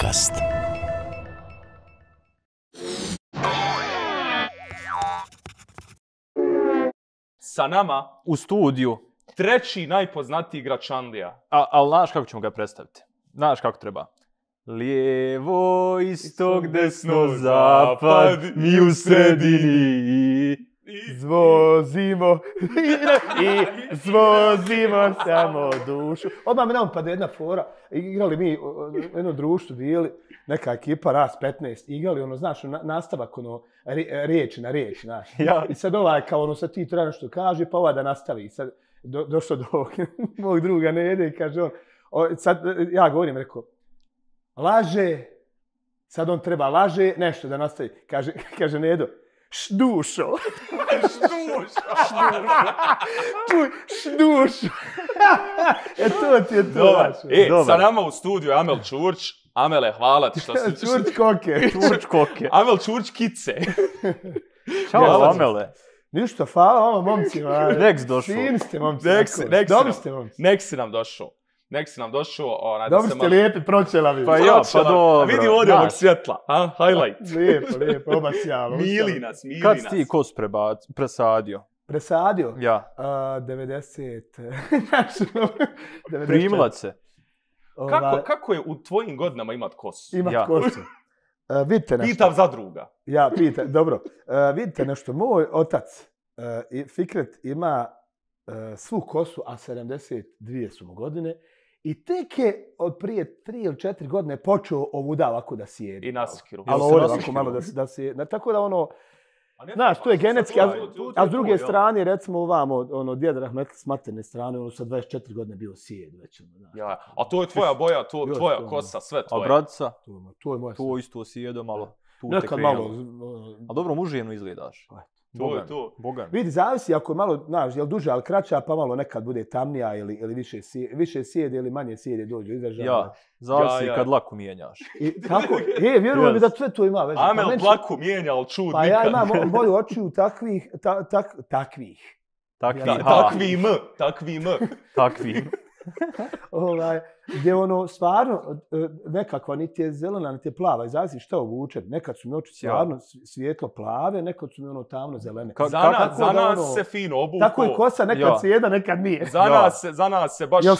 podcast. Sa nama U studiju. treći najpoznatiji igrač Anglija. Ali znaš kako ćemo ga predstaviti? Znaš kako treba? Lijevo, istok, desno, zapad, mi u sredini. Zvozimo i zvozimo samo dušu. Odmah mi nam pada jedna fora. Igrali mi u jednom društvu, bili neka ekipa, ras 15, igrali ono, znaš, nastavak, ono, riječi na riječ, znaš. Ja. I sad kao ono, sad ti treba nešto kaže, pa ova da nastavi. I sad došlo do mog druga Nede i kaže on, sad ja govorim, rekao, laže, sad on treba laže, nešto da nastavi. Kaže Nedo, šdušo. Šdušo. To ti je to. Sa nama u studiju je Amel Čurć. Amele, hvala ti što si... Čurć koke. Čurć koke. Amel Čurć kice. Ćao, Amele. Ništa, hvala momcima. Nek si došao. Fini ste, momci. Dobri ste, momci. Nek si nam došao. Dobri ste lijepi, pročelavi. Pa ja, pa dobro. Vidi ovdje ovog svjetla. Highlight. Lijepo, oba sjalo. Mili nas. Kad si ti kos presadio? Presadio? Ja. 90. Primlac se. Kako je u tvojim godinama imat kosu? Imat kosu. Vidite nešto. Pitam za druga. Ja, pitam, dobro. Vidite nešto, moj otac Fikret ima svu kosu, a 72 su mu godine. I tek je od prije 3 ili 4 godine počeo ovuda ovako da sjedi. I nasikiru. Ali ovako malo da sjedi. Tako da ono, znaš, to je genetski, a s druge strane, recimo ovamo, ono, djed Rahmetli s materne strane, ono sa 24 godine bio sjed već. Ja, a to je tvoja boja, tvoja kosa, sve tvoje. A bratica? To je moja. To isto sjedo malo. Nekad malo. A dobro, mužijeno izgledaš. To. Bogan. Vidi, zavisi ako je malo, znaš, jel duže, ali kraća, pa malo nekad bude tamnija ili više sjede ili manje sjede dođu izražaja. Ja, zavisi kad laku mijenjaš. I tako, vjerujem mi da sve to ima veze. Amel dlaku mijenja, ali čud pa nikad. Pa ja imam boju očiju takvih. Takvim. Gdje ono stvarno nekakva niti je zelena, niti je plava. I zavisi šta ovuče. Nekad su mi oči stvarno svijetlo plave, nekad su mi ono tamno zelene. Za nas se fino obuko. Tako je kosa, nekad se jedna, nekad nije. Za nas se baš se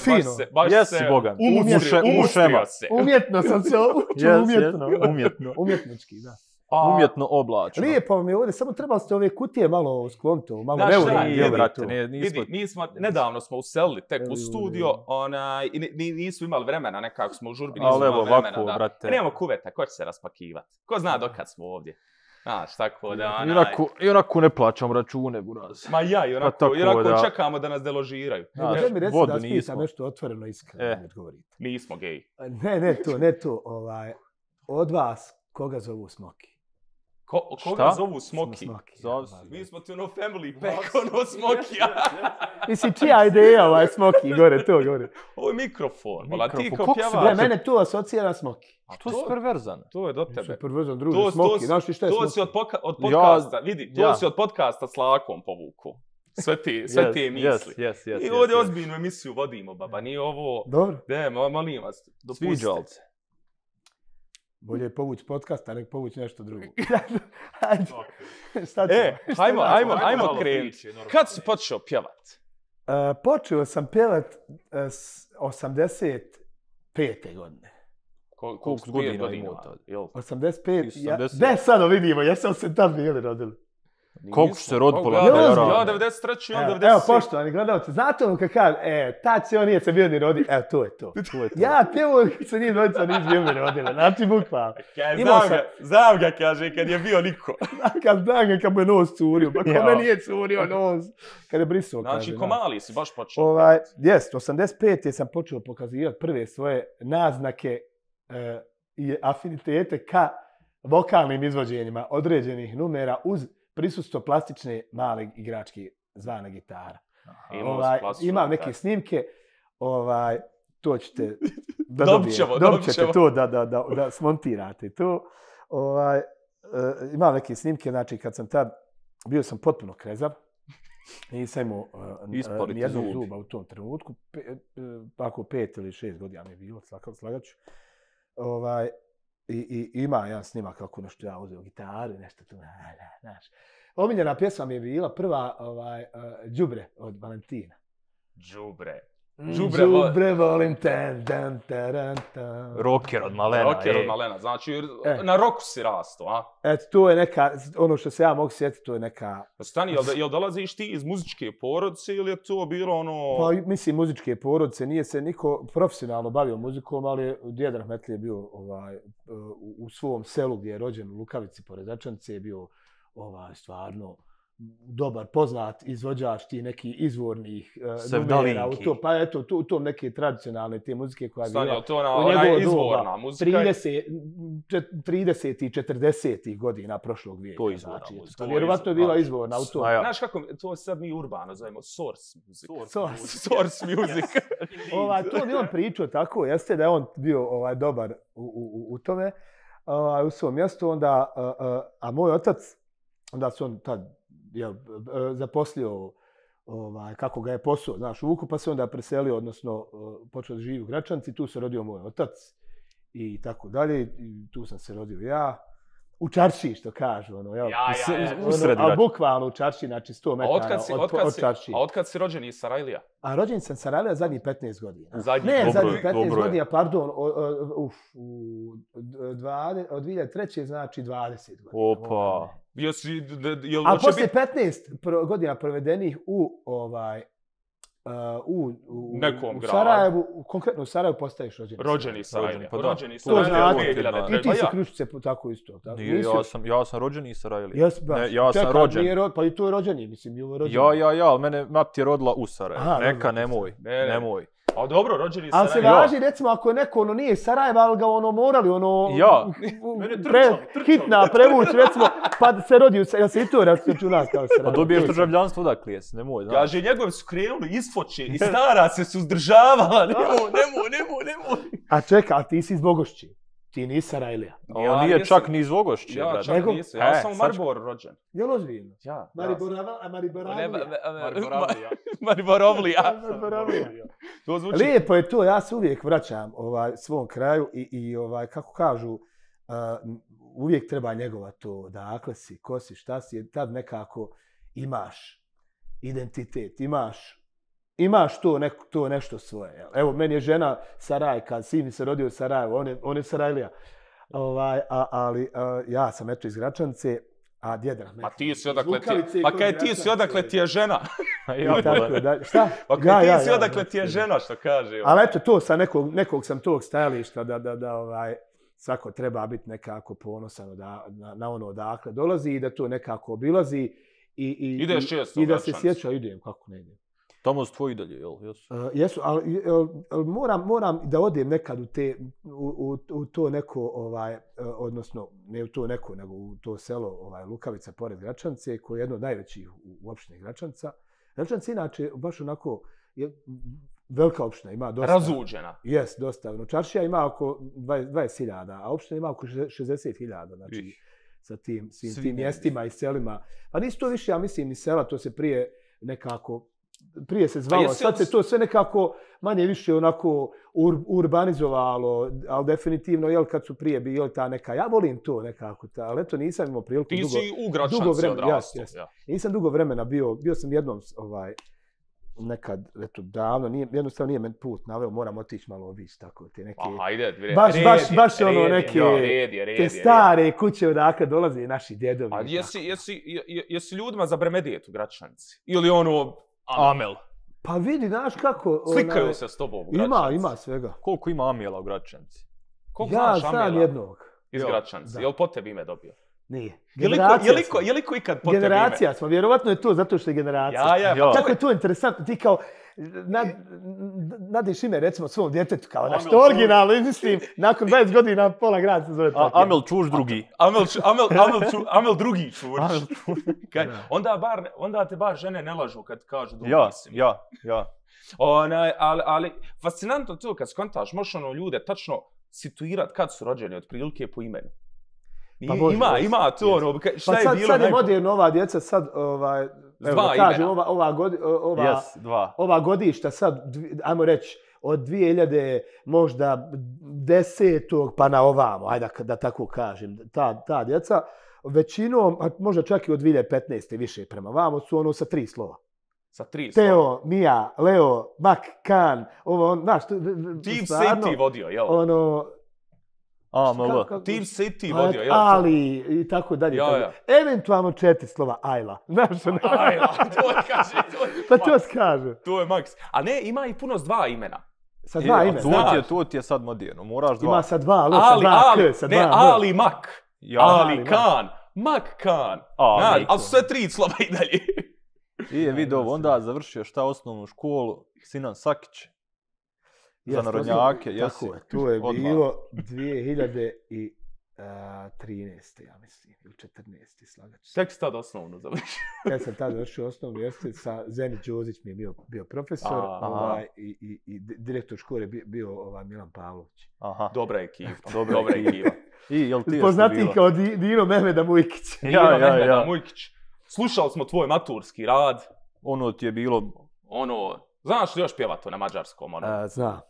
umustrio se. Umjetno sam se učio, umjetnički, da. Umjetno oblačno. Lijepo mi je ovdje, samo trebali ste ove kutije malo skloniti, malo nedavno smo uselili tek u studio i nismo imali vremena, nekako smo u žurbi, nismo imali vremena. Nemamo kuveta, ko će se raspakivati? Ko zna dokad smo ovdje? Znaš, tako da... I onako ne plaćam račune, buraz. Ma ja, i onako čekamo da nas deložiraju. Gdje mi reci da spitam nešto otvoreno iskreno, ne govorite. Nismo geji. Ne to. Od vas, koga zovu Smoki? Koga zovu Smoki? Mi smo ti ono family pack, ono Smokija. Mislim, čija ideja Smoki, gore. Ovo je mikrofon, vola ti kao pjevač. Mene to asocija na Smoki. A to je perverzan. To je do tebe. Perverzan, druži, Smoki, znaš ti šta je Smoki? To si od podcasta, vidi, to si od podcasta s Lakom povuku. Sve te misli. I ovdje ozbiljnu emisiju vodimo, baba, nije ovo... Dobro. Molim vas, Sviđalce. Bolje je povući podcast, a nek povući nešto drugo. Hajmo krenuti. Kad si počeo pjevat? Počeo sam pjevat 85. godine. Koliko godina imao? 85. Ne, sad vidimo, jesam se tad bili rodili. Koliko se rod pola? Ja 93. on 97. Evo, poštovani gledalci, znate ono kad kaže, tad se on nije se bio ni rodi, evo, to je to. Ja pjevo se njih dvojica nisu bili ni rodili, znači bukvalno. Znam ga, kaže, kad je bio niko. Kad mu je nos curio, pa kome nije curio nos. Kad je brisao, kaže. Znači, ko mali si baš počeo. Jest, 85. sam počeo pokazivati prve svoje naznake i afinitete ka vokalnim izvođenjima određenih numera uz prisustvo plastične male igračke zvane gitara. Imam neke snimke, to ćete da dobijete to da smontirate to. Imam neke snimke, znači kad sam tad, bio sam potpuno krezav, nisam imao nijednog zuba u tom trenutku, ako 5 ili 6 godina mi je bilo, slagaću. I ima jedan snimak kako nešto ja uzeo gitaru i nešto tu, znaš. Omiljena pjesma mi je bila prva Đubre od Valentina. Đubre volim ten. Rocker od Malena. Znači, na roku si rasto, a? Eto, to je neka, ono što se ja mogu sjetiti, to je neka... Stani, jel dolaziš ti iz muzičke porodice ili je to bilo ono... Pa, mislim, muzičke porodice, nije se niko profesionalno bavio muzikom, ali djed Rahmetli je bio u svom selu gdje je rođen u Lukavici pored Račance, je bio stvarno dobar, poznat izvođač ti neki izvornih numera u to, pa eto, u tom neke tradicionalne te muzike koja je bila u njegovo izvorna muzika. 30. i 40. godina prošlog vijeka. To je izvorna muzika. Vjerovatno je bila izvorna u to. Znaš kako, to sad mi urbano zovemo source music. Source music. To mi on pričao tako, jeste da je on bio dobar u tome, u svom mjestu, onda, a moj otac, onda se on tad zaposlio kako ga je posao, znaš, u Vuku, pa se onda preselio, odnosno počeo da živi u Gračanci, tu se rodio moj otac i tako dalje, i tu sam se rodio ja. U čaršiji, što kažu, a bukvalno u čaršiji, znači 100 metara od čaršiji. A otkad si rođen iz Sarajlija? A rođen sam Sarajlija zadnjih 15 godina. Zadnjih 15 godina, pardon, od 2003. znači 20 godina. Opa! A poslije 15 godina provedenih u Sarajevu, konkretno u Sarajevu postaješ rođeni. Rođeni Sarajlija. To znači, i ti si Kruščice tako isto. Ja sam rođeni iz Sarajlija. Ja sam rođen. Pa i to je rođeni, mislim, bilo rođeni. Ja, ali mene mati je rodila u Sarajevu. Neka, nemoj. A dobro, rođeni Sarajevo. Ali se važi, recimo, ako je neko nije iz Sarajeva, ali ga morali hitna prevući, recimo, pa se rodi, jel se i to računa kao Sarajevo? Pa dobiješ državljanstvo odakle jesi, nemoj, znaš. Kaže, njegovi su krenuli isfoče i stara se suzdržavala, nemoj. A čekaj, a ti si iz Bogošći. Ti nisi Sarajlija. On nije čak ni iz Vogošće, ja čak nisam. Ja sam u Mariboru rođen. Jel ozbiljno? Ja. Mariborovlija. Lijepo je to, ja se uvijek vraćam svom kraju i kako kažu, uvijek treba njegovati to, odakle si, ko si, šta si, tad nekako imaš identitet, imaš to nešto svoje. Evo, meni je žena Sarajka, sin mi se rodio u Sarajevu, on je Sarajlija. Ali ja sam eto iz Gračance, a djed Rahmetli. Pa ti si odakle ti, pa kaj ti si odakle ti je žena? Šta? Pa kaj ti si odakle ti je žena, što kaže. Ali eto, to sa nekog sam tog stajališta da svako treba biti nekako ponosan na ono odakle dolazi i da to nekako obilazi. Ideš često i da se sjeća, idem, kako ne idem. Tamo su tvoji dalje, jel? Jesu, ali moram da odem nekad u to neko, odnosno ne u to neko, nego u to selo Lukavica pored Gračance, koje je jedno od najvećih u opštini Gračanca. Gračanca inače baš onako velika opština, ima dosta. Razuđena. Jes, dosta. Čaršija ima oko 20.000, a opština ima oko 60.000, znači sa tim mjestima i selima. Pa nisu to više, ja mislim, ni sela, to se prije nekako prije se zvalo, sad se to sve nekako manje više onako urbanizovalo, ali definitivno, jel, kad su prije bili ta neka, ja volim to nekako, ali eto nisam imao priliku dugo vremena. Ti si u Gračanci odrastao. Nisam dugo vremena bio sam jednom nekad, eto, davno, jednostavno nije men put naveo, moram otići malo obići, tako, te neke... Aha, ide, baš ono neke, te stare kuće odakle dolaze naši djedovi. A jesi ljudima za Bremedijet u Gračanci? Ili ono... Amel. Pa vidi, znaš kako... Slikaju se s tobom u Gračanci. Ima svega. Koliko ima Amela u Gračanci? Ja znam jednog. Iz Gračanci. Jel po tebi ime dobio? Nije. Je li ko ikad po tebi ime? Generacija smo, vjerovatno je to zato što je generacija. Ja. Kako je to interesantno, ti kao nadiš ime recimo svom djetetu, kao da što originalno izmislim, nakon 20 godina pola grada se zove tako. Amel Čuš drugi. Amel drugi Čuš. Onda te bar žene ne lažu kad kažu drugi si. Ja. Ali fascinantno to kad skontaš, možeš ljude tačno situirati kad su rođeni otprilike po imenu. Ima to, šta je bilo najbolje? Sad je moderno ova djeca, sad, ova godišta sad, ajmo reći, od 2000 možda 10. pa na ovamo, ajde da tako kažem, ta djeca, većinom, možda čak i od 2015. više prema vamo, su ono sa 3 slova. Sa 3 slova. Teo, Mija, Leo, Mak, Kan, ovo, znaš, Team City vodio, jel? Ono... Team City vodio, jel? Ali, i tako dalje. Ja. Eventualno 4 slova, Ajla. Znaš, Ajla, to je kaže. Pa to kaže. To je maks. A ne, ima i puno s 2 imena. Sa 2 imena. To ti je sad moderno, moraš 2. Ima sa 2, ali, sa 2. Ne, Ali Mak. Ali Kan. Mak Kan. Ali su sve 3 slova i dalje. I je video, onda završio šta osnovnu školu, Sinan Sakić. Za narodnjake, jesi. Tako je, to je bilo 2013. ja mislim, ili 14. slagač. Tek si tad osnovnu završio. Ja sam tad završio osnovnu, jeste, sa Zeni Đozić mi je bio profesor i direktor škole bio Milan Pavlović. Dobra ekipa, dobra ekipa. Poznatiji kao Dino Mehmeda Mujkić. Dino Mehmeda Mujkić. Slušali smo tvoj maturski rad. Ono ti je bilo... Znaš li još pjevat na mađarskom? Znam.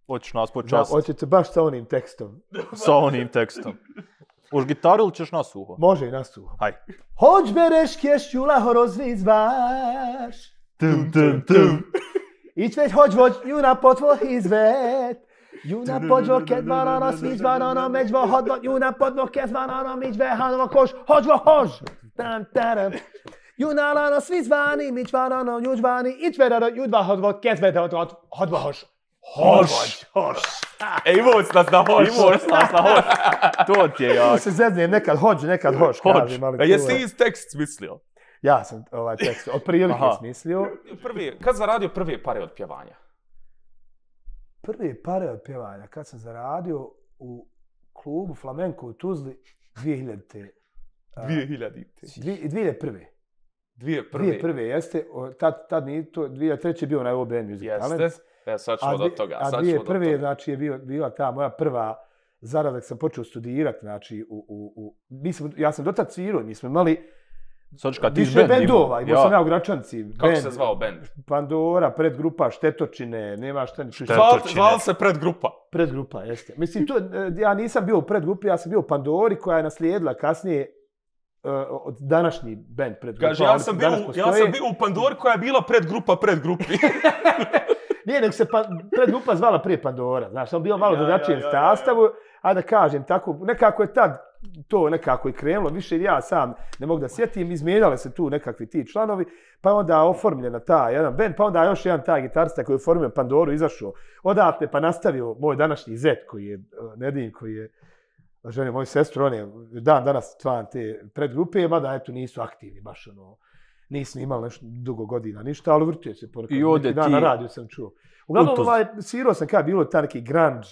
Hoćeš nas počastiti. Hoćete baš sa onim tekstom. Sa onim tekstom. Už gitaru ili ćeš nasuho? Može i nasuho. Haj. Hoć bereš kješću laho rozvizvaš. Ić već hoć voć juna potvo izvet. Juna podvo kedvarano svizvarano međvo hodvo. Juna podvo kedvarano međve hanova koš. Hoćvo hož. Tam taram. Juna lano svizvani mičvarano južvani. Ić verano judva hodvo kedvete hodvo hož. Hoš. Ivoc nas na hoš. To ti je jako. Se zeznijem, nekad hođ, nekad hoš. Jesi iz tekst smislio? Ja sam ovaj tekst od prilike smislio. Kad zaradio prve pare od pjevanja? Prve pare od pjevanja, kad sam zaradio u klubu Flamenko u Tuzli 2000. 2001. 2001. jeste. Tad nije to, 2003. je bio na OBN Music Talent. Sad ćemo do toga. A 2001. znači je bila ta moja prva zarada kad sam počeo studirati, znači ja sam dotad svirao, mi smo imali više bendova, imao sam ja u Gračanci. Kako se zvao bend? Pandora, predgrupa, Štetočine, nema šta ni... Zvao se predgrupa? Predgrupa, jeste. Mislim, ja nisam bio u predgrupi, ja sam bio u Pandori koja je naslijedila kasnije od današnji bend predgrupa. Kaže, ja sam bio u Pandori koja je bila predgrupa predgrupi. Nije, nego se predgrupa zvala prije Pandora, znaš, sam bio malo drugačijem sastavu, a da kažem tako, nekako je tad to nekako i krenulo, više ja sam ne mogu da sjetim, izmijenjale se tu nekakvi ti članovi, pa onda oformljena ta jedan band, pa onda još jedan taj gitarista koji je oformio Pandoru, izašao odatle, pa nastavio moj današnji zet koji je Nedin, koji je žene moju sestru, on je danas član te predgrupe, mada eto nisu aktivni baš nisam imao nešto dugo godina, ništa, ali vrtio se ponekad. I ovdje ti... Na radiju sam čuo. Uglavnom, svirao sam kada bilo ta neki grunge,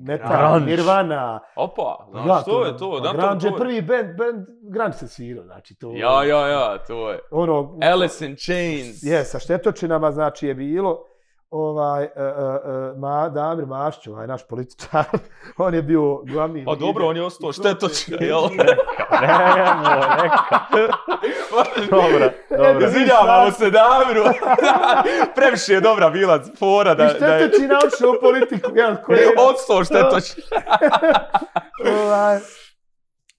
metal, Nirvana. Opa, znaš, to je to. Grunge je prvi band, grunge se svirao, znači to... Ja, to je. Alice in Chains. Je, sa Štetočinama, znači je bilo. Damir Mašć, naš političar, on je bio glavni... Pa dobro, on je ostao Štetočina, jel? Neka. Dobro. Izvinjavamo se Damiru. Previše je dobra bila fora da... I Štetočina odšao u politiku, jel? Odstao Štetočina.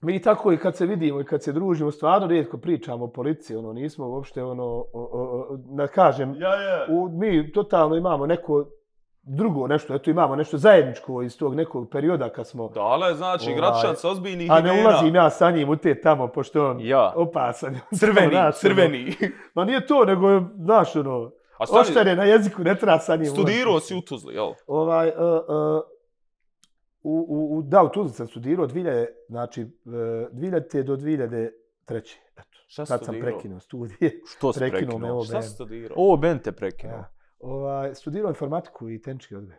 Mi tako i kad se vidimo i kad se družimo, stvarno rijetko pričamo o policiji, nismo uopšte, da kažem, mi totalno imamo neko drugo nešto, eto imamo nešto zajedničko iz tog nekog perioda kad smo... Dale, znači, Gračan sa ozbiljnih imena. A ne ulazim ja sa njim u te tamo, pošto on opasan. Crveni. Ma nije to, nego je, znaš, oštare na jeziku, ne treba sa njim. Studirao si u Tuzli, jel? U Tuzli sam studirao 2000 do 2003. Eto, sad sam prekinuo studije. Što si prekinuo? Šta si studirao? Ovo Ben te prekinuo. Studirao informatiku i tehnički odgoj.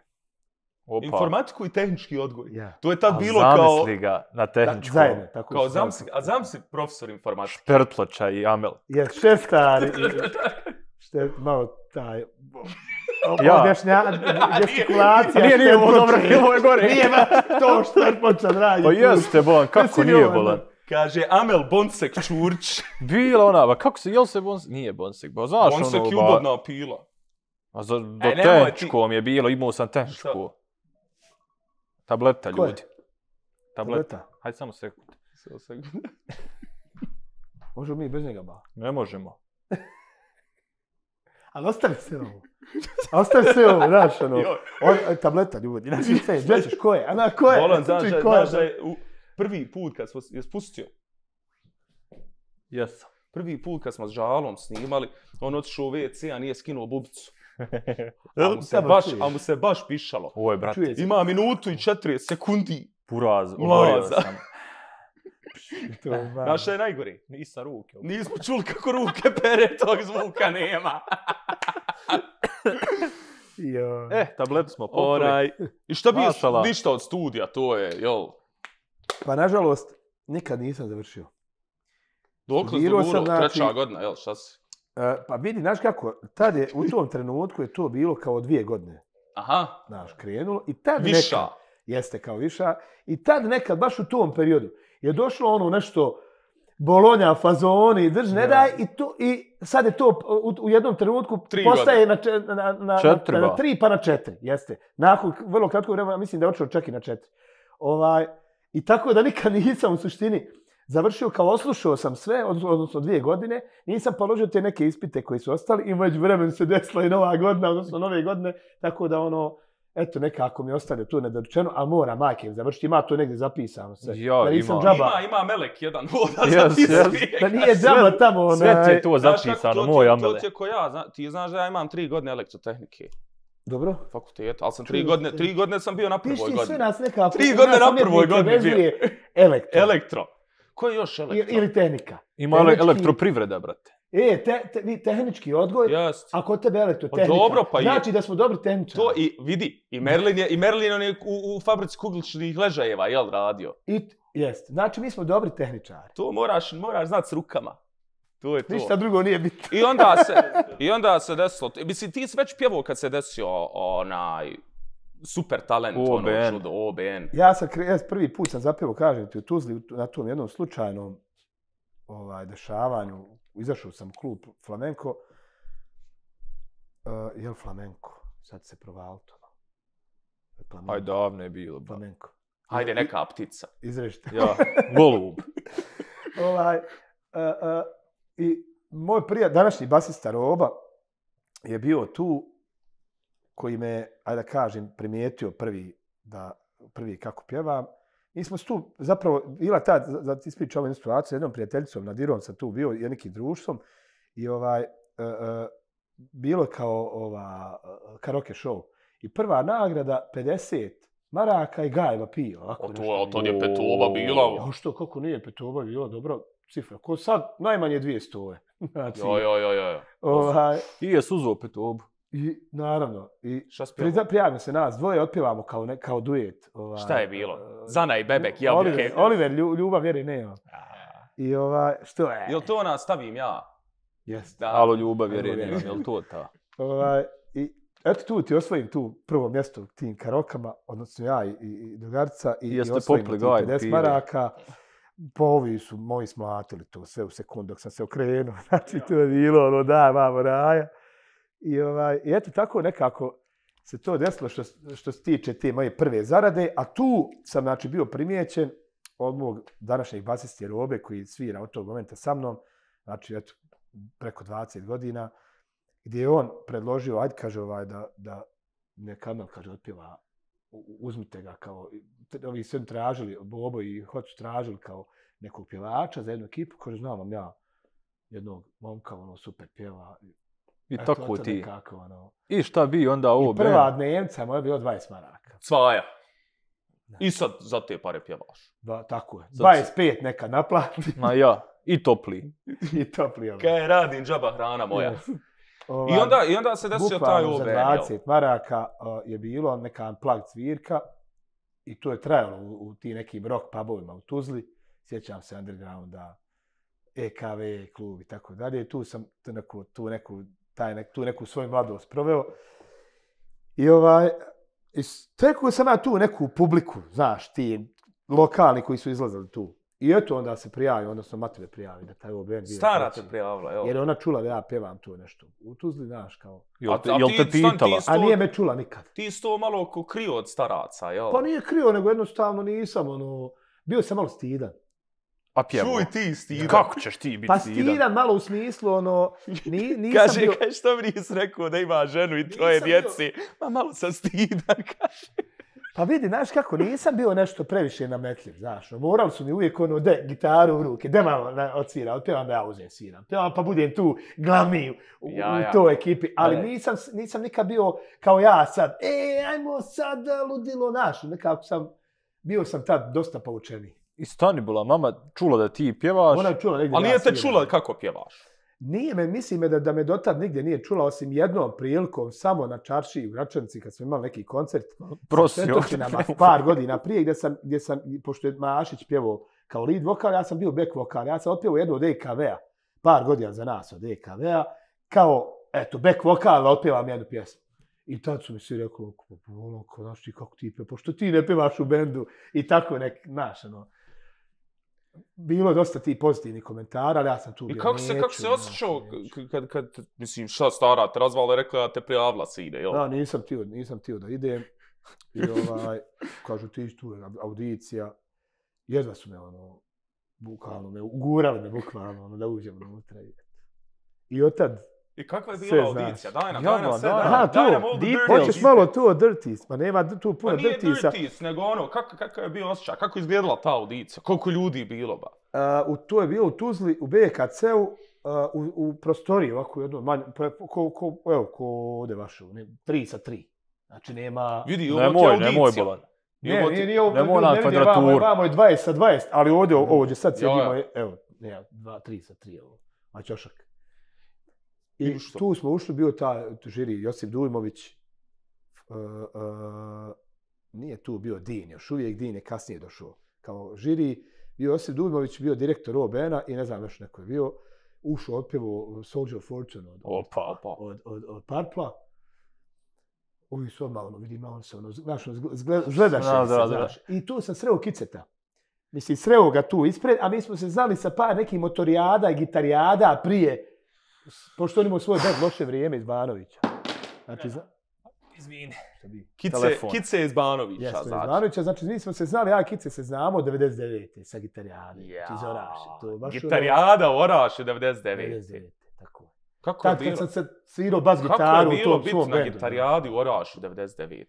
Opa. Informatiku i tehnički odgoj? Ja. To je tad bilo kao... Zamisli ga na tehničkom. Zajedno, tako. A zamisli profesor informatike. Špertloča i Amel. Je, Šestar. Malo taj... Objašnja, gestikulacija. Nije ovo dobro, ovo je gore. Nije to Špertloča, dragi. Pa jeste, bolan, kako nije bolan? Kaže, Amel Bonsek Čurć. Bila ona, kako se, jel se Bonsek? Nije Bonsek, ba znaš Bonsek je ubodna pila. A do tehničkom je bilo, imao sam tehničku. Tableta, ljudi. Tableta. Hajde samo sekund. Možemo mi bez njega ba? Ne možemo. Ali ostavi se ovo. Ostavi se ovo, znaš, ono. Tableta, ljudi. Znači, gdje ćeš, ko je? Ana, ko je? Bolan, znaš da je prvi put kad smo je spustio. Jesam. Prvi put kad smo s Žalom snimali, on otišao u WC, a nije skinuo bubicu. A mu se baš pišalo. Ovo je, brate. Ima minutu i 40 sekundi. Buraz, oborio sam. Znaš šta je najgori? Nisam ruke. Nismo čuli kako ruke pere, tog zvuka nema. Tabletu smo popili. I šta bi ništa od studija, to je, jel? Pa nažalost, nikad nisam završio. Dokle si dogurao? Treća godina, jel, šta si? Pa vidi, znaš kako, tad je, u tom trenutku je to bilo kao 2 godine. Aha. Znaš, krenulo. I tad viša. Nekad, jeste kao viša. I tad nekad, baš u tom periodu, je došlo ono nešto Bolonja, fazoni, drž, ne daj, i sad je to u jednom trenutku postaje na 3 pa na 4, jeste. Nakon vrlo kratkog vremena, mislim da je očeo čak i na 4. I tako da nikad nisam u suštini završio, kao oslušao sam sve, odnosno 2 godine, nisam položio te neke ispite koji su ostali i među vremenu se desila i nova godina, odnosno nove godine, tako da eto, nekako mi ostane tu nedorečeno, ali mora majke završiti, ima to negdje zapisano sve. Da nisam džaba. Ima Melek jedan voda zapisuje. Da nije džaba tamo. Sve je to zapisano, moj Amele. To ti je ko ja, ti znaš da ja imam 3 godine elektrotehnike. Dobro. Fakultet, ali sam 3 godine sam bio na prvoj godini. Piši sve nas nekako. 3 godine na prvoj godini bio. Elektro. Ko je još elektro? Ili tehnika. Ima elektroprivreda, brate. Tehnički odgoj, a kod tebe elektrotehnika. Dobro, pa znači da smo dobri tehničari. To i vidi, i Merlin on je u fabrici kugličnih ležajeva, jel, radio? Jest, znači mi smo dobri tehničari. To moraš znati s rukama. To je to. Ništa drugo nije bitno. I onda se desilo, mislim, ti si već pjevao kad se desio onaj super talent, OBN. Ja prvi put sam zapjevao, kažem ti, u Tuzli, na tom jednom slučajnom dešavanju, izašao sam u klub Flamenko. Jel Flamenko? Sad se provalito. Aj, davno je bilo. Flamenko. Hajde, neka ptica. Izrežite. Ja, golub. I moj današnji basista Roba je bio tu, koji me, ajde da kažem, primijetio prvi kako pjevam. Mi smo tu zapravo, bila ta, da ti ispričam ovu situaciju, jednom prijateljicom, Nadirom sam tu bio, nekim društvom, i bilo kao karaoke show. I prva nagrada 50 maraka i Gajeva pio. To je Petova bila. Ja što, kako nije Petova bila, dobro cifra. Ko sad, najmanje 200. Znači, I je suzo Petovu. I naravno, prijavimo se nas, dvoje otpjevamo kao duet. Šta je bilo? Zana i Bebek, jabuke. Oliver, ljubav vjeri nema. I što je? Jel to stavim ja? Jeste. Alo, ljubav vjeri nema, jel to ta? I eto tu ti osvojim tu prvo mjesto u tim karokama, odnosno ja i drugarica, i osvojim ti 50 maraka. Po ovi su moji smlatili to sve u sekundu dok sam se okrenuo. Znači, to je bilo da, mamo raja. I eto tako nekako se to desilo što se tiče te moje prve zarade, a tu sam znači bio primijećen od mog današnjeg basiste Robe koji svira od tog momenta sa mnom, znači eto preko 20 godina, gdje je on predložio, ajde kaže da neka Amel kaže otpjeva, uzmite ga kao, ovi sve tražili, Bobo i Hocu tražili kao nekog pjevača za jednu ekipu, kaže znam vam ja jednog momka, super pjeva. I tako ti. I šta bi onda ovo? I prva dnevnica moja je bilo 20 maraka. Cvaja. I sad za te pare pjevaš. Da, tako je. 25 neka naplati. Ma ja. I topli. I topli. Kaj radim, džaba hrana moja. I onda se desio taj OBN. Za 20 maraka je bilo neka unplugged svirka i to je trajalo u ti nekim rock pubovima u Tuzli. Sjećam se Undergrounda, EKV klub i tako dalje. Tu sam tu neku svoju mladost proveo. I stekao sam ja tu neku publiku, znaš, ti lokalni koji su izlazili tu. I eto onda se prijavi, odnosno Matile prijavi da taj OBN bio. Stara te prijavila, jel? Jer ona čula da ja pevam to nešto. U Tuzli, znaš, kao... Jel te pitala? A nije me čula nikad. Ti si to malo krio od staraca, jel? Pa nije krio, nego jednostavno nisam, bio sam malo stidan. A pjevo? Čuj ti stidan. Kako ćeš ti biti pa stidan? Pa stidan malo u smislu, nisam kaže, bio... Kaže, što mi nisi rekao da ima ženu i troje djeci? Ma malo sam stidan, kaže. Pa vidi, znaš kako, nisam bio nešto previše nametljiv, znaš. Morali su mi uvijek gitaru u ruke, de malo odsvira, otpevam da ja uzem sviram. Pevam pa budem tu glavni u toj ekipi, ali nisam nikad bio kao ja sad, ajmo sad ludilo naš. Nekako bio sam tad dosta poučeniji. I stani bila, mama čula da ti pjevaš. Ona čula negdje. Ali nije te čula kako pjevaš? Nije me, mislim da me dotad nigdje nije čula, osim jednom prilikom, samo na čaršiji u Gračanici, kad smo imali neki koncert sa Svetočinama par godina prije, gdje sam, pošto je Mašić pjevao kao lead vokal, ja sam bio back vokal, ja sam otpjevao jednu od EKV-a, par godina za nas od EKV-a, kao, eto, back vokal, otpjevam jednu pjesmu. I tad su mi svi rekli, znaš ti kako ti pjevaš, pošto ti ne pjevaš u bendu i tako znaš, Bilo je dosta ti pozitivnih komentara, ali ja sam tu bio. I kako se osjećao kad mislim, šta stara te razvala, rekla da te prijavila se ide, jel? Da, nisam htio da idem. I kažu ti tu je audicija. Jedva su me bukvalno, ugurali me bukvalno da uđem unutra. I od tad I kakva je bila audicija? Daj nam sve. Hoćeš malo tu o Dirties, pa nema tu puno Dirtiesa. Pa nije Dirties, nego kakav je bio osjećaj, kako je izgledala ta audicija, koliko ljudi je bilo ba? To je bilo u Tuzli, u BKC-u, u prostoriji, ovako jedno manje, evo, ko ovdje vaše, 3-3. Znači nema... Vidi, ovo ti je audicija. Nemoj bolan. Nemoj na kvadraturu. Vamo je 20-20, ali ovdje sad sjedimo, evo, 3-3, a ćošak. I tu smo ušli, bio ta žiri Josip Dujmović, nije tu bio Din, još uvijek Din je kasnije došao. Kao žiri, bio Josip Dujmović, bio direktor OBN-a i ne znam još neko je bio, ušao otpjevo Soldier of Fortune od Purpla. Ovi su odmah, vidim, on se, znaš, zgledaš se, znaš. I tu sam sreo Kiceta. Mislim, sreo ga tu ispred, a mi smo se znali sa par nekih motorijada i gitarijada prije, pošto on imao svoj band Loše vrijeme iz Banovića. Znači, izvini. Kice iz Banovića. Jeste, iz Banovića. Znači, mi smo se znali, ja i Kice se znamo od 99. sa gitarijade. Iz Oraše. Gitarijada u Oraše 99. Tako. Kako je bilo? Kad sam se svirao bas gitaru u tom svom bendu. Kako je bilo biti na gitarijadi u Orašu 99.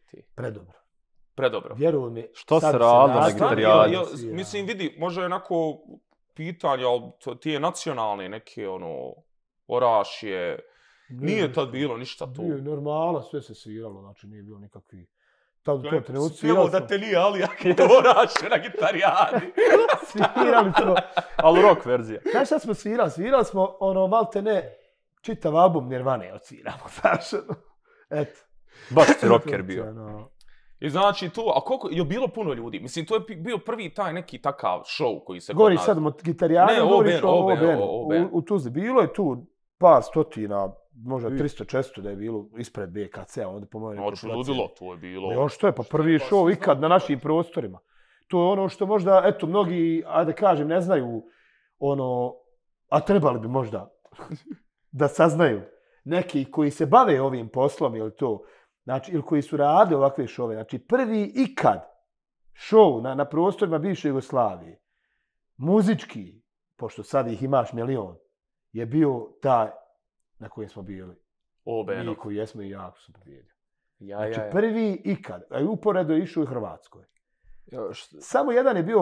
Predobro. Vjeruj mi. Što se radilo na gitarijadi? Mislim, vidi, može onako pitanje, ali ti je nacionalne neke, Oraš je... Nije tad bilo ništa tu. Nije normala, sve se sviralo, znači nije bilo nikakvi... Tad to trenutno sviralo da te nije Alijak u Orašu na gitarijadi. Svirali smo... Ali rock verzija. Znaš šta smo svirali? Svirali smo, malte ne, čitav album Nirvane odsviramo, znaš. Eto. Baš si rocker bio. I znači tu, a koliko je bilo puno ljudi? Mislim, to je bio prvi taj neki takav show koji se... Govoriš sad o gitarijanu, govoriš o OBN. U Tuzli. Bilo je tu par stotina, možda 300-400 da je bilo ispred BKC-a, onda po mojoj nekoj placi. Ludilo, to je bilo. Ono što je, pa prvi show ikad na našim prostorima. To je ono što možda, eto, mnogi, ajde kažem, ne znaju, a trebali bi možda da saznaju. Neki koji se bave ovim poslom, ili to, znači, ili koji su radili ovakve šove. Znači, prvi ikad show na prostorima bivše Jugoslavije, muzički, pošto sad ih imaš milion, je bio taj na kojem smo bili. Mi koji jesmo i jako su pobjedili. Znači, prvi ikad, a uporedo je išao u Hrvatskoj. Samo jedan je bio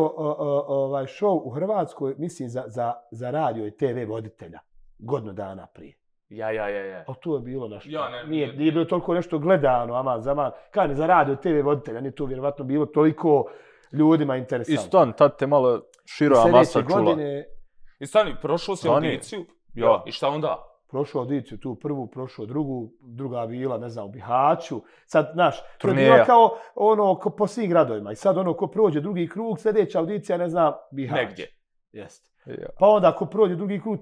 show u Hrvatskoj, mislim, za radio i TV voditelja, godinu dana prije. A to je bilo našto. Nije bilo toliko nešto gledano, aman, zaman. Kaj za radio TV voditelja, nije to vjerovatno bilo toliko ljudima interesantno. I stan, tad te malo šira masa čula. I stani, prošao si audiciju? Ja. I šta onda? Prošao audiciju tu prvu, prošao drugu, druga bila, ne znam, u Bihaću. Sad, znaš, to je bilo kao po svim gradovima. I sad ko prođe drugi krug, sljedeća audicija, ne znam, Bihać. Negdje. Jeste. Pa onda ako prođe drugi krug,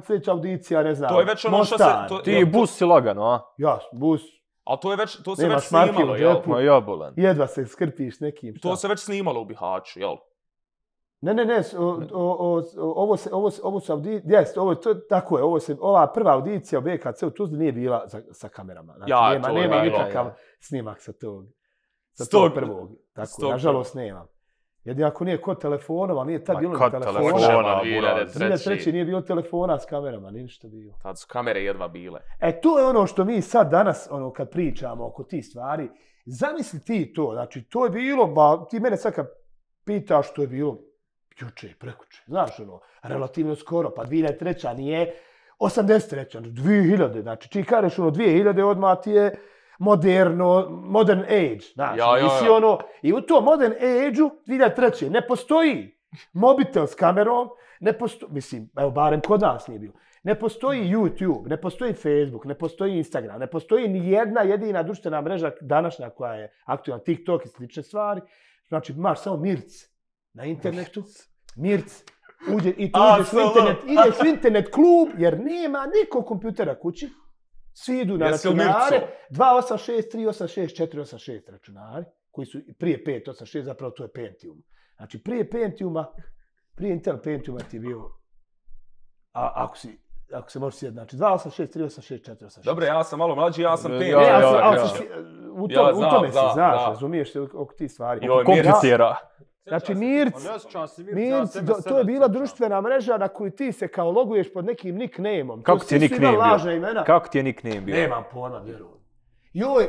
sljedeća audicija, ne znam, to je već ono Mostar. Ti bus si lagano, a? Ja, bus. Ali to se već snimalo, jel? Ma ja bolan. Jedva se skrpiš nekim. To se već snimalo u Bihaću, jel? Ne, ovo su audicije, jest, tako je, ova prva audicija u BKC u Tuzli nije bila sa kamerama. Znači, nema nikakav snimak sa tog prvog. Tako, nažalost nemam. Jedino ako nije kod telefonova, ali nije tad bilo telefona. 2003. nije bilo telefona s kamerama, nije ništa bilo. Tad su kamere jedva bile. To je ono što mi sad danas, kad pričamo oko tih stvari, zamisli ti to, znači to je bilo, ti mene sad kad pitaš, to je bilo juče i prekuče, znaš relativno skoro, pa 2003. nije 83. 2000, znači čiji kažeš 2000 odmah ti je modern age, znaš, i u tom modern age-u 2003. ne postoji mobitel s kamerom, mislim, evo barem kod nas nije bilo, ne postoji YouTube, ne postoji Facebook, ne postoji Instagram, ne postoji ni jedna jedina društvena mreža današnja koja je aktualna, TikTok i slične stvari, znači imaš samo Mirc na internetu, Mirc, ideš u internet klub jer nema nikog kompjutera kući, svi idu na računare, 286, 386, 486 računari, koji su prije 586, zapravo to je Pentium. Znači prije Intel Pentiuma ti je bio, ako se možeš sjetiti, znači 286, 386, 486. Dobro, ja sam malo mlađi, ja sam Pentium. U tome si, znaš, razumiješ se oko tih stvari. Kompjutera. Znači Mirc, to je bila društvena mreža na koju ti se kao loguješ pod nekim nickname-om. Kako ti je nickname bio? Kako ti je nickname bio? Nemam pojma, vjerujem. Joj,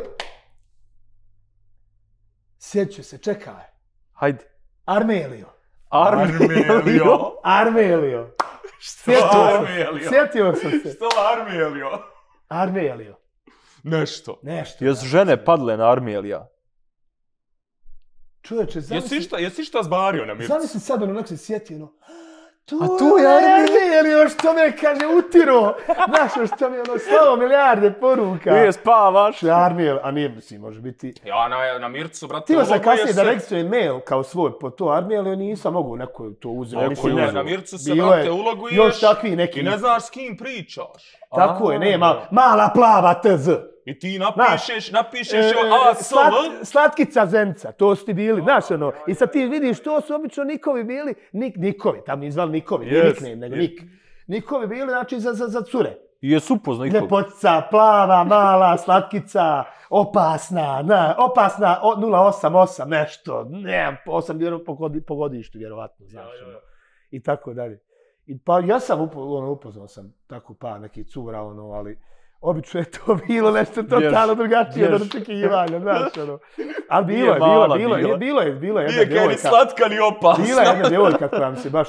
sjeću se, čekaj. Hajde. Armelio. Sjetio sam se. Što Armelio? Nešto. Jesu žene padle na Armelija? Čovječe, jesi šta zbario na Mircu? Zamisli sad onak se sjetio, tu je Armelio, što me kaže utiro. Znaš, što mi je slavo milijarde poruka. Nije spavaš. Armelio, a nije, mislim, može biti. Ja na Mircu, brate, Tilo sam kasnije da registrujem mail kao svoj po to Armelio, nisam mogu neko to uzeti. Na Mircu se, brate, uloguješ još takvi neki. I ne znaš s kim pričaš. Tako je, nema, mala plava TZ. I ti napišeš ASL. Slatkica Zenica, to su ti bili, znaš i sad ti vidiš, to su obično nikovi bili, nikovi, tam nije zvali nikovi, nije nickname, nego nik. Nikovi bili, znači, za cure. I jesu upoznao nikovi. Ljepotica, plava, mala, slatkica, opasna, 088, nešto, nemam, 8 po godištu, vjerovatno, znaš, i tako dalje. Pa ja sam upoznao sam tako nekih cura, ali obično je to bilo nešto totalno drugačije od očekivanja, znaš, Ali bilo je jedna djevojka. Nije ni slatka, ni opasna. Bila je jedna djevojka koja mi se baš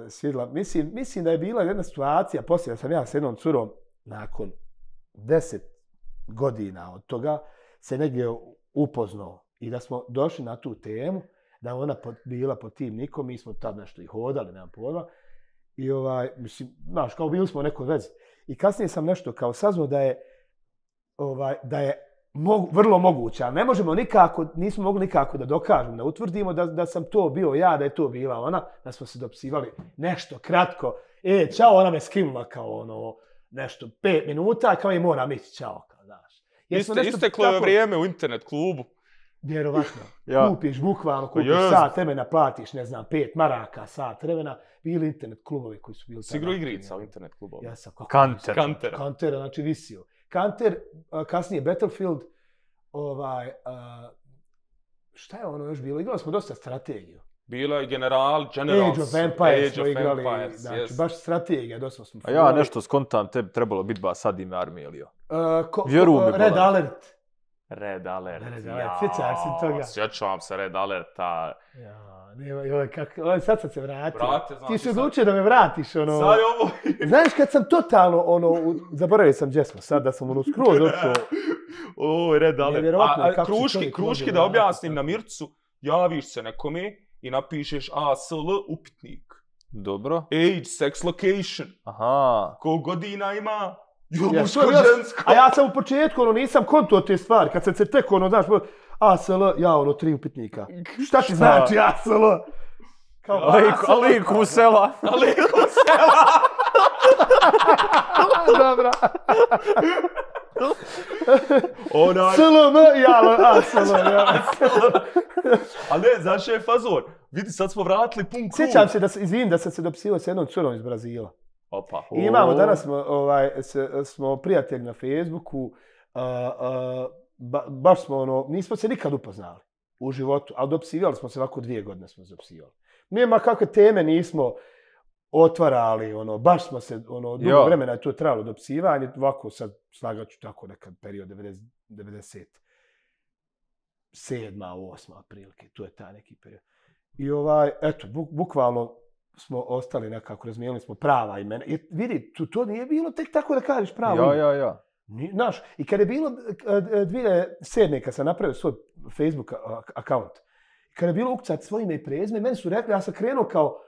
svidjela. Mislim da je bila jedna situacija, poslije sam ja s jednom curom, nakon 10 godina od toga, se negdje upoznao i da smo došli na tu temu, da ona bila pod tim nikom, mi smo tad nešto i hodali, nemam pojma, i mislim, znaš, kao bili smo u nekoj vezi. I kasnije sam nešto kao saznao da je vrlo moguće, ali nismo mogli nikako da dokažemo, da utvrdimo da sam to bio ja, da je to bila ona, da smo se dopisivali nešto kratko. Čao, ona me skinula kao nešto 5 minuta, kao i moram ići, čao, kao, znaš. Isteklo je vrijeme u internet klubu. Vjerovatno. Kupiš bukvalno, sat vremena, platiš, ne znam, 5 maraka, sat vremena. Bili internet klubovi koji su bili... Sigurno igrica u internet klubovi. Ja sam Kantera, znači visio. Kanter, kasnije Battlefield, šta je ono još bilo? Igrali smo dosta strategiju. Bilo je Generals. Age of Empires smo igrali, znači baš strategija, dosta smo... A ja nešto skontam, tebi trebalo biti ba sad ime Armelio. Red Alert. Red Alert, sjećaš se toga? Sjećam se Red Alerta. Sad sam se vratio. Ti si odlučio da me vratiš, Sad je ovo... Znaš, kad sam totalno, zaboravio sam gdje smo sad, da sam skroz došao. Red Alert. A kruški da objasnim na Mircu, javiš se nekome i napišeš ASL upitnik. Dobro. Age, sex, location. Aha. Koliko godina ima? Muško, žensko. A ja sam u početku, nisam konto te stvari. Kad sam se tek, znaš, ASL, ja 3 upitnika. Šta ti znači ASL? Aliku sela. Dobra. SLM, ASL, Ali ne, znaš je fazor. Vidi, sad smo vratili pun krug. Sjećam se da sam se dopisivao s jednom curom iz Brazila. Opa. I imamo danas smo prijatelji na Facebooku. Baš smo nismo se nikad upoznali u životu, ali dopisivali smo se ovako 2 godine smo se dopisivali. Nema kakve teme nismo otvarali, baš smo se, dugo vremena je to trajalo dopisivanje, ovako sad slagaću tako nekad period 97. 8. prilike, to je taj neki period. I eto, bukvalno smo ostali nekako, razmijenili smo prava imena. I vidi, to nije bilo tek tako da kažeš pravo ime. Ja. Znaš, i kad je bilo 2007. kad sam napravio svoj Facebook account, kad je bilo ukucati svoje ime i prezime, meni su rekli, ja sam krenuo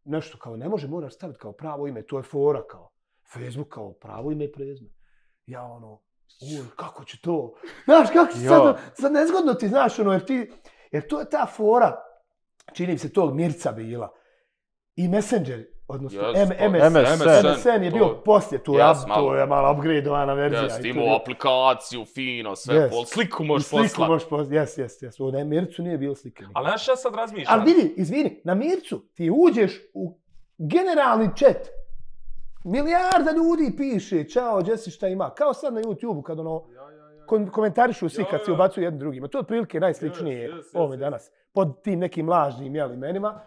nešto kao ne može, moraš staviti kao pravo ime, to je fora kao. Facebook kao pravo ime i prezime. Ja kako će to? Znaš, kako će sad nezgodno ti, znaš, jer to je ta fora, čini mi se tog Mirca bila. I Messenger, odnosno MSN je bio poslije tu, to je malo upgradeovana verzija. Jes, imao aplikaciju, fino, sve, sliku možeš poslati. Jes. Na Mircu nije bilo slike. Ali znaš, ja sad razmišljam. Ali vidi, izvini, na Mircu ti uđeš u generalni chat. Milijarda ljudi piše, čao, Jesse, šta ima. Kao sad na YouTube-u kad komentarišu svi kad se ubacuju jedni drugima. To je otprilike najsličnije ovome danas. Pod tim nekim lažnim imenima.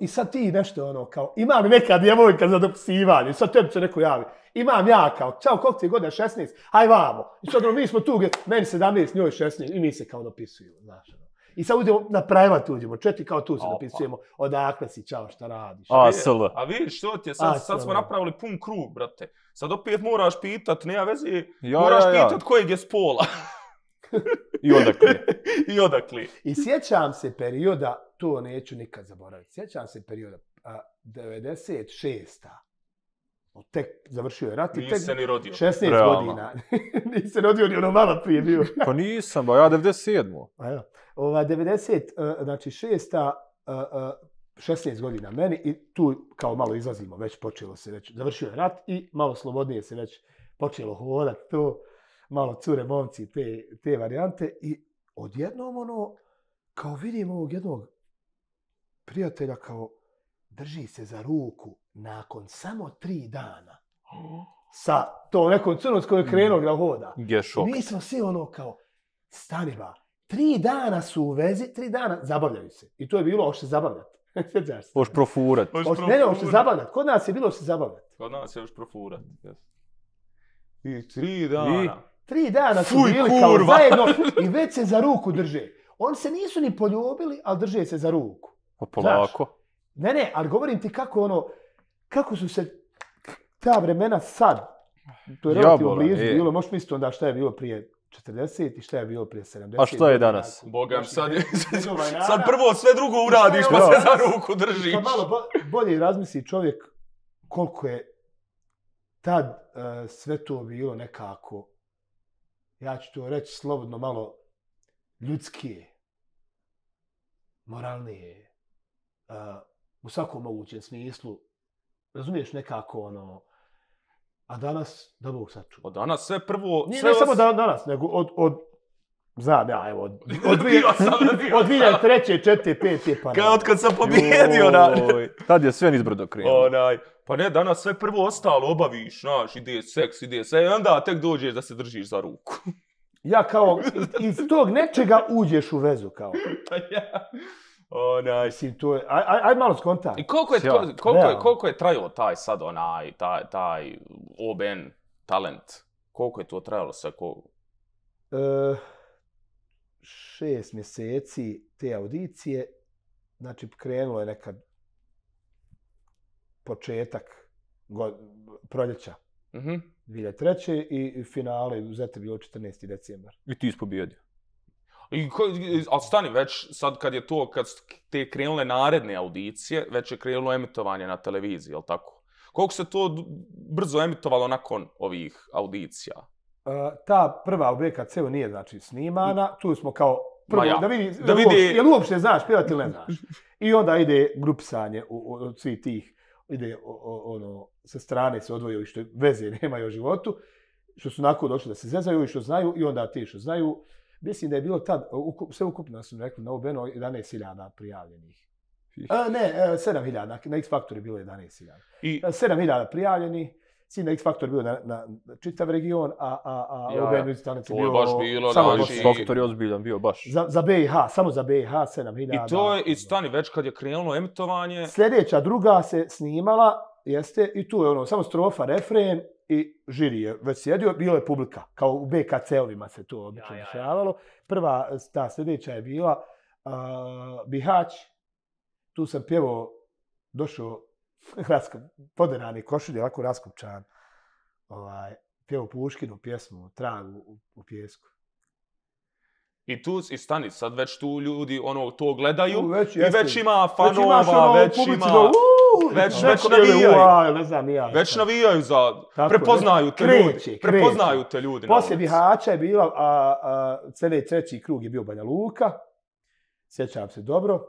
I sad ti nešto kao, imam neka djevojka za dopisivanje, sad tebi se neko javi. Imam ja kao, čao, koliko ti je godina, 16, aj vamo. I sad mi smo tu, meni 17, njoj 16, i mi se kao dopisujemo, znaš. I sad uđemo na private, uđemo, kao tu se dopisujemo, odakle si, čao, šta radiš. A vidiš, što ti je, sad smo napravili pun krug, brate. Sad opet moraš pitat, nema veze, moraš pitat kojeg je spola. I odakle. I sjećam se perioda, to neću nikad zaboraviti, sjećam se perioda 96. Tek završio je rat i tek se ni rodio. 16 godina. Nisi rodio ni malo prije bio. Pa nisam, ja 97. 90, znači 6. 16 godina meni i tu kao malo izlazimo, već počelo se već, završio je rat i malo slobodnije se već počelo hodati to, malo cure, momci, te varijante i odjednom kao vidim ovog jednog prijatelja kao drži se za ruku nakon samo 3 dana sa to nekom crnom s kojoj je krenuo da hoda. Mi smo svi kao stani ba, 3 dana su u vezi, 3 dana zabavljaju se. I to je bilo hoće se zabavljati. Hoće profurat. Ne, hoće se zabavljati. Kod nas je bilo hoće se zabavljati. Kod nas je hoće profurat. I 3 dana. 3 dana su bili kao zajedno i već se za ruku drže. Oni se nisu ni poljubili, ali drže se za ruku. Pa polako. Ne, ali govorim ti kako su se ta vremena sad, to je relativno blizu bilo, možeš misliti onda šta je bilo prije 40 i šta je bilo prije 70. A što je danas? Bogam, sad prvo sve drugo uradiš pa se za ruku držiš. Pa malo bolje razmisli čovjek koliko je tad sve to bilo nekako, ja ću to reći slobodno, malo ljudskije, moralnije, u svakom mogućem smislu, razumiješ nekako a danas, da Bog sačuva. Od danas sve prvo... Nije ne samo danas, nego znam ja, evo, od 2003. 4. 5. pa... Kao od kad sam pobjedio, tad je sve nizbrdo krenuo. Pa ne, danas sve prvo ostalo obaviš, znaš, ide seks, ide sve, i onda tek dođeš da se držiš za ruku. Ja kao, iz tog nečega uđeš u vezu, kao. Mislim, to je, aj malo skontaj. I koliko je trajao taj sad taj OBN talent? Koliko je to trajalo sve? 6 mjeseci te audicije, znači krenulo je nekad početak proljeća 2003. i finale u Zete bilo 14. decembar. I ti pobjedio. Ali stani, već sad kad te krenule naredne audicije, već je krenulo emitovanje na televiziji, jel tako? Koliko se to brzo emitovalo nakon ovih audicija? Ta prva u BKC-u nije znači snimana, tu smo kao prvo da vidi jel uopšte znaš pjevati ili ne znaš. I onda ide grupisanje od svih tih, ide sa strane se odvojaju i što veze nemaju o životu, što su onako došli da se zezaju i što znaju i onda ti što znaju Mislim da je bilo tad, sve ukupno su rekli na OBN 11.000 prijavljenih. 7.000, na X Factor je bilo 11.000. 7.000 prijavljenih, sin na X Factor je bio na čitav region, a OBN Music Talent je bio... To je baš bilo, X Factor je ozbiljan bio baš. Za BiH, samo za BiH 7.000. I to je, i stani, već kad je krenulo emitovanje... Sljedeća druga se snimala, jeste, i tu je ono, samo strofa, refren i žiri je već sjedio, bilo je publika, kao u BKC-ovima se to obično dešavalo. Prva, ta sljedeća je bila Bihać, tu sam pjevao, došao poderani košulje, ovako raskopčan, pjevao Puškinu pjesmu, Tragu u pjesku. I tu, i stani, sad već tu ljudi to gledaju i jeste. Već ima fanova, već ima... Već navijaju. Ne znam, ja. Već navijaju za... Prepoznaju te ljudi. Prepoznaju te ljudi. Poslije Bihaća je bila, treći krug je bio Banja Luka. Sjećam se dobro.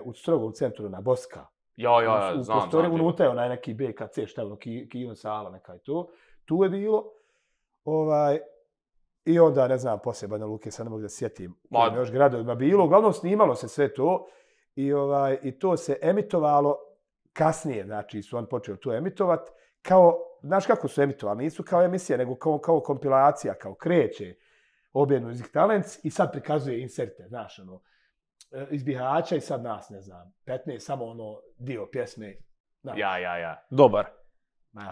U strogom centru na Boska. Ja, znam. U prostoriju unutra je onaj neki BKC, šta je ono, Kijon sala, neka je to. Tu je bilo. I onda, ne znam, poslije Banja Luke, sad ne mogu da sjetim. Još gradovima bilo. Uglavnom snimalo se sve to. I to se emitovalo kasnije, znači su on počeli to emitovati, kao, znaš kako su emitovali, nisu kao emisija, nego kao kompilacija, kao kreće OBN Music Talents i sad prikazuje inserte, znaš, ono, iz Bihaća i sad nas, ne znam, 15, samo ono dio pjesme. Znaš. Ja. Dobar.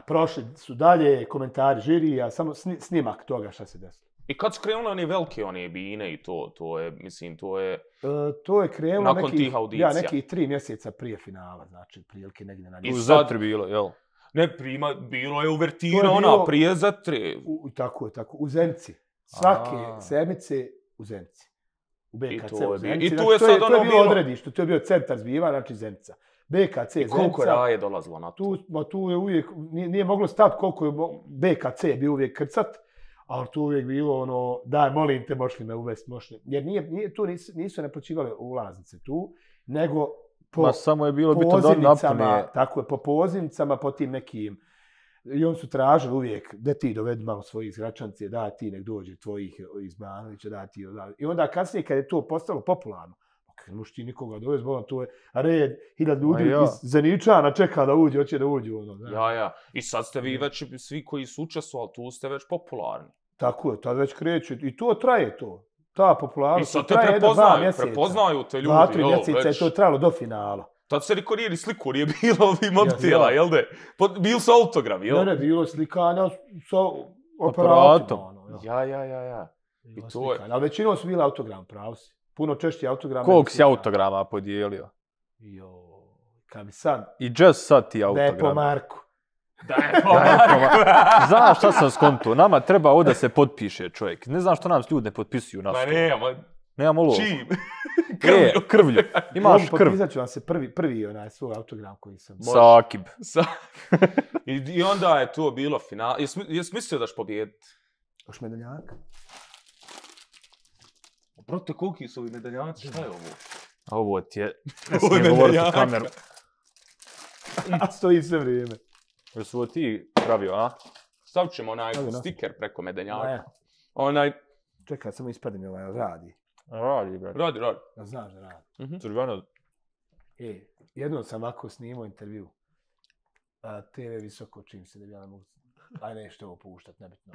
Prošli su dalje, komentari žirija, samo snimak toga šta se desilo. I kad su krenuli oni velike, one bine i to je, mislim, to je... To je krenulo nakon tih audicija. Nekih 3 mjeseca prije finala, znači, prilike negdje na njegu. U Zatri bilo, jel? Ne, bilo je uvertira, ona prije Zatre. Tako, u Zenici. Svake sedmice u Zenici. U BKC u Zenici. I tu je sad ono bilo odredište, to je bio centar zbiva, znači Zenica. BKC, Zenica. I koliko raje dolazilo na to? Tu je uvijek, nije moglo stati koliko je BKC bio uvijek krcat, ali tu uvijek bilo ono, daj, molim te, možeš li me uvesti, jer tu nisu naplaćivali ulaznice tu, nego po samo je bilo pozivnicama, tako je, po pozivnicama, po tim nekim, i oni su tražili uvijek, da ti dovedi malo svojih iz Gračance, da ti nek dođe tvojih iz Banovića, da ti, i onda kasnije kad je to postalo popularno, ne možeš ti nikoga dovesti, to je red, 1000 ljudi iz Zeničana čeka da uđe, hoće da uđe. Ja. I sad ste vi već, svi koji su učestvovali, tu ste već popularni. Tako je, tad već kreću. I to traje to. Ta popularnost traje 2 mjeseca. Prepoznaju te ljudi. 2-3 mjeseca je to trajalo do finala. Tad se niko nije sliku, nije bilo ovih mobitela, jel de? Bili su autografi, jel? Ne, bilo slikanja sa aparatom. Ja. I to je. Ali većinom su bili autogram, pravo si. Puno češće autograma. Koliko si autograma podijelio? Kad bi sad... I just sad ti autogram. Da je po Marku. Znaš šta sam skonto? Nama treba ovdje da se potpiše čovjek. Ne znam što nam ljudi ne potpisuju na što. Nemamo logo. Čim? Krvlju. Imaš krv. Potpisat ću vam se prvi svoj autogram koji sam... Sakib. I onda je to bilo final. Jesi mislio da ćeš pobijediti? Još medaljaka. Proto, koliki su ovi medaljanci? Šta je ovo? Ovo ti je... Ne smijem govoriti u kameru. A stoji sve vrijeme. Jesu ovo ti pravio, a? Stavit ćemo onaj stiker preko medaljaka. Čekaj, samo ispadim radi. Radi, brate. Radi. Ja znaš da radi. Crveno. Jednom sam ovako snimao intervju. TV visoko, čim se da ja ne mogu... Aj nešto ovo puštat, nebitno.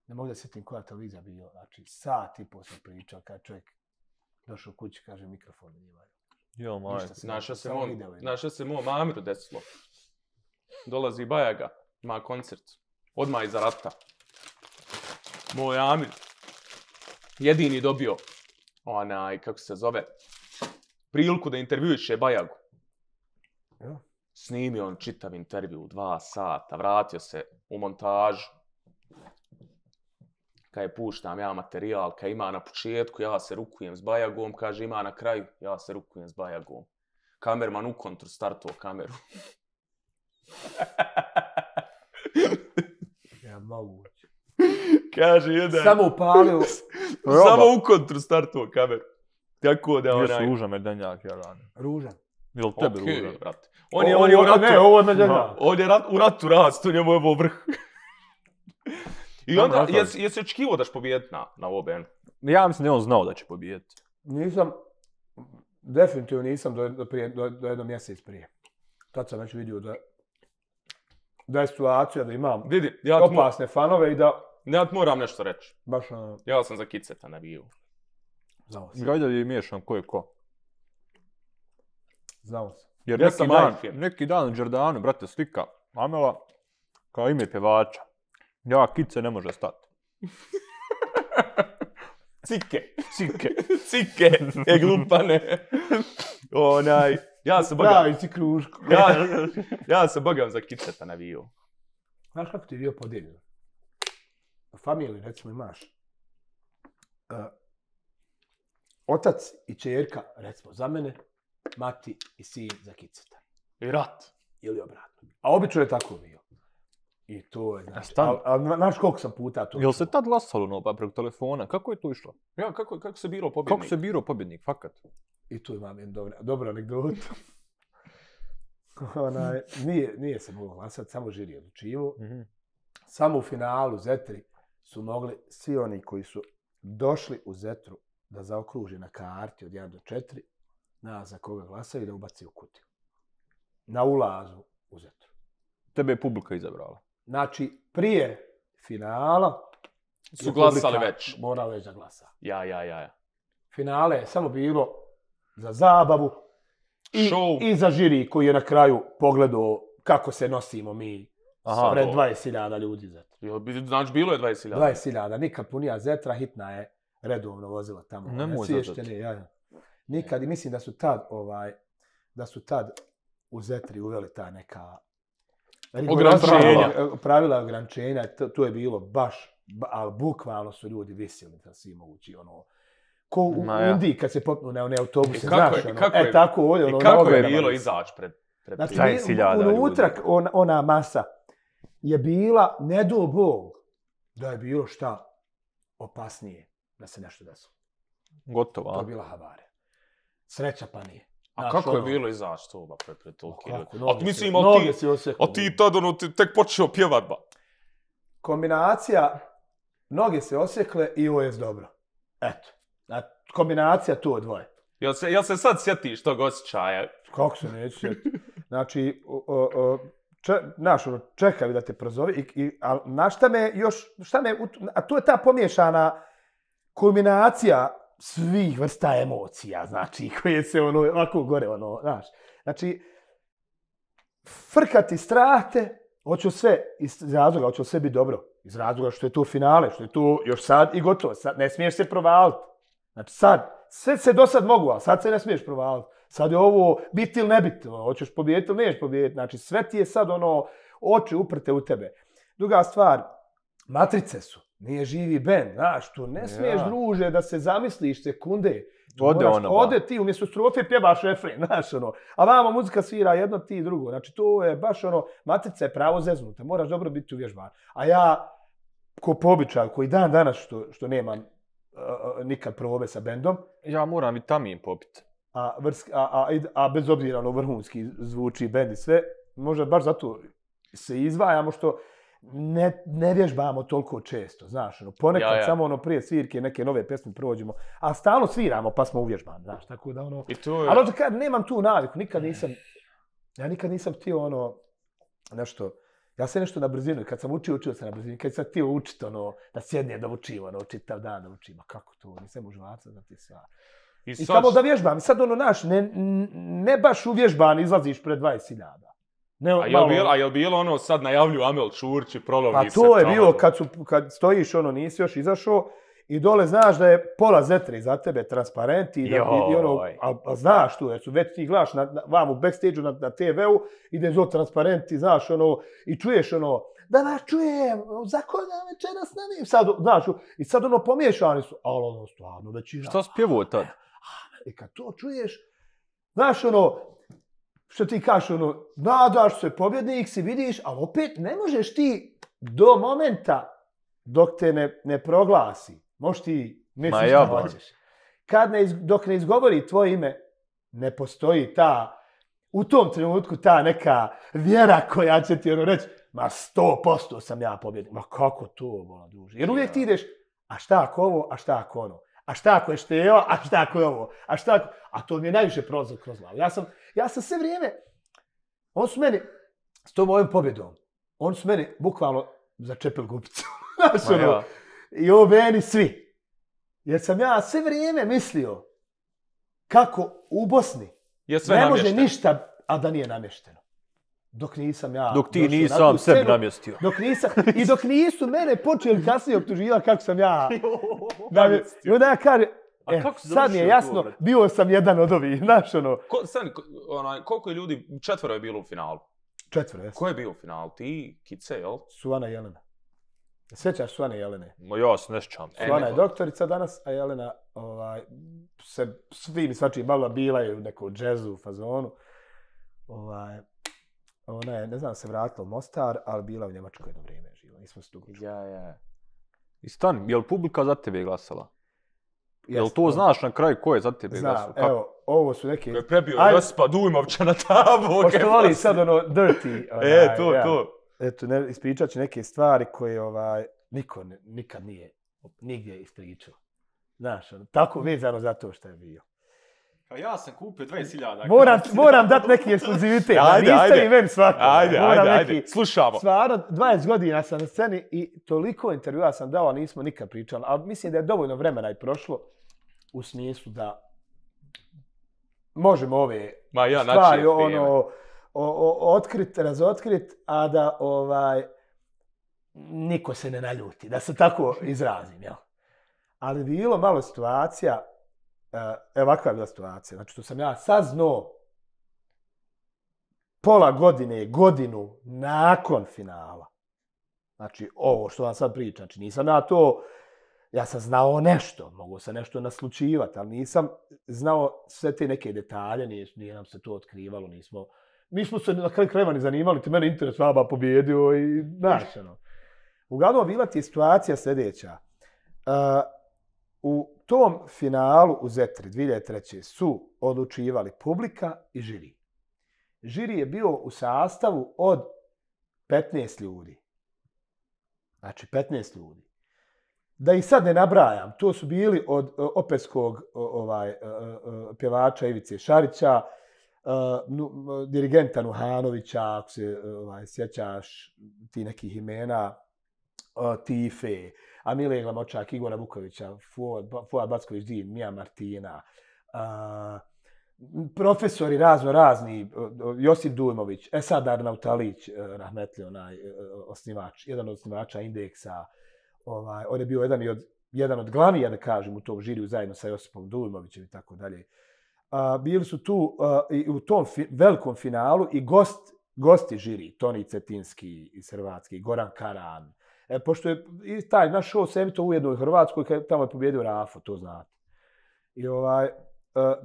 Ne mogu da sjetim koja televizija bio. Znači, sat i pol sam pričao, kad čovjek došao kući, kaže, mikrofon njimaju. Jo, moj. Naša se mom Amiru desilo. Dolazi Bajaga, ima koncert. Odmah iza rata. Moj Amir. Jedini dobio kako se zove, priliku da intervjuiše Bajagu. Snimio on čitav intervju, 2 sata, vratio se u montažu. Kad je puštam ja materijal, kad ima na početku, ja se rukujem s Bajagom, kaže ima na kraju, ja se rukujem s Bajagom. Kamerman u kontru startuo kameru. Ja moguće. Kaže jedan. Samo upalio. Samo u kontru startuo kameru. Tako da Jesu ružan medanjak, ja radim. Ružan. Jel tebe ružan? Brate. On je u ratu. Ne, ovo je medanjak. On je u ratu rast, u njemu je ovo vrh. I onda, jesi očekivao da će pobijediti na OBN? Ja mislim da je on znao da će pobijediti. Nisam, definitivno nisam do jedno mjesec prije. Tad sam već vidio da je situacija da imam opasne fanove i da... Ja ti moram nešto reći. Baš Ja sam za Kiceta navijao. Znao sam. Gajda je miješan ko je ko. Znao sam. Jer neki dan u Đerdanu, brate, slika Amela kao ime pjevača. Ja, Kice ne može stati. Cike, glupane. Ja se bogam. Pravi si kruško. Ja se bogam za Kiceta navijao. Znaš kako ti je bio podijeljen? U familiji, recimo, imaš otac i čerka, recimo, za mene, mati i sin za Kiceta. I rat. Ili obratno. A obično je tako bio. I to je, znači, znaš koliko sam puta to... Jel se tad glasalo preko telefona? Kako je to išlo? Ja, kako se birao pobjednik? Kako se birao pobjednik, fakat? I tu imam jednu dobru anegdotu. Nije se moglo glasati, samo žiri je odlučivo. Samo u finalu Zetri su mogli svi oni koji su došli u Zetru da zaokruže na karti od 1 do 4, za koga glasaju, da ubaci u kutiju. Na ulazu u Zetru. Tebe je publika izabrala. Znači, prije finala su glasali već. Morala već da glasa. Ja. Finale je samo bilo za zabavu i za žiri koji je na kraju pogledao kako se nosimo mi pred 20.000 ljudi Zetra. Znači, bilo je 20.000? 20.000, nikad punija Zetra, hitna je redovno vozila tamo. Nemoj zadati. Nikad, i mislim da su tad u Zetri uveli ta neka pravila ograničenja, to je bilo baš, ali bukvalno su ljudi visili da svi mogući, ko u Indiji kad se popnu na one autobuse, znaš, tako ovdje. I kako je bilo izaći pred 20.000 ljudi? Unutra ona masa je bila, ne do Bog, da je bilo šta opasnije da se nešto desilo. Gotovo, to je bila havarija. Sreća pa nije. A kako je bilo izaći to pred toliki ljudi? A ti tad tek počeo pjevat ba. Kombinacija, noge se osjekle i ovo je dobro. Eto, kombinacija tu dvoje. Jel se sad sjetiš tog osjećaja? Kako se neću sjetiti? Znači, čekaj da te prozove, a na šta me još, a to je ta pomiješana kombinacija svih vrsta emocija, znači, koje se ovako gore, znaš. Znači, frkati strahte, hoću sve, iz razloga, hoću sve biti dobro. Iz razloga što je to finale, što je to još sad i gotovo. Sad ne smiješ se provaliti. Znači, sad, sve se do sad mogu, ali sad se ne smiješ provaliti. Sad je ovo biti ili ne biti, hoćeš pobijediti ili neš pobijediti. Znači, sve ti je sad oči uprte u tebe. Druga stvar, matrice su. Nije živi bend, znaš, tu ne smiješ, druže, da se zamisliš sekunde. Ode ti, umjesto strofe pjevaš refren, znaš, a vama muzika svira jedno, ti drugo. Znači, to je baš matrica je pravo zeznuta, moraš dobro biti uvježban. A ja, ko po običaju, koji dan danas što nemam nikad probe sa bendom. Ja moram vitamin popiti. A bez obzira vrhunski zvuči bend i sve, možda baš zato se izdvajamo što ne vježbamo toliko često, znaš, ponekad samo prije svirke neke nove pjesme prođemo, a stalno sviramo pa smo uvježbani, znaš, tako da ali kad nemam tu naviku, nikad nisam htio nešto, ja sam nešto na brzinu, kad sam učio sam na brzinu, kad sam htio učiti da sjednem da učim, čitav dan da učim, a kako to, nisam užvaca za ti sva. I samo da vježbam, i sad naš, ne baš uvježban izlaziš pred 20.000. A je li bilo sad najavljuju Amel Čurči, prolovi se? A to je bilo kad stojiš, nisi još izašao i dole znaš da je pola Zetre iza tebe transparenti a znaš tu, jer su već ti gledaš vam u backstage-u na TV-u, ide zo transparenti, znaš, i čuješ da vas čujem, za koga večeras ne sad, znaš, i sad pomiješani su, ali stvarno većina. Šta spjevuo tad? I kad to čuješ, znaš, što ti kažeš, nadaš se, pobjednik si, vidiš, ali opet ne možeš ti do momenta dok te ne proglasi. Možeš ti misliš da hoćeš. Dok ne izgovori tvoje ime, ne postoji ta u tom trenutku ta neka vjera koja će ti reći, ma 100% sam ja pobjednik. Ma kako to, bola duže? Jer uvijek ti ideš, a šta ako ovo, a šta ako ono? A šta ako je Števa, a šta ako je ovo? A šta ako... A to mi je najviše prolazilo kroz glavu. Ja sam sve vrijeme... On su meni, s tom mojom pobjedom, on su meni bukvalno začepili gubicu. Znaš, ono, i ovo meni svi. Jer sam ja sve vrijeme mislio kako u Bosni ne može ništa, a da nije namješteno. Dok nisam ja... Dok ti nisam sebi namjestio. Dok nisu mene počeli kasnije optuživati kako sam ja... I onda ja kažem, sad mi je jasno, bio sam jedan od ovih, znaš ono... Koliko je ljudi, 4 je bilo u finalu? 4, jesam. Ko je bio u finalu? Ti, Kice, jel? Suvana i Jelena. Sjećaš Suvane i Jelene? Ja se ne sjećam. Suvana je doktorica danas, a Jelena se svim i svačim bavila, bila je u nekom džezu, fazonu. Ona je, ne znam, se vratila u Mostar, ali bila u Njemačkoj jedno vrijeme živa. Nismo se dugo čuli. Ja. I stani, je li publika za tebe glasala? Jel to znaš na kraju ko je za tebe glasao? Znam, evo, ovo su neki... Ko je prebio Josipa Dujmovća na tabu. Pošto voli sad ono dirty... To. Eto, ispričat ću neke stvari koje niko nikad nije nigdje ispričao. Znaš, tako vezano za to što je bio. Ja sam kupio 20.000. Moram dati neki ekskluzivitet. Niste i meni svako. Ajde, slušamo. Stvarno, 20 godina sam na sceni i toliko intervjua sam dao, a nismo nikad pričali. Ali mislim da je dovoljno vremena i prošlo u smislu da možemo ove stvari otkrit, razotkrit, a da niko se ne naljuti, da se tako izrazim. Jel? Ali bilo malo situacija, ovakva je bila situacija, znači što sam ja saznao pola godine, godinu nakon finala. Znači ovo što vam sad pričam, znači nisam na to, ja sam znao nešto, mogu se nešto naslučivati, ali nisam znao sve te neke detalje, nije nam se to otkrivalo, nismo se na kraju krajeva ni zanimali, ti mene interes vaba pobjedio i znaš, ono. Uglavnom bila ti je situacija sljedeća. U tom finalu u Zetri 2003. su odlučivali publika i žiri. Žiri je bio u sastavu od 15 ljudi. Znači 15 ljudi. Da ih sad ne nabrajam, to su bili od operskog pjevača Ivice Šarića, dirigenta Nuhanovića, ako se sjećaš ti nekih imena, Tife, Amile Glamočak, Igora Vukovića, Fuad Backović-Din, Mija Martina, profesori razni, Josip Dujmović, Esad Arnautalić, rahmetli osnivač, jedan od osnivača Indeksa, on je bio jedan od glavnija, da kažem, u tom žiriju zajedno sa Josipom Dujmovićem i tako dalje. Bili su tu i u tom velikom finalu i gosti žiri, Toni Cetinski iz Hrvatske, Goran Karan. Pošto je i taj naš show se emitao ujedno u Hrvatskoj, tamo je pobjedio Rafo, to znate. I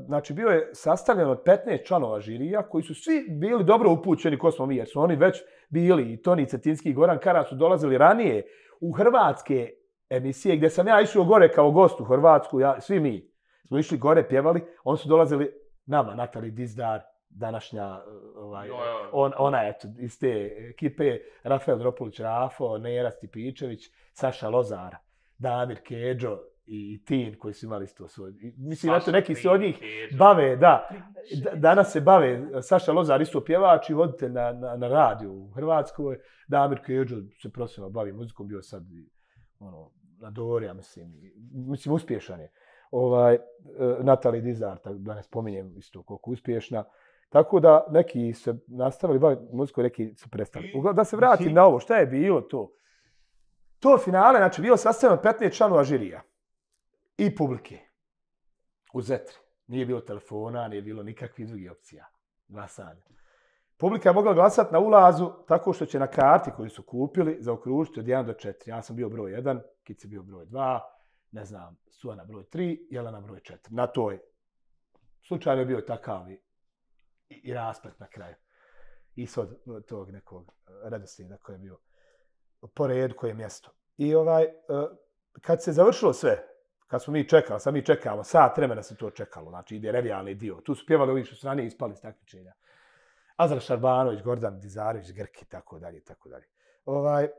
znači bio je sastavljen od 15 članova žirija koji su svi bili dobro upućeni ko smo mi, jer su oni već bili, i Toni Cetinski i Goran Karan su dolazili ranije u hrvatske emisije gdje sam ja išao gore kao gost u Hrvatsku, svi mi smo išli gore, pjevali, oni su dolazili nama, Natali Dizdar, današnja, ona eto, iz te ekipe, Rafael Dropulić Rafo, Nera Stipičević, Saša Lozar, Damir Kedžo i Tin koji su imali isto svoj. Mislim, eto, neki se od njih bave, danas se bave, Saša Lozar isto pjevač i voditelj na radiju u Hrvatskoj, Damir Kedžo se profesionalno bavi muzikom, bio sad na Dorija, mislim, uspješan je. Natali Dizar, da ne spominjem isto koliko uspješna. Tako da neki se nastavili baviti muzikom, neki su prestali. Da se vratim na ovo, šta je bilo to? To finale, znači, bilo sastavljeno 15 članova žirija i publike u Zetri. Nije bilo telefona, nije bilo nikakvih drugih opcija glasanja. Publika je mogla glasati na ulazu tako što će na karti koju su kupili zaokružiti od 1 do 4. Ja sam bio broj 1, Kici bio broj 2, ne znam, Suvana broj 3, Jelena broj 4. Na toj slučaju je bio takav i rasplet na kraju. Ishod tog nekog redoslijeda koji je bio po redu, koje je mjesto. I kad se završilo sve, kad smo mi čekali, sad mi čekamo, sat vremena se to čekalo, znači ide revijalni dio. Tu su pjevali ovi što su ranije ispali iz takmičenja. Azra Šarbanović, Gordan Dizarević, Grki, tako dalje, tako dalje.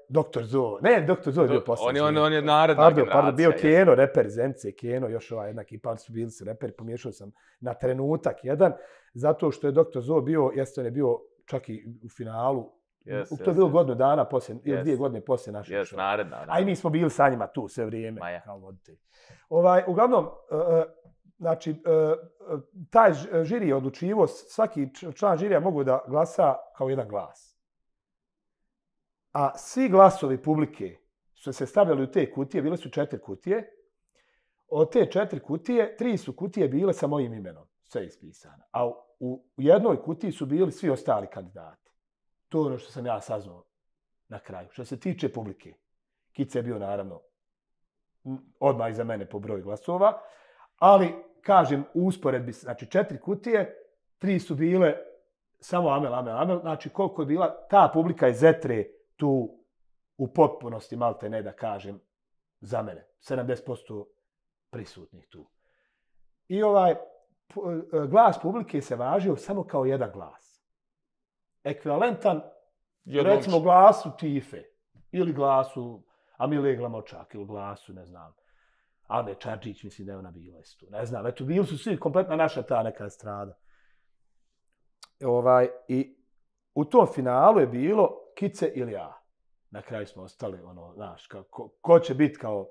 Dr. Zo. Ne, Dr. Zo je bio posljednji. On je naredna generacija. Pardon, bio Keno, reper Zence, Keno, još jedna ekipa, oni su bili su reperi, pomiješao sam na trenutak jedan, zato što je Dr. Zo bio, on je bio čak i u finalu, to je bilo godinu dana poslije, ili 2 godine poslije našeg showa. Naredna. A i mi smo bili sa njima tu sve vrijeme, kao voditelji. Uglavnom, znači, taj žiri je odlučivo, svaki član žirija mogu da glasa kao jedan glas. A svi glasovi publike su se stavljali u te kutije, bile su 4 kutije. Od te 4 kutije, 3 su kutije bile sa mojim imenom, sve ispisano. A u jednoj kutiji su bili svi ostali kandidati. To je ono što sam ja saznao na kraju. Što se tiče publike, Kica je bio naravno odmah iza mene po broju glasova, ali kažem u usporedbi, znači 4 kutije, 3 su bile samo Amel, znači koliko je bila ta publika iz Zetre tu u potpunosti, malte ne da kažem, za mene. 70% prisutnih tu. I glas publike se važio samo kao jedan glas. Ekvivalentan, recimo, glasu Tife, ili glasu Amile Glamočak, ili glasu, ne znam, Ane Čarčić, mislim da je ona bila isto. Ne znam, eto, bili su svi kompletna naša ta neka estrada. I u tom finalu je bilo Kice ili ja. Na kraju smo ostali, znaš, ko će biti kao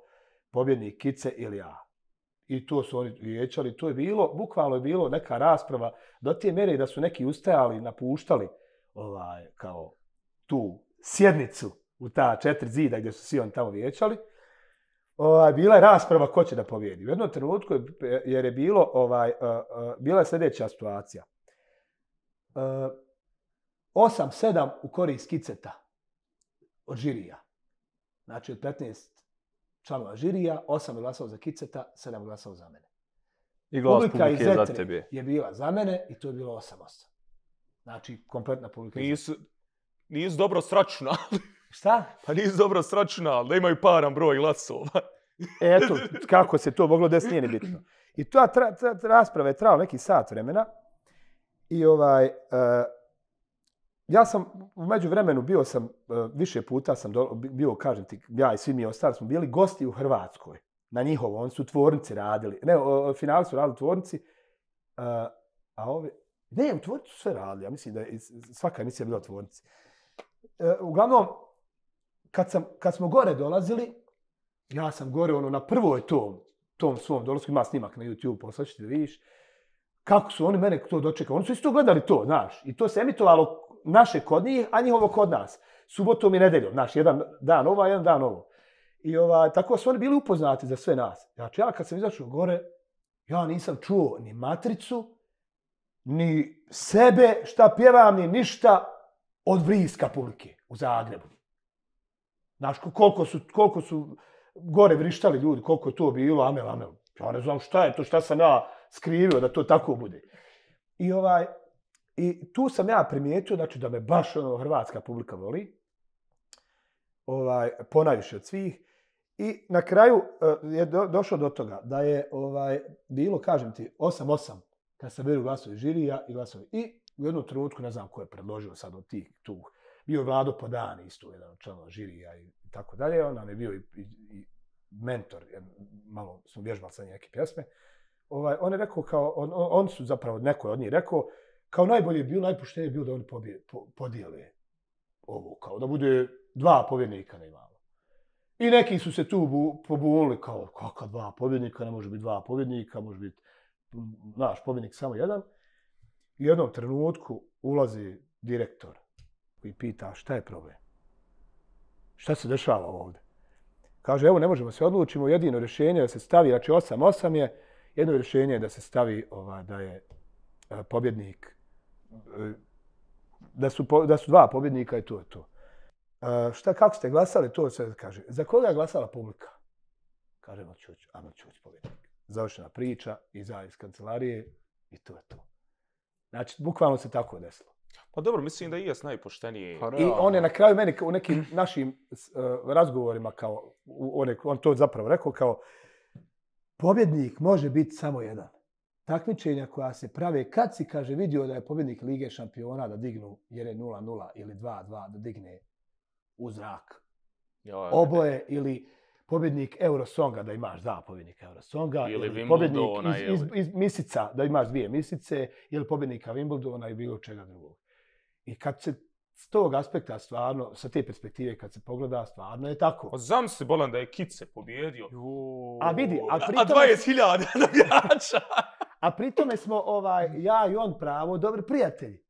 pobjednik, Kice ili ja. I to su oni vijećali, to je bilo, bukvalno je bilo neka rasprava do te mjere da su neki ustajali, napuštali kao tu sjednicu u ta 4 zida gdje su svi oni tamo vijećali. Bila je rasprava ko će da pobjedi. U jednom trenutku jer je bilo, bila je sljedeća situacija. 8-7 u korist Kiceta od žirija. Znači od 15 članova žirija, 8 je glasao za Kiceta, 7 je glasao za mene. I glas publike je za tebe. Je bila za mene i to je bilo 8-8. Znači, kompletna publika. Nisu dobro sračunali. Šta? Pa nisu dobro sračunali, da imaju paran broj glasova. Eto, kako se to moglo desiti, nije ni bitno. I ta rasprava je trajala neki sat vremena. I ja sam u međuvremenu bio sam, više puta sam bio, kažem ti, ja i svi mi ostali smo bili gosti u Hrvatskoj. Na njihovo, oni su u tvornici radili. Ne, finali su radili u tvornici. Ne, u tvornici su sve radili. Ja mislim da je svaka emisija bila u tvornici. Uglavnom, kad smo gore dolazili, ja sam gore na prvoj tom svom dolasku, ima snimak na YouTube, poslaćete da vidiš, kako su oni mene to dočekali. Oni su isto gledali to, znaš. I to se emitovalo naše kod njih, a njihovo kod nas. Subotom i nedeljom, znaš, jedan dan ovo, jedan dan ovo. I tako su oni bili upoznati za sve nas. Znači, ja kad sam izašao gore, ja nisam čuo ni matricu, ni sebe, šta pjevam, ni ništa od vriska publike u Zagrebu. Znaš, koliko su gore vrištali ljudi, koliko je to bilo, Amel. Ja ne znam šta je to, šta sam ja skrivio da to tako bude. I tu sam ja primijetio, znači, da me baš hrvatska publika voli, ponajviše od svih. I na kraju je došlo do toga da je bilo, kažem ti, 8-8 kad se beru glasovi žirija i glasovi. I u jednom trenutku, ne znam ko je predložio sad od tih tu, bio je Vlado Podani, isto jedan od članova žirija i tako dalje. On nam je bio i mentor, malo smo vježbali sa neke pjesme. On je rekao kao, on su zapravo, neko je od njih rekao, kao najbolje je bilo, najpoštenije je bilo da oni podijele ovo, kao da bude 2 pobjednika na imalo. I neki su se tu pobunili kao, kakva 2 pobjednika, ne može biti 2 pobjednika, može biti naš pobjednik samo jedan. I u jednom trenutku ulazi direktor i pita šta je problem? Šta se dešava ovdje? Kaže, evo ne možemo se odlučimo, jedino rješenje da se stavi, znači 8-8 je, jedno rješenje je da se stavi da je pobjednik, da su 2 pobjednika i to je to. Kako ste glasali, to se kaže. Za koga je glasala publika? Kaže Amel Ćuć pobjednik. Završena priča, iza iz kancelarije i to je to. Znači, bukvalno se tako desilo. Pa dobro, mislim da i jes najpošteniji. I on je na kraju meni u nekim našim razgovorima kao, on to zapravo rekao kao, pobjednik može biti samo jedan. takmičenja koja se prave kad si, kaže, vidio da je pobjednik Lige šampiona da dignu, jer je 0-0 ili 2-2 da digne u zrak oboje, ili pobjednik Eurosonga, da imaš dva pobjednika Eurosonga, ili pobjednik iz misica, da imaš dvije misice, ili pobjednika Wimbledona i bilo čega drugog. I kad se s tog aspekta stvarno, sa te perspektive kad se pogleda, stvarno je tako. Zamisli, Bolan, da je Kice pobjedio. A vidi, a 20.000 navijača. A pritome smo ja i on pravo dobri prijatelji.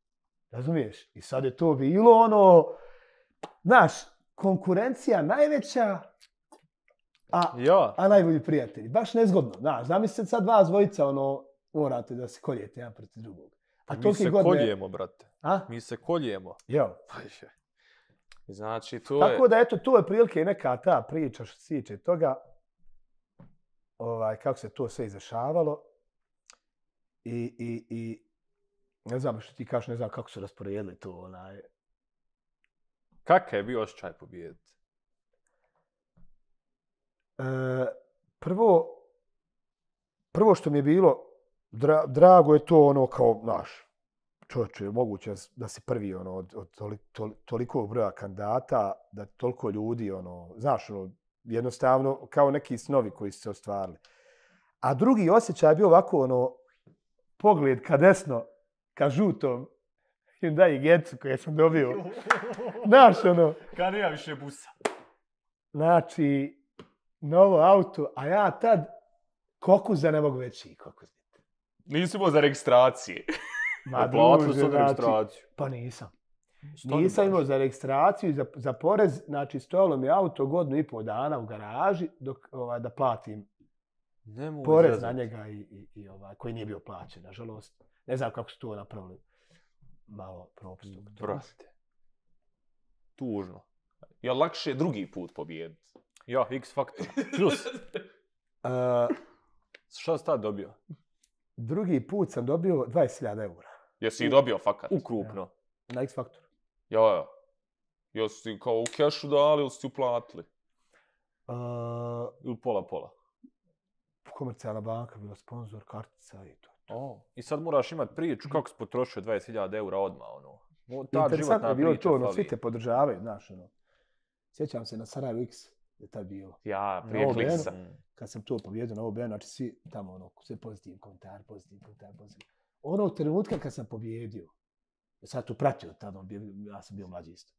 Razumiješ? I sad je to bilo ono, znaš, konkurencija najveća, a najbolji prijatelji. Baš nezgodno. Znaš, zamislite sad vas dvojica, morate da se koljete jedan protiv drugog. Mi se koljemo, brate. Mi se koljemo. Jo. Znači, to je... Tako da, eto, to je prilike neka ta priča što se tiče toga, kako se to sve izrašavalo. I ne znam što ti kažeš, ne znam kako su rasporedili to, Kakav je bio osjećaj pobijediti? Prvo što mi je bilo, drago je to kao, znaš, čovječe, moguće da si prvi od tolikog broja kandidata, da toliko ljudi, znaš, jednostavno kao neki snovi koji su se ostvarili. A drugi osjećaj je bio ovako, pogled ka desno, ka žutom Hyundai Getsu koje sam dobio. Znaš, Kad nema više busa. Znači, novo auto, a ja tad kokuza ne mogu veći kokuz. Nisi imao za registracije. Platili su registraciju. Pa nisam. Nisam imao za registraciju i za porez. Znači, stojalo mi auto 1,5 dana u garaži da platim porez na njega i koji nije bio plaćen, nažalost. Ne znam kako su to napravili. Malo propustno. Brate. Tužno. Je lakše drugi put pobijediti? Ja, X faktor. Plus. Šta si tad dobio? Drugi put sam dobio 20.000 eura. Jesi i dobio fakat? Ukrupno. Na X faktoru. Ja. Jesi kao u kešu dali ili si uplatili? Ili pola. Komercijalna banka bila sponsor, kartica i to. I sad moraš imati priču kako si potrošio 20.000 eura odmah, Interesantno je bilo to, svi te podržavaju, znaš, Sjećam se na Sarajevo X, je tad bilo. Ja, prije Kliksa. Kad sam to pobjedio na OBN, znači svi tamo, sve pozitivni komentar. Onog trenutka kad sam pobjedio, sad tu pratio tada, ja sam bio mlađi isto.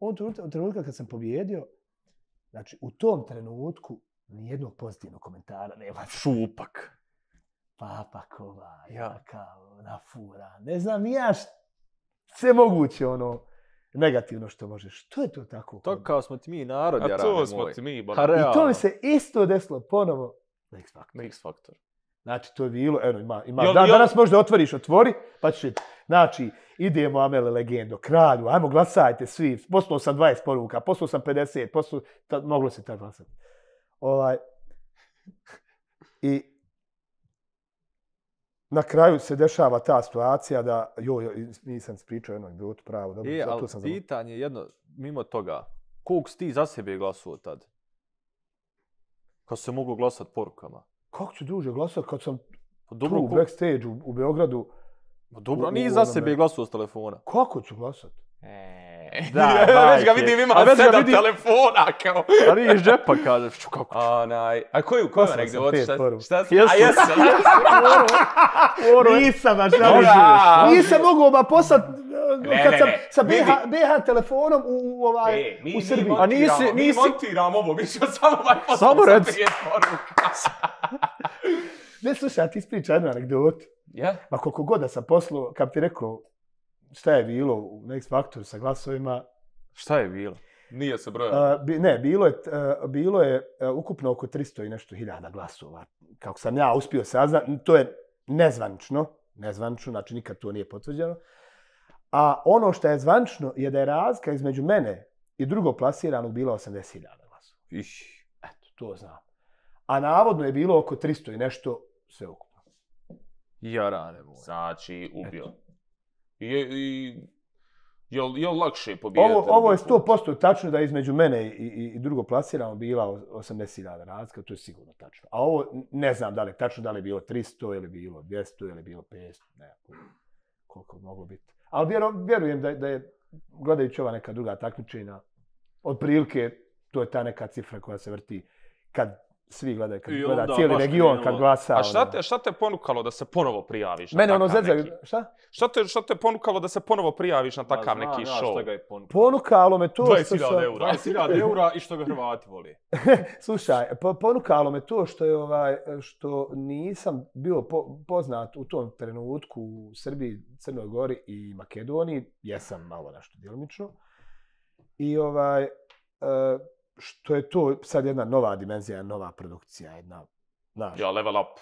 Onog trenutka kad sam pobjedio, znači u tom trenutku nijednog pozitivnog komentara nema. Šupak. Papakova, kao, nafura, ne znam, sve moguće, negativno što možeš. Što je to tako? To kao smo ti mi narod, jarane moj. A to smo ti mi, I to mi se isto desilo ponovo na X Factor. Znači, to je bilo, ima. Danas možda otvori, pa ćeš vidjeti. Znači, idemo, Amele Legendo, kralju, ajmo glasajte svi. Poslao sam 20 poruka, poslao sam 50, moglo se tako glasati. I na kraju se dešava ta situacija da, nisam pričao jednu anegdotu pravo. Dobro, ali pitanje je jedno, mimo toga, koliko si ti za sebe glasovao tad? Kad se mogu glasati porukama? Kako ću duže glasati kad sam tu u backstage u Beogradu? Dobro, nije za sebe glasovao s telefona. Kako ću glasati? Već ga vidim, ima 7 telefona, kao. A nije iz džepa, kažeš, kako ću. A koju anegdotu? Šta si? A jesam. Nisam, nisam mogao poslati kad sam sa BH telefonom u Srbiji. Mi montiramo ovo, mi ćemo samo poslati sa 5 poruka. Ne, slušaj, a ti ispriča jednu anegdotu. Ma koliko god da sam poslao, kad ti rekao šta je bilo na X Factoru sa glasovima. Šta je bilo? Nije se brojalo. Ne, bilo je ukupno oko 300 i nešto hiljada glasova. Kako sam ja uspio saznati, to je nezvanično, znači nikad to nije potvrđeno. A ono što je zvanično je da je razlika između mene i drugog plasiranog bila 80.000 glasova. Eto, to znam. A navodno je bilo oko 300 i nešto sve ukupno. Jarane moj. Znači, ubio. Jel lakše pobijediti? Ovo je 100% tačno da između mene i drugo plasiramo bila 80.000 razlika, to je sigurno tačno. A ovo ne znam da li je tačno, da li je bilo 300 ili bilo 200 ili bilo 500, ne koliko moglo biti. Ali vjerujem da je, gledajući ova neka druga takmičenja, otprilike to je ta neka cifra koja se vrti kad svi gledaju, kad gleda cijeli region, kad glasa. A šta te ponukalo da se ponovo prijaviš na mene takav neki? Šta? Šta te ponukalo da se ponovo prijaviš na takav neki show? Ponukalo me to 20.000 eura. 20.000 eura i što ga Hrvati voli. Slušaj, ponukalo me to što je što nisam bio poznat u tom trenutku u Srbiji, Crnoj Gori i Makedoniji. Jesam malo nešto djelomično. I što je to sad jedna nova dimenzija, nova produkcija, Ja, level up.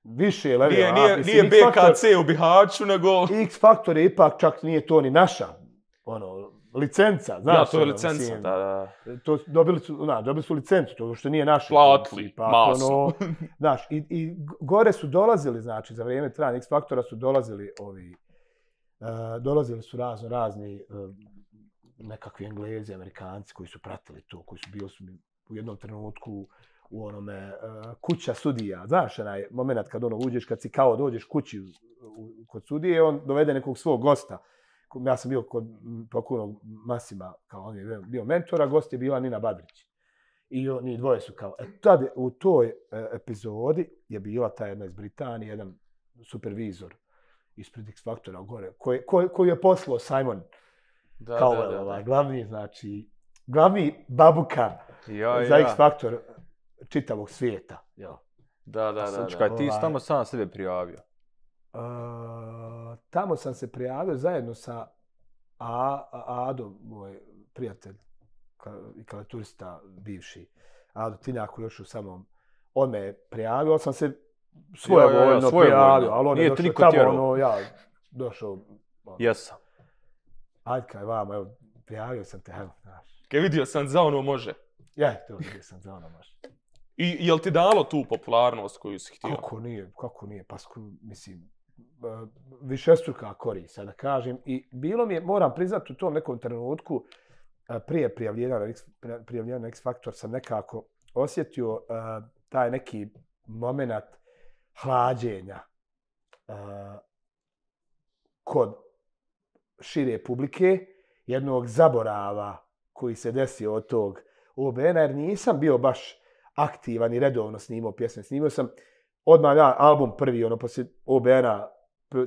Više level up. Nije BKC u Bihaću, nego... X Factor je ipak, čak nije to ni naša, licenca, znaš. Ja, to je licenca, da. Dobili su licencu, to što nije naša. Platili, masno. Znaš, i gore su dolazili, znači, za vrijeme trajanja X Factora su dolazili dolazili su razni nekakvi Englezi, Amerikanci koji su pratili to, koji su bili u jednom trenutku u onome kuća sudija. Znaš, onaj moment kad uđeš, kad si kao dođeš kući kod sudije, on dovede nekog svog gosta. Ja sam bio kod pokojnog Masima, kao on je bio mentor, a gost je bila Nina Badrić. I oni dvoje su kao... Tad u toj epizodi je bila ta jedna iz Britanije, jedan supervizor ispred X Factora gore, koji je poslao Simon Cowell, glavni babuka za X Factor čitavog svijeta. Da. Čekaj, ti si tamo sam sebe prijavio? Tamo sam se prijavio zajedno sa Ado, moj prijatelj i klavijaturista bivši. Ado Tinjak koji još u samom... On me prijavio, sam se svojevoljno prijavio, ali on je došao tamo, došao... Jesam. Ajde kaj vamo, evo, prijavio sam te, evo, znaš. Kaj vidio sam za ono može? To vidio sam za ono može. I jel ti dalo tu popularnost koju si htio? Kako nije, pa mislim, višestruka korist, da kažem. I bilo mi je, moram priznati, u tom nekom trenutku, prije prijavljena na X Factor, sam nekako osjetio taj neki moment hlađenja kod šire publike, jednog zaborava koji se desio od tog OBN-a, jer nisam bio baš aktivan i redovno snimao pjesme. Snimao sam odmah album prvi, poslije OBN-a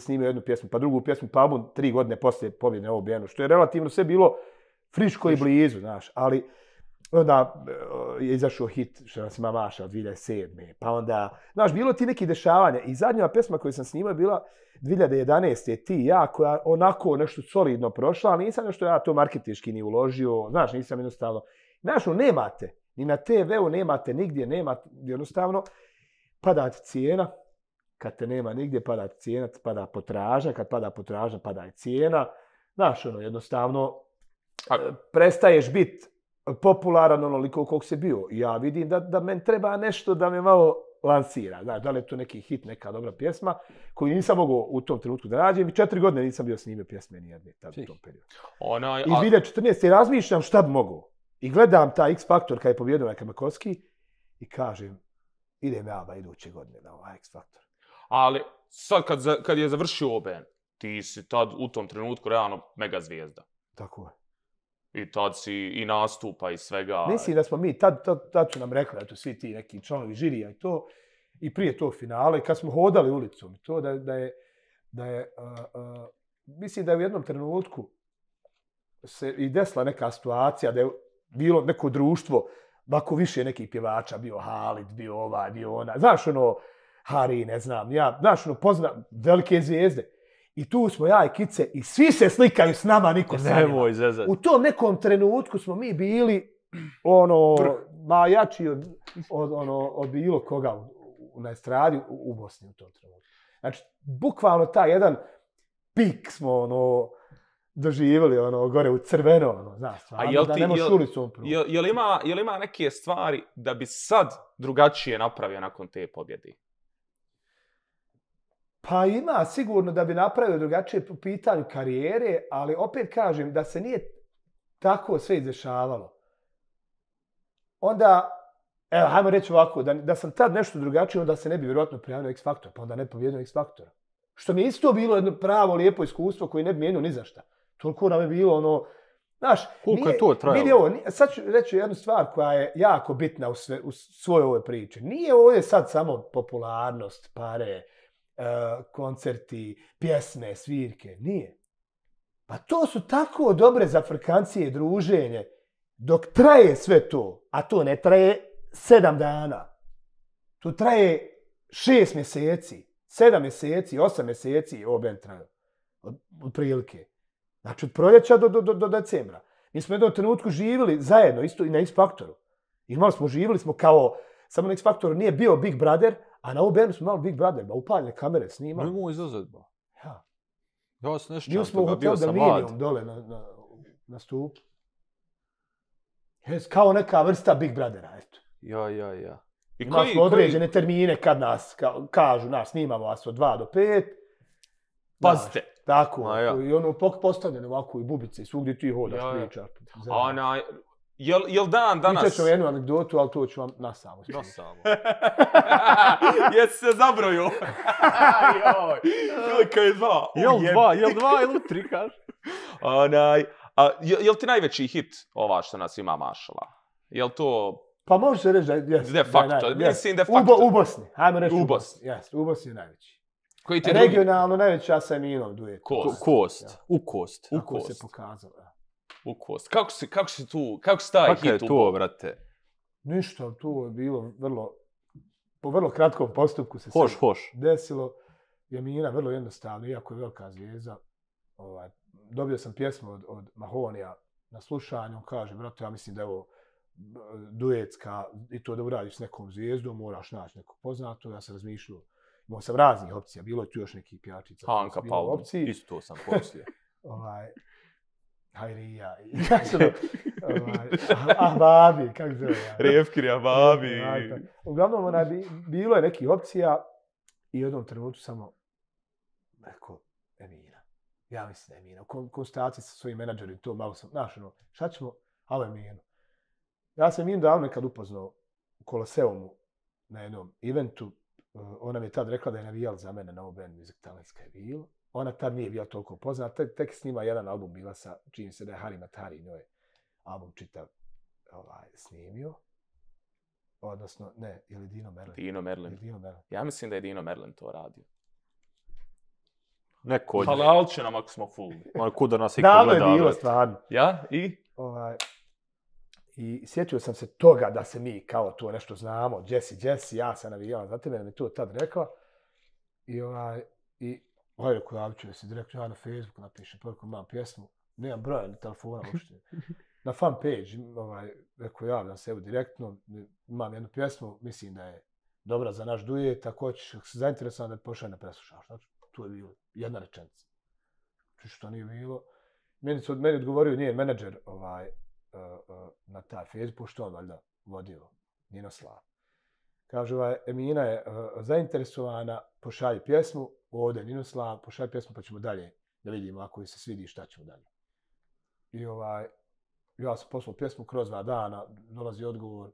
snimao jednu pjesmu, pa drugu pjesmu, pa album 3 godine poslije pobjede na OBN-u, što je relativno sve bilo friško i blizu, znaš, ali onda je izašao hit što nas ima Maša od 2007. Pa onda, znaš, bilo ti neki dešavanja i zadnja pjesma koju sam snimao je bila 2011. Ti ja, koja onako nešto solidno prošla, ali nisam nešto ja to marketički ni uložio, znaš, nisam jednostavno, znaš, nemate, ni na TV-u nemate, nigdje nemate, jednostavno, pada ti cijena, kad te nema nigdje, pada ti cijena, pada potražnja, kad pada potražnja, pada i cijena, znaš, jednostavno, prestaješ biti popularan onoliko koliko si bio. Ja vidim da meni treba nešto da me malo lansira. Znaš, da li je to neki hit, neka dobra pjesma koju nisam mogao u tom trenutku da nađem i 4 godine nisam bio snimio pjesme nijedne u tom periodu. I 2014. razmišljam šta bi mogao. I gledam taj X Factor kad je pobjedio na Kamakovski i kažem, idem ja iduće godine na ovaj X Factor. Ali sad kad je završio OBN, ti si tad u tom trenutku realno mega zvijezda. Tako je. I tad si i nastupa i svega. Mislim da smo mi, tad su nam rekli, eto, svi ti neki članovi žirija i to, i prije tog finala, i kad smo hodali ulicom, to mislim da je u jednom trenutku se i desila neka situacija, da je bilo neko društvo, ovako više nekih pjevača, bio Halid, bio ovaj, bio ona, znaš Hari, ne znam, ja, znaš poznam velike zvijezde. I tu smo ja i Kice i svi se slikaju s nama, niko sa njima. U tom nekom trenutku smo mi bili jači od bilo koga na estradi u Bosni u tom trenutku. Znači, bukvalno taj jedan pik smo doživjeli gore u crveno, znaš, da ne možeš ulicom prvo. Jel ima neke stvari da bi sad drugačije napravio nakon te pobjede? Pa ima sigurno da bi napravio drugačije po pitanju karijere, ali opet kažem da se nije tako sve izdešavalo. Onda, evo, hajmo reći ovako, da sam tad nešto drugačije, onda se ne bi vjerojatno prijavio X Factor, pa onda ne bi pobjedio X Factora. Što mi je isto bilo jedno pravo, lijepo iskustvo koje ne bi mijenio ni za šta. Toliko nam je bilo ono, znaš, koliko je to trajalo? Sad ću reći jednu stvar koja je jako bitna u svojoj ovoj priči. Nije ovdje sad samo popularnost, pare, koncerti, pjesme, svirke. Nije. Pa to su tako dobre zafrkancije i druženje dok traje sve to, a to ne traje 7 dana. To traje 6 mjeseci, 7 mjeseci, 8 mjeseci oben traju. Od prilike. Znači od proljeća do decembra. Mi smo u jednom trenutku živjeli zajedno, isto i na X Factoru. Živjeli smo kao, samo na X Factoru nije bio Big Brother, a na OBN smo imali Big Brother, upaljene kamere snimali. Nemoj izazad, ba. Ja. Ja se nešto bio smo u hotelu Dominion dole na stupu. Kao neka vrsta Big Brothera, eto. Ja. Imali smo određene termine kad nas kažu, snimamo vas od 2 do 5. Pazite. Tako, i ono postavljeno ovako i bubice i svugdje ti hodaš, pričaš. Jel dan danas... Pričat ću jednu anegdotu, ali to ću vam nasamo. Jesi se zabrojio? Koliko je 2? Jel 2 ili 3, kaži? Jel ti najveći hit ova što nas ima mašala? Jel to... Pa može se reći da je... De facto, mislim de facto. U Bosni, hajmo reći u Bosni. U Bosni je najveći. Regionalno najveća sa Eminom duet. Kost. U kost. Tako se pokazalo. U kost. Kako si tu, kako si taj hit upao? Kako je to, brate? Ništa, to je bilo po vrlo kratkom postupku se desilo. Emina vrlo jednostavno, iako je velika zvijezda. Dobio sam pjesmu od Mahonija na slušanju, on kaže, brate, ja mislim da je ovo duetska i to da uradiš s nekom zvijezdom, moraš naći nekog poznato, ja sam razmišljao. Imao sam raznih opcija, bilo je tu još nekih pjačica. Hanka Palma, isto sam poslije. Hajrija, Ahbabi, kako se zove? Revkiri, Ahbabi. Uglavnom, bilo je nekih opcija i u jednom trenutku samo rekao, Emina. Ja mislim da je Emina. U konstantaciji sa svojim menadžerom, to malo sam, šta ćemo, ali Eminu. Ja sam Eminu davno nekad upoznao u Koloseumu na jednom eventu. Ona mi je tad rekla da je navijala za mene na OBN Music Talentska je bilo. Ona tad nije bila toliko poznata, tek snima jedan album bila sa, čini se da je Hari Matari njoj album čitav snimio. Odnosno, ne, ili Dino Merlin. Dino Merlin. Ja mislim da je Dino Merlin to radio. Neko od... Halal će nam ako smo full. Kuda nas iko gleda. Davno je bilo stvarno. Ja? I? I sjetio sam se toga da se mi kao to nešto znamo. Jesse, ja sam navijala za tebe, da mi to tad rekla. I rekao, javit ću se direktno, ja na Facebooku napišem, porukom imam pjesmu, nemam broja ni telefona uopšte. Na fan page, rekao, javljam se evo direktno, imam jednu pjesmu, mislim da je dobra za naš duet, ako ćeš se zainteresovan da pošalje na preslušaš. Znači, tu je bilo jedna rečenica. Što nije bilo. Meni odgovorio njen menadžer na taj Facebook, što on valjda vodio, Ninoslav. Kaže, Emina je zainteresovana, pošalji pjesmu, ovdje Ninoslav, pošalji pjesmu pa ćemo dalje da vidimo ako joj se svidi šta ćemo dalje. I ja sam poslao pjesmu kroz 2 dana, dolazi odgovor,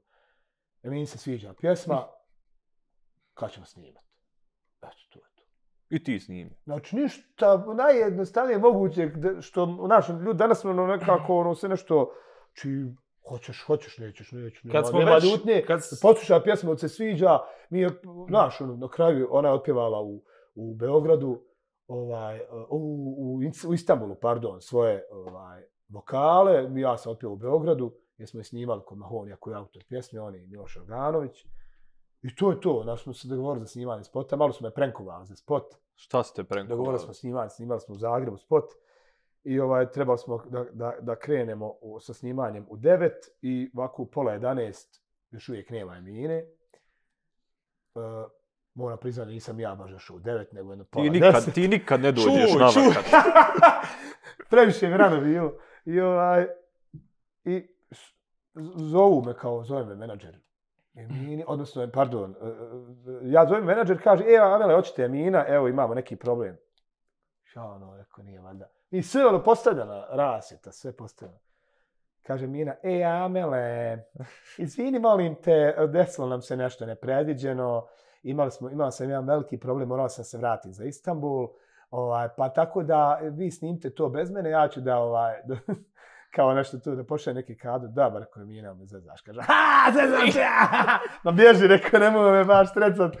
Emini se sviđa pjesma, kad ćemo snimati? Eto, to je to. I ti snimi. Znači, ništa najjednostavnije moguće, što ljudi danas smo nekako sve nešto, hoćeš, nećeš. Nema ljutnje, posluša pjesmu, se sviđa, na kraju ona je otpjevala u Beogradu, u Istanbulu, svoje vokale, ja sam otpjevao u Beogradu, gdje smo je snimali kod Mahonija koji je autor pjesme, on i Miloš Organović. I to je to, smo se dogovorili za snimanje spota, malo smo je prenkovali za spot. Šta ste prenkovali? Dogovorili smo snimali smo u Zagrebu spot. I trebali smo da krenemo sa snimanjem u 9 i ovako u pola 11 još uvijek nema Emine. Moram priznati da nisam ja baš još u 9, nego jedno pola 10. Ti nikad ne dođeš nama kad. Previše je rano bilo. I zovu me zove me menadžer Emini, odnosno, pardon, ja zovem menadžer, kaže, Amele, hoćete Emina, evo imamo neki problem. Ja ono, rekao, nije valjda. I sve ono postavljeno, rasvjeta, sve postavljeno. Kaže Mina, Amele, izvini, molim te, desilo nam se nešto nepredviđeno, imala sam jedan veliki problem, morala sam se vratiti za Istanbul, pa tako da vi snimite to bez mene, ja ću da kao nešto tu, da pošalje neki kadru, da, bar ako je Mina me zezaš, kaže, zezam se, ma bježi, rekao, nemoj me baš strecat,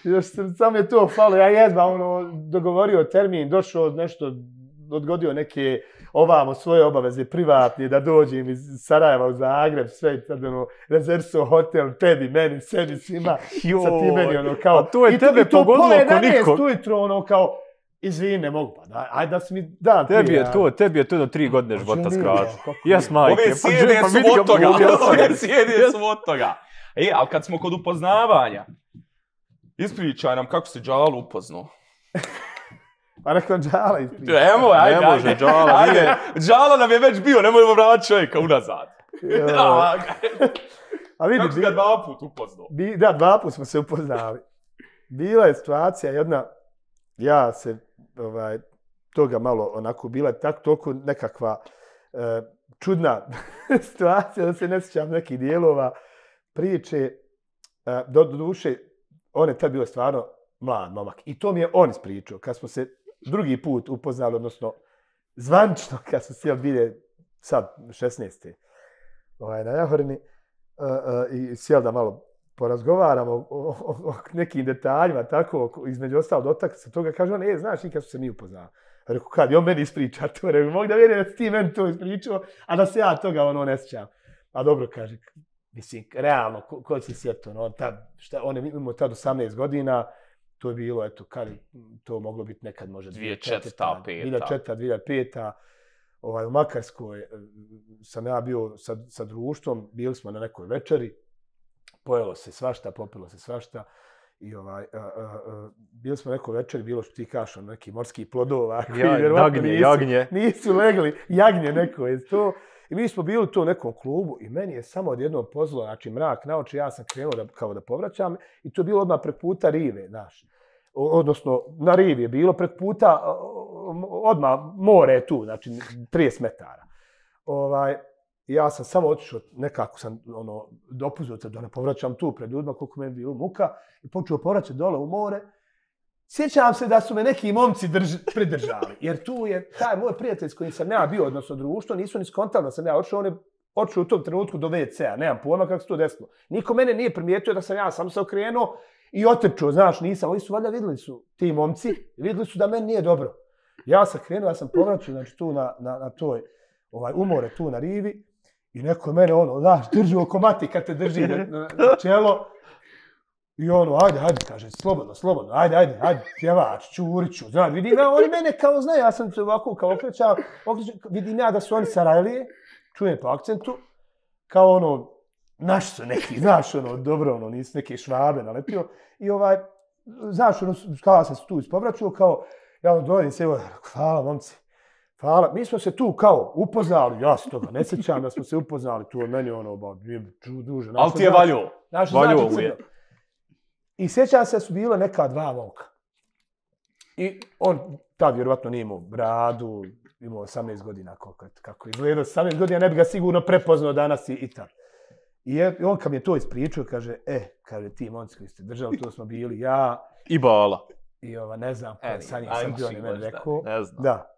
još sam je to falo, ja jedva, dogovorio termin, došao nešto, odgodio neke svoje obaveze privatne, da dođem iz Sarajeva u Zagreb, sve, sad rezervso hotel, tebi, meni, sebi, svima, sa ti meni, kao, a to je tebe pogodilo oko nikog. Ujutro, kao, izvini, ne mogu, pa ajde da si mi dan prije. Tebi je to do 3 godine života skratio. Jes, majke. Ove sjede su od toga. Ali kad smo kod upoznavanja, ispričaj nam kako si Džalu upoznao. Pa rekao Džala ispričaj. Ne može, Džala nije. Džala nam je već bio, nemojmo vratiti čovjeka unazad. A vidi, kako si ga 2 put upoznao? Da, 2 put smo se upoznali. Bila je situacija jedna, ja se toga malo onako bila toliko nekakva čudna situacija da se ne sjećam nekih dijelova priče. Do duše, on je tad bio stvarno mlad momak. I to mi je on ispričao. Kad smo se drugi put upoznali, odnosno zvančno, kad smo sjeli bile sad 16. Na Jahorini i sjeli da malo porazgovaramo o nekim detaljima, tako, između ostalo dotakli se toga, kaže on, znaš, nikad su se mi upoznali. Rekao, kad je on meni ispriča to, rekao, mogu da vjerujem da si ti meni to ispričao, a da se ja toga ne sjećam. A dobro, kaže, mislim, realno, ko će se sjetiti, on je imao tad 18 godina, to je bilo, eto, kad to moglo biti nekad možda 2004. 2005. U Makarskoj sam ja bio sa društvom, bili smo na nekoj večeri, pojelo se svašta, popilo se svašta i bili smo neko večer, bilo što ti kažeš, neki morski plodova koji vjerovatno nisu legli, jagnje neko je to. I mi smo bili tu u nekom klubu i meni je samo odjednom pozlo, znači mrak na oči, ja sam krenuo kao da povraćam i to je bilo odmah prek puta rive, znaš. Odnosno, na rivi je bilo prek puta, odmah more je tu, znači 30 metara. Ja sam samo otišao, nekako sam dopuzio da ne povraćam tu pred ljudima koliko meni bilo muka i počeo povraćati dole u more. Sjećam se da su me neki momci pridržali, jer tu je taj moj prijatelj s kojim sam ja bio, odnosno društvo, nisu ni skontali da sam ja otišao, on je otišao u tom trenutku do WC-a, nemam pojma kako se to desilo. Niko mene nije primijetio da sam ja sam se okrenuo i otrčao, znaš, nisam, oni su valjda vidjeli su ti momci, vidjeli su da meni nije dobro. Ja sam krenuo, ja sam povraćao, znači tu na toj umore, tu na rivi. I neko je mene znaš, drži oko mati kad te drži na čelo. I ajde, kaže, slobodno, ajde, pjevač, Čuriću, znaš, vidim ja, oni mene kao znaju, ja sam se ovako kao okrećao, vidim ja da su oni Sarajlije, čujem po akcentu, kao naši su neki, znaš, dobro, nisu neke Švabe nalepio. I znaš, kao sam se tu ispovraćao, kao, ja dođem se, hvala, momci. Hvala, mi smo se tu kao upoznali, ja se toga ne sjećam da smo se upoznali, tu od meni duže. Ali ti je valjuo. Valjuo mu je. I sjećam se da su bila neka 2 momka. I on tad vjerovatno nije imao bradu, imao 18 godina, kako je izgledao, 18 godina ne bi ga sigurno prepoznao danas i tad. I on kad mi je to ispričao, kaže, kaže, ti momci koji ste držali, to smo bili ja. I Bala. I ne znam, sa njih sam bio, ne meni rekao. Ne znam. Da.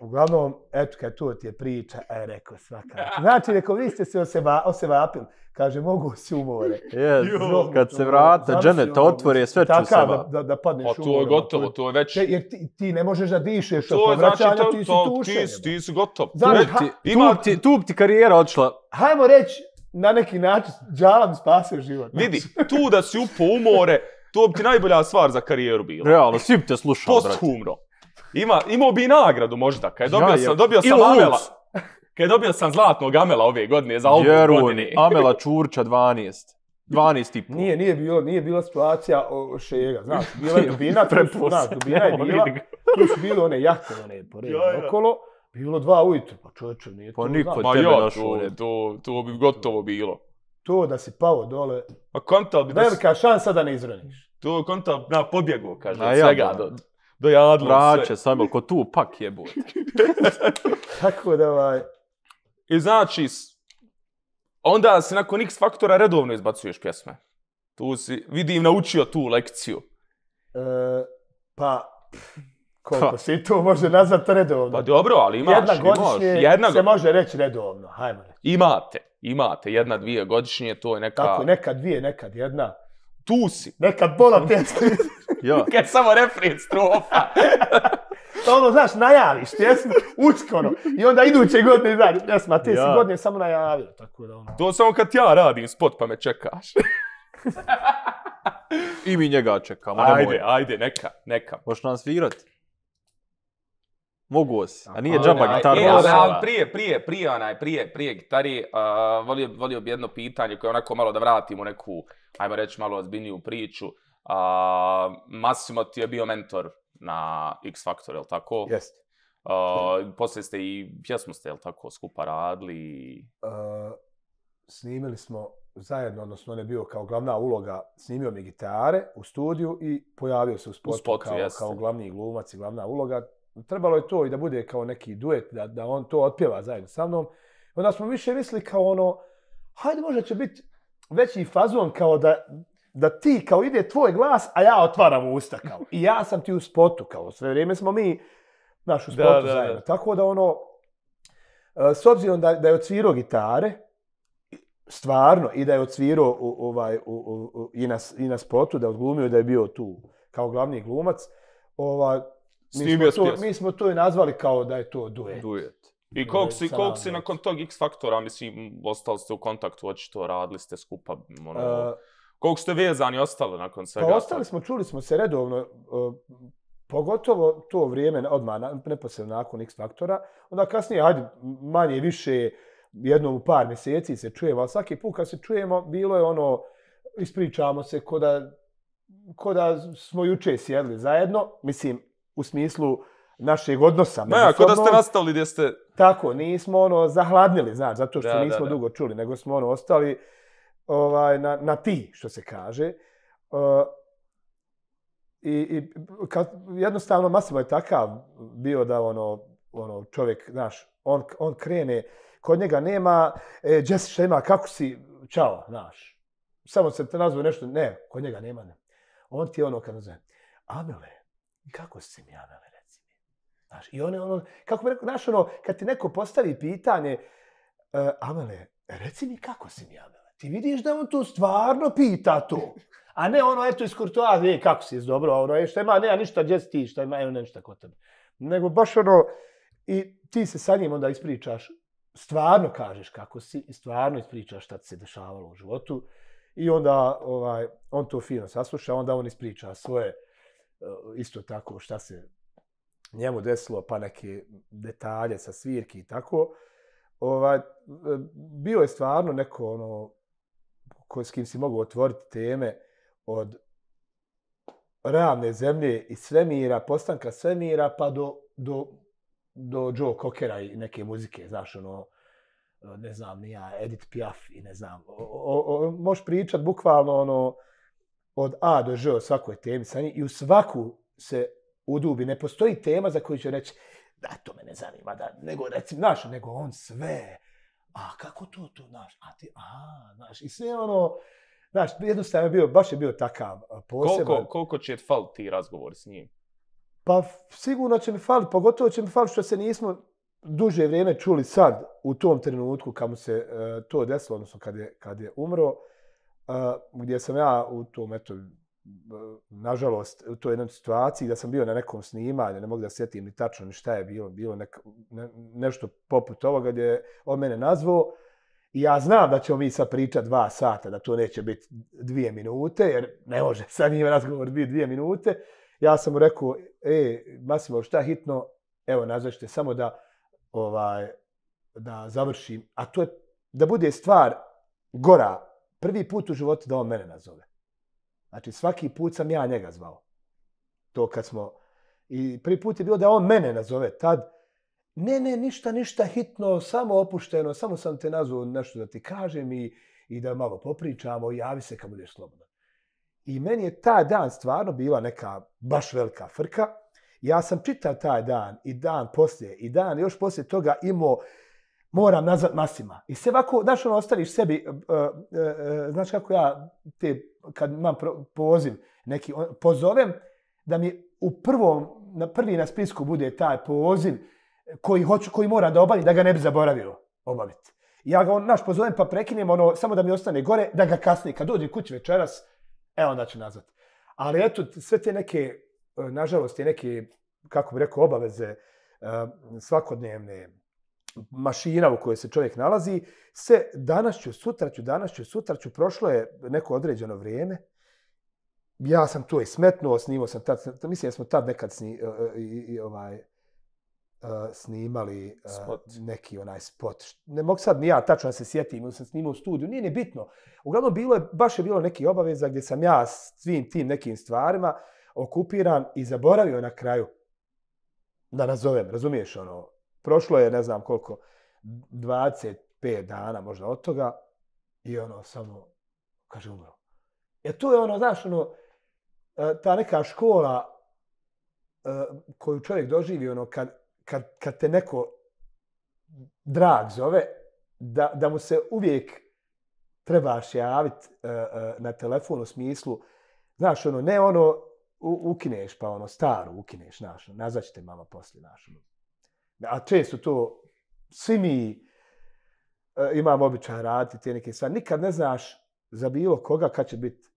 Uglavnom, eto, kad to ti je priča, rekao svaka. Znači, rekao, vi ste se osevapili. Kaže, mogu si u more. Kad se vrata, dženeta otvori, sve ću se va. Da padneš u more. To je gotovo, to je već... Jer ti ne možeš da dišeš od povraćanja, ti si tušen. Ti si gotov. Tu bi ti karijera odšla. Hajmo reći, na neki način, Džala mi spasio život. Vidi, tu da si upao u more, to bi ti najbolja stvar za karijeru bila. Realno, svi bi te slušao, brate. Posthumno. Imao bi i nagradu možda, kad dobio sam Amela. Kad dobio sam zlatnog Amela ove godine za album godine. Amela Čurča 12. 12,5. Nije bila situacija Šega, znaš, bila je dubina, dubina je bila, tu su bile one jahte, pored okolo, bilo 2 ujutro, pa čovječe nije to. Pa niko tebe došao. To bi gotovo bilo. to da si pao dole, Pa kontal bi velika šansa da ne izroniš. To kontal na pobjegu, kaže, Na od svega do Jadla. Vraće, Samuel, ko tu pak jebote. Tako da I znači, onda se nakon X Faktora redovno izbacuješ pjesme. Tu si, vidim, naučio tu lekciju. Pa, koliko si to može nazvati redovno? Pa dobro, ali imaš. Jedna godišnje se može reći redovno, hajmo reći. Imate, 1-2 godišnje, to je neka... Tako, nekad 2, nekad 1. Tu si. Nekad pola pjesme. Kad samo refren, strofa. Ono, znaš, najaviš pjesmu, uskoro. I onda iduće godine izađe pjesma, te si godine samo najavio. Tako da ono. To samo kad ja radim spot pa me čekaš. I mi njega čekamo. Ajde, neka. Možeš nam svirati? Mogu si. A nije džaba gitarno. Prije gitari, volio bi jedno pitanje koje onako malo da vratimo neku, ajmo reći, malo ozbiljniju priču. Massimo ti je bio mentor na X Factor, jel' tako? Jeste. Poslije ste i pjesmu ste, jel' tako, skupa radili? Snimili smo zajedno, odnosno on je bio kao glavna uloga, snimio mi gitare u studiju i pojavio se u spotu kao glavni glumac i glavna uloga. Trebalo je to i da bude kao neki duet, da on to otpjeva zajedno sa mnom. Onda smo više mislili kao ono, hajde možda će biti veći fazon kao da ti kao ide tvoj glas, a ja otvaram usta kao. I ja sam ti u spotu kao. Sve vrijeme smo mi u spotu zajedno. Tako da ono, s obzirom da je odsvirao gitare, stvarno, i da je odsvirao i na spotu, da je odglumio da je bio tu kao glavni glumac, mi smo to i nazvali kao da je to duet. I koliko si nakon tog X Faktora, mislim, ostali ste u kontaktu, očito radili ste skupa, koliko ste vezani ostali nakon svega? Pa ostali smo, čuli smo se redovno, pogotovo to vrijeme, odmah neposredno nakon X Faktora, onda kasnije, hajde, manje više, jednom u par mjeseci se čujemo, ali svaki put kad se čujemo, bilo je ono, ispričamo se ko da smo juče sjedli zajedno, mislim, u smislu našeg odnosa. Ako da ste nastavili gdje ste... Tako, nismo zahladnili, znaš, zato što nismo dugo čuli, nego smo ostali na ti, što se kaže. I jednostavno Massimo je takav bio da čovjek, znaš, on krene, kod njega nema, Jesse šta ima, kako si, čao, znaš. Samo se te nazove nešto, ne, kod njega nema, ne. On ti je kad nazove, Amele, kako si mi, Amele, reci mi. Znaš, i on kako bi rekao, znaš, kad ti neko postavi pitanje, Amele, reci mi kako si mi, Amele. Ti vidiš da on tu stvarno pita to. A ne eto iz kurtoazije, kako si, dobro, šta ima, nema ništa, gdje si ti, šta ima, ništa kod tebe. Nego baš i ti se sa njim onda ispričaš, stvarno kažeš kako si i stvarno ispričaš šta ti se dešavalo u životu. I onda on to fino sasluša, onda on ispriča svoje, isto tako šta se njemu desilo, pa neke detalje sa svirki i tako. Bio je stvarno neko s kim si mogu otvoriti teme od realne zemlje i svemira, postanka svemira, pa do Joe Cockera i neke muzike, znaš, ne znam, ni ja, Edith Piaf i ne znam. Možeš pričat bukvalno od A do Ž o svakoj temi sa njim i u svaku se udubi. Ne postoji tema za koju će reći da to me ne zanima, nego recimo, znaš, nego on sve, a kako to, znaš, znaš, i sve znaš, jednostavno baš je bio takav poseban. Koliko će faliti ti razgovori s njim? Pa sigurno će mi faliti, pogotovo će mi faliti što se nismo duže vrijeme čuli sad, u tom trenutku kad mu se to desilo, odnosno kad je umro, gdje sam ja u tom, nažalost, u toj jednoj situaciji da sam bio na nekom snimanju, ne mogu da sjetim ni tačno ni šta je bilo nešto poput ovoga gdje je on mene nazvao i ja znam da ćemo mi sad pričati 2 sata, da to neće biti 2 minute, jer ne može sa njim razgovor biti 2 minute. Ja sam mu rekao, Massimo, šta hitno, evo nazvaćete samo da završim, a to je da bude stvar gora, prvi put u životu da on mene nazove. Znači, svaki put sam ja njega zvao. To kad smo... I prvi put je bilo da on mene nazove tad. Ne, ništa hitno, samo opušteno, samo sam te nazvao nešto da ti kažem i da malo popričamo i javi se kad budeš slobodan. I meni je taj dan stvarno bila neka baš velika frka. Ja sam čitav taj dan i dan poslije i dan još poslije toga imao moram nazvat Masima. I sve ovako, znaš ono, ostaviš sebi, znaš kako ja te, kad imam poziv, neki, pozovem da mi prvi na spisku bude taj poziv koji mora da obavim, da ga ne bi zaboravio obaviti. Ja ga, pozovem pa prekinem, samo da mi ostane gore, da ga kasnije, kad dođem kući večeras, onda ću nazvat. Ali eto, sve te neke, nažalost, te neke, kako bi rekao, obaveze svakodnevne, mašina u kojoj se čovjek nalazi, se danas ću, prošlo je neko određeno vrijeme. Ja sam to i smetnuo, snimao sam tad, mislim da smo tad nekad snimali neki onaj spot. Ne mogu sad ni ja tačno da se sjetim, sam snimao u studiju, nije ni bitno. Uglavnom, baš je bilo neki obaveza gdje sam ja svim tim nekim stvarima okupiran i zaboravio na kraju da nazovem, razumiješ ono, prošlo je ne znam koliko, 25 dana možda od toga i samo, kaže, umro. Jer to je ono, znaš, ta neka škola koju čovjek doživi, kad te neko drag zove, da mu se uvijek trebaš javiti na telefon u smislu, znaš, ne ukineš, pa staru ukineš, znaš, nazvat ćete mama poslije, znaš, a često to, svi mi imamo običaj raditi te neke stvari. Nikad ne znaš za bilo koga kad će biti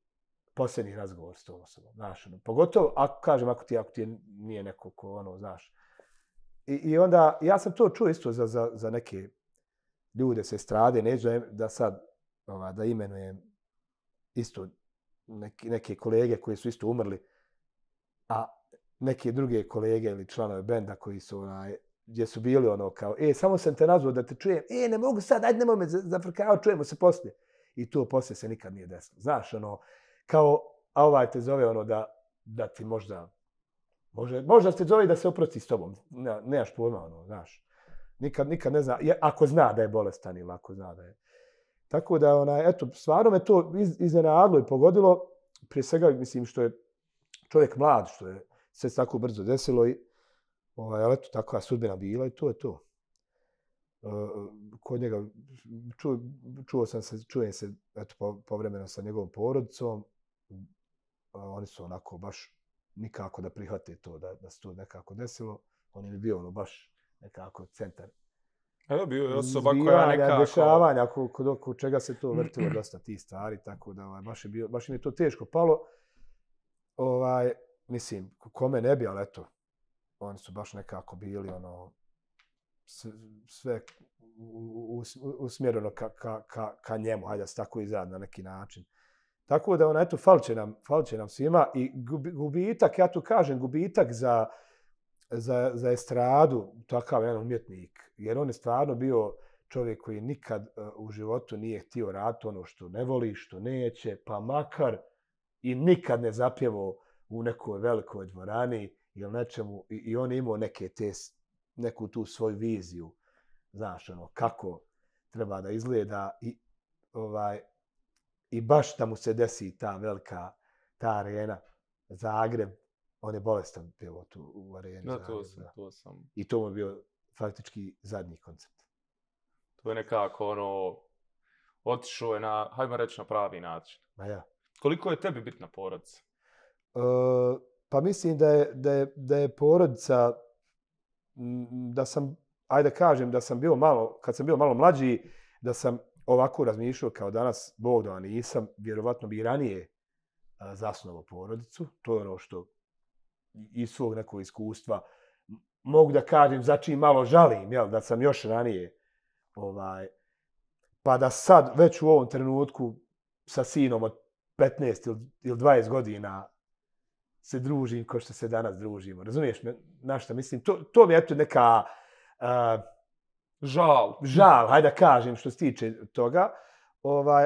posljednji razgovor s tom osobom. Znaš, pogotovo, ako ti nije neko ko, znaš. I onda, ja sam to čuo isto za neke ljude se strade, neću da sad da imenujem isto neke kolege koji su isto umrli, a neke druge kolege ili članove benda koji su gdje su bili kao, samo sam te nazvao da te čujem, ne mogu sad, ajde nemoj me zafrkavati, čujemo se poslije. I to poslije se nikad nije desilo. Znaš, kao, a ovaj te zove da ti možda te zove da se oprosti s tobom. Nemaš pojma, znaš. Nikad ne zna, ako zna da je bolestan ili ako zna da je. Tako da, eto, stvarno me to iznenadilo i pogodilo, prije svega, mislim, što je čovjek mlad, što je sve tako brzo desilo i ali eto, takva sudbina bila i to je to. Kod njega čujem se eto, povremeno sa njegovom porodicom. Oni su onako baš nikako da prihvate to, da se to nekako desilo. On je baš baš nekako centar. Evo bio je osoba koja nekako... Dešavanja, kod čega se to vrtilo dosta tih stvari, tako da baš mi je to teško palo. Mislim, kome ne bi, ali eto, oni su baš nekako bili sve usmjereno ka njemu, hajde da se tako izradi na neki način. Tako da, eto, fal će nam svima i gubitak, ja tu kažem, gubitak za estradu, takav jedan umjetnik, jer on je stvarno bio čovjek koji nikad u životu nije htio raditi ono što ne voli, što neće, pa makar i nikad ne zapjevao u nekoj velikoj dvorani ili nečemu i on je imao neku tu svoju viziju, znaš, kako treba da izgleda i baš da mu se desi ta velika, ta arena, Zagreb, on je bolestan pjevo tu u areni. No, to sam. I to mu je bio faktički zadnji koncert. To je nekako otišao je na, hajmo reći, na pravi način. Ma ja. Koliko je tebi bitna porodica? Pa mislim da je porodica, da sam, ajde kažem, da sam bio malo, kad sam bio malo mlađi, da sam ovako razmišljao kao danas, Bog da nisam, vjerovatno bi i ranije zasnovao porodicu. To je ono što iz svog nekog iskustva mogu da kažem, za čim malo žalim, da sam još ranije, pa da sad već u ovom trenutku sa sinom od 15 ili 20 godina se družim kao što se danas družimo. Razumiješ me? Na šta mislim? To mi je eto neka žal, hajde da kažem što se tiče toga.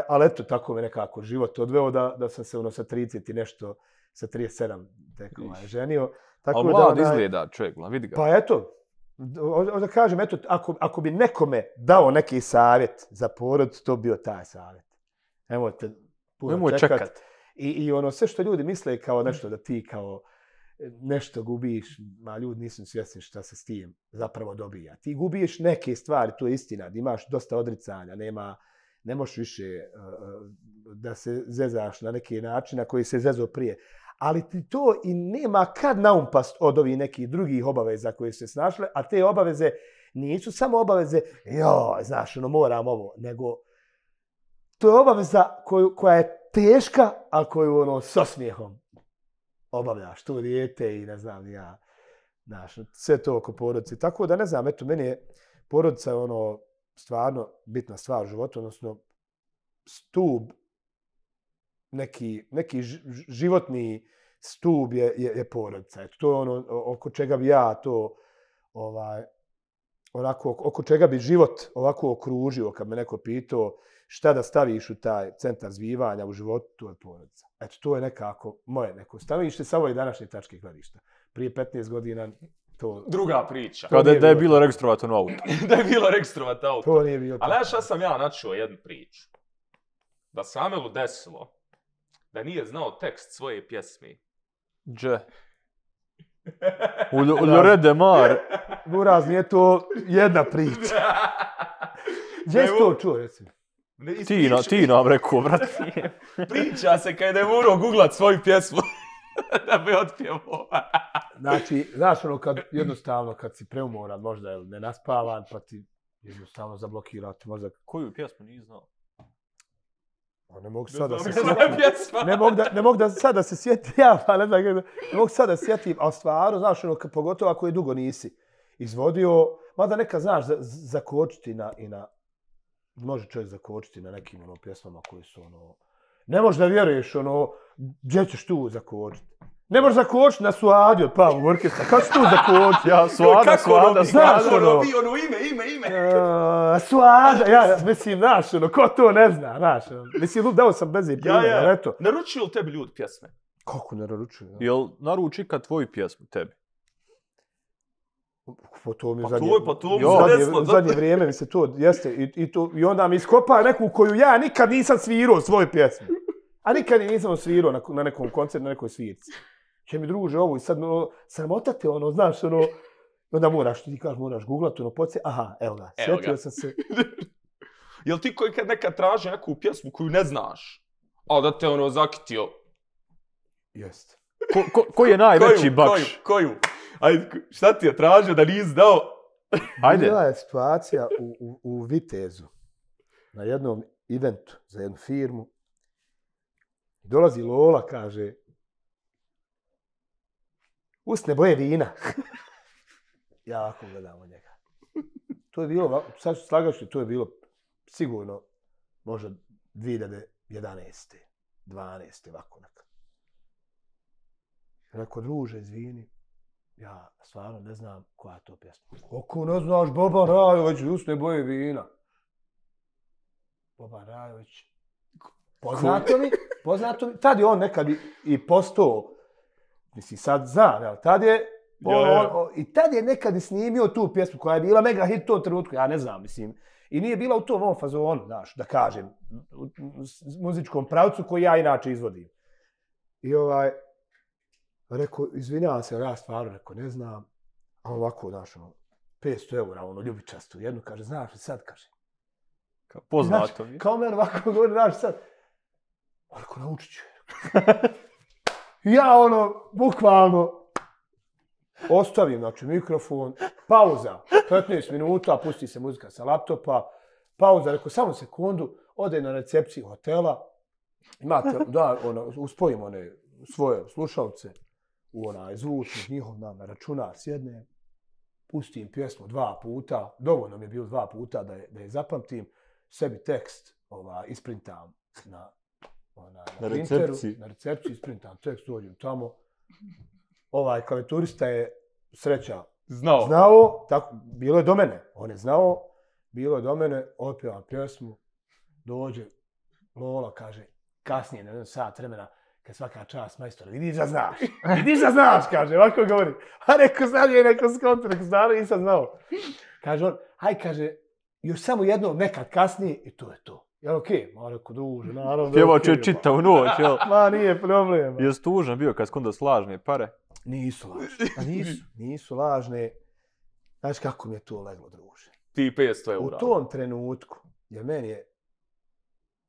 Ali eto, tako me nekako život odveo da sam se sa 30 i nešto, sa 37 tek ženio. Ali mlad izgleda čovjek, vidi ga. Pa eto, da kažem, eto, ako bi nekome dao neki savjet za porod, to bio taj savjet. Nemojte puno čekat. I ono sve što ljudi misle kao nešto da ti kao nešto gubiš, ma ljudi nisu svjesni šta se s tim zapravo dobija. Ti gubiš neke stvari, to je istina, da imaš dosta odricanja, ne možeš više da se zezaš na neki način na koji se zezao prije. Ali ti to i nema kad naumpast od ovih nekih drugih obaveza koje su se snašle, a te obaveze nisu samo obaveze, znaš, moram ovo, nego to je obaveza koja je teška, ali koju s osmijehom obavljaš, to dijete i ne znam ja, znaš, sve to oko porodice. Tako da ne znam, eto, meni je porodica stvarno bitna stvar u životu, odnosno stub, neki životni stub je porodica. Eto, to je oko čega bi ja to, oko čega bi život ovako okružio, kad me neko pitao šta da staviš u taj centar zbivanja u životu, to je porodica. Eto, to je nekako moje neko stanovište sa ove današnje tačke gledišta. Prije 15 godina to... Druga priča. Kao da je bilo registrovato auto. Da je bilo registrovato auto. To nije bilo. Ali šta sam ja načuo jednu priču. Da se Amelu desilo da nije znao tekst svoje pjesmi. Dže. U Ljorede Mar. Buraz, nije to jedna priča. Gdje si to čuo, recimo? Ti nam rekao, brat. Priča se kada je morao googlat svoju pjesmu da bi otpjevao. Znači, znaš jednostavno kad si preumoran, možda je nenaspavan, pa ti jednostavno zablokirati mozak. Koju pjesmu nije znao? Ne mogu sada se sjetim. Ne mogu da sada se sjetim, ne mogu sada se sjetim, ali stvarno, znaš, pogotovo ako je dugo nisi izvodio, mada neka, znaš, zakočiti može čovjek zakočiti na nekim pjesmama koji su ne možeš da vjeruješ gdje ćeš tu zakočiti. Ne možeš zakočiti na Suadi od Pavlov orkestra. Kako ćeš tu zakočiti? Ja, Suada. Znaš ime. Suada, mislim, znaš, ko to ne zna, znaš. Mislim, dao sam bez primjera, eto. Naručuju li tebi ljudi pjesme? Kako ne naručuju? Jel naruči kad tvoju pjesmu tebi? To mi u zadnje vrijeme mi se to jeste i onda mi iskopa neku koju ja nikad nisam svirao svoje pjesme. A nikad nisam svirao na nekom koncertu, na nekoj svirci. Če mi druže ovo i sad sramotate znaš, onda ti kažeš, moraš googlati, aha, evo ga, sjetio sam se. Jel ti koji kad nekad traži neku pjesmu koju ne znaš, a da te zakitio? Jest. Koji je najveći bakš? Koju? Ajde, šta ti je tražio da nisi dao? Ajde. Bila je situacija u Vitezu, na jednom eventu za jednu firmu. Dolazi Lola, kaže, usne boje vina. Ja ovako gledam od njega. To je bilo, sad ću slagaš, to je bilo sigurno možda 2011. 12. ovako nekako. Rekao, druže, izvini, ja stvarno ne znam koja je to pjesma. Kako ne znaš, Boban Rajović, usne boje vina. Boban Rajović. Poznato mi. Tad je on nekad i postao, mislim sad znam, jel, tad je, i tad je nekad i snimio tu pjesmu koja je bila mega hit u tom trenutku, ja ne znam, mislim. I nije bila u tom ovom fazonu, znaš, da kažem, u muzičkom pravcu koji ja inače izvodim. I rekao, izvinjavam se, ja stvarno, rekao, ne znam, a ovako, znaš, 500 eura, ljubičastu, jednu, kaže, znaš li sad, kaže. Poznato mi. Kao meni ovako govori, znaš sad. Ako naučit ću. Ja bukvalno ostavim, znači, mikrofon, pauza, 15 minuta, pusti se muzika sa laptopa, pauza, rekao, samo sekundu, ode na recepciju hotela, imate, uspojim one svoje slušalce u zvučnik njihov na računar, sjednem, pustim pjesmu 2 puta, dovoljno mi je bilo 2 puta da je zapamtim, sebi tekst isprintam na recepciji. Na recepciji isprintam tekst, dođem tamo. Klavijaturista je sreća znao, tako, bilo je do mene, on je znao, bilo je do mene, otpjevam pjesmu, dođe Lola, kaže, kasnije, na 1 sat vremena, kad svaka čast, majstore, vidiš da znaš, kaže, ovako govori. A neko znam je, neko skonto, neko stvarno nisam znao. Kaže on, kaže, još samo jedno, nekad kasnije, i to je to. Jel okej? Ma rekao, druže, naravno. Pjevač je čitav noć, jel? Ma nije problem. Jesi tužan bio kad skondo slažne pare? Nisu lažne. Nisu lažne. Znaš kako mi je to leglo, druže? Ti 500 eura. U tom trenutku, jer meni je,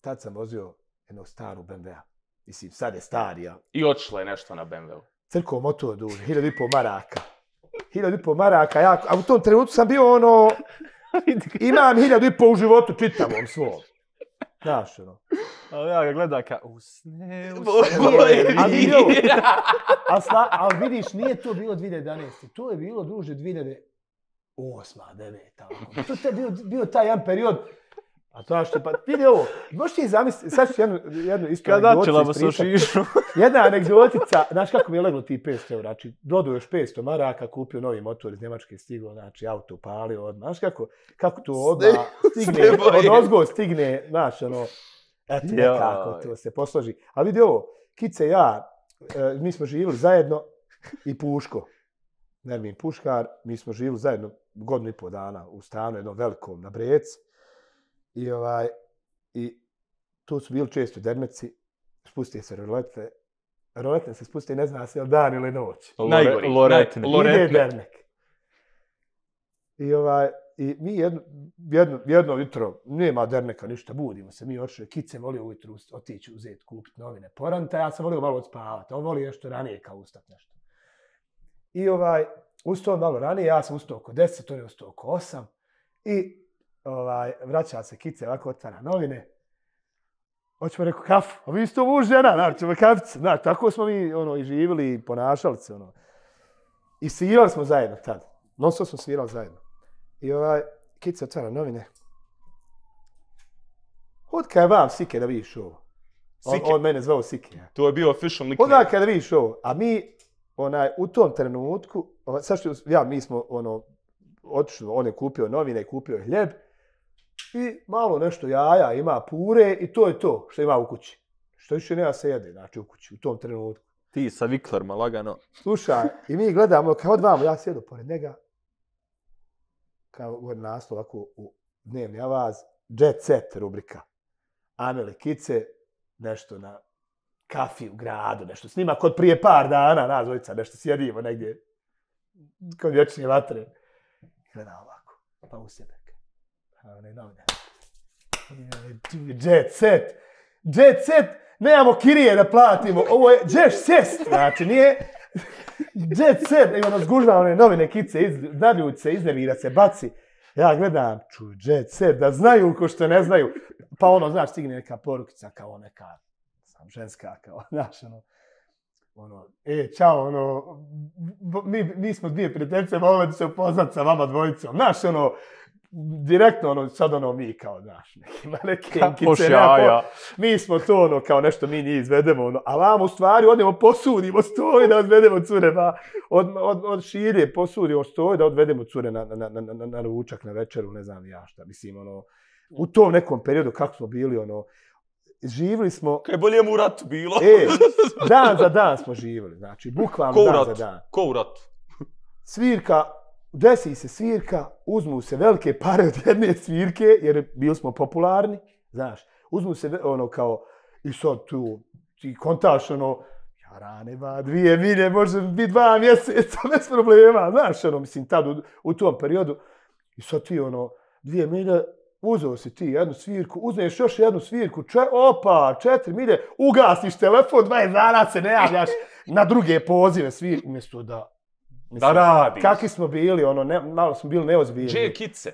tad sam vozio jednog staru BMW-a. Mislim, sad je starija. I otišla je nešto na BMW-u. Crko motor duže, 1.500 maraka. 1.500 maraka, a u tom trenutku sam bio ono, imam 1.500 u životu čitavom svom. Znaš, ono. Ali ja ga gledam kao, usne. Ali vidiš, nije to bilo 2011. To je bilo, druže, 2008. 2009. To je bio taj jedan period. A to što, pa vidi ovo, možeš ti zamisliti, sad ću jednu isto anegdoticu ispričati. Jedna anegdotica, znaš kako mi je leglo ti 500 eura, znači dodao još 500 maraka, kupio novi motor iz Njemačke, stigao, znači auto upalio odmah, znaš kako to odmah stigne, odozgo stigne, znaš ono, eto nekako to se posloži. A vidi ovo, Kice i ja, mi smo živjeli zajedno i Puško, Nermin Puškar, mi smo živjeli zajedno 1,5 dana u stanu jednom velikom na Brec. I tu su bili često dermeci, spustije se rolete. Roletne se spuste, ne zna se je li dan ili noć. Loretne. Ide dernek. I mi jedno jutro, nema derneka, ništa, budimo se, mi otišli. Kice volio ujutru otići uzeti, kupiti novine poranta, ja sam volio malo odspavati, on volio nešto ranije kao ustati nešto. I ustao malo ranije, ja sam ustao oko 10, on je ustao oko 8 i vraća se Kice, ovako otvara novine. Hoćemo rekao kafu, a vi ste muž žena, znači ćemo kaficu. Znači, tako smo mi i živjeli i ponašali se. I svirali smo zajedno tad. Non-stop smo svirali zajedno. I Kice otvara novine. Odka je vam Sike da vidiš ovo? On mene zvao Sike. Ja. To je bio official nickname. Odka je da vidiš ovo? A mi u tom trenutku, mi smo otišli, on je kupio novine, kupio je hljeb i malo nešto jaja, ima pure i to je to što ima u kući. Što više nema se jede, znači u kući, u tom trenutku. Ti sa viklerma, lagano. Slušaj, i mi gledamo, kao odvamo, ja sjedu pored njega, kao naslov ovako u dnevni avaz, Jet Set rubrika. Ameli Kice, nešto na kafi u gradu, nešto snima kod prije par dana, nas dvojica, nešto sjedimo negdje, kod vječne vatre. Gleda ovako, pa u sebe. Jet Set. Jet Set, nemamo kirije da platimo, ovo je Jet Set, znači nije Jet Set, nego nas gužva one novine Kice, nadljuć se, iznervira se, baci. Ja gledam, Jet Set, da znaju ko što ne znaju. Pa znaš, stigne neka porukica kao neka, ženska, kao, znaš, čao, mi smo dvije prijateljice, volili bi se upoznat sa vama dvojicom, znaš, direktno, sad mi kao, znaš, neke enkice, mi smo to, kao nešto mi njih izvedemo, a vam u stvari odemo posudimo stoji da odvedemo cure, pa od širije posudimo stoji da odvedemo cure na ručak, na večeru, ne znam ja šta, mislim, u tom nekom periodu kako smo bili, živjeli smo... Kaj bolje mu u ratu bilo. Dan za dan smo živjeli, znači, bukvalno dan za dan. Ko u ratu? Svirka, desi se svirka, uzmu se velike pare od jedne svirke, jer bili smo popularni, znaš, uzmu se kao, i sad tu, ti kontaš jarane ba, 2 milje, može biti 2 mjeseca, bez problema, znaš, mislim, tad u tom periodu, i sad ti 2 milje, uzeo si ti jednu svirku, uzmeš još jednu svirku, 4 milje, ugasiš telefon, 20 dana se ne javljaš na druge pozive svirke, umjesto da radiš. Kakvi smo bili, malo smo bili neozbiljni. Dže Kice.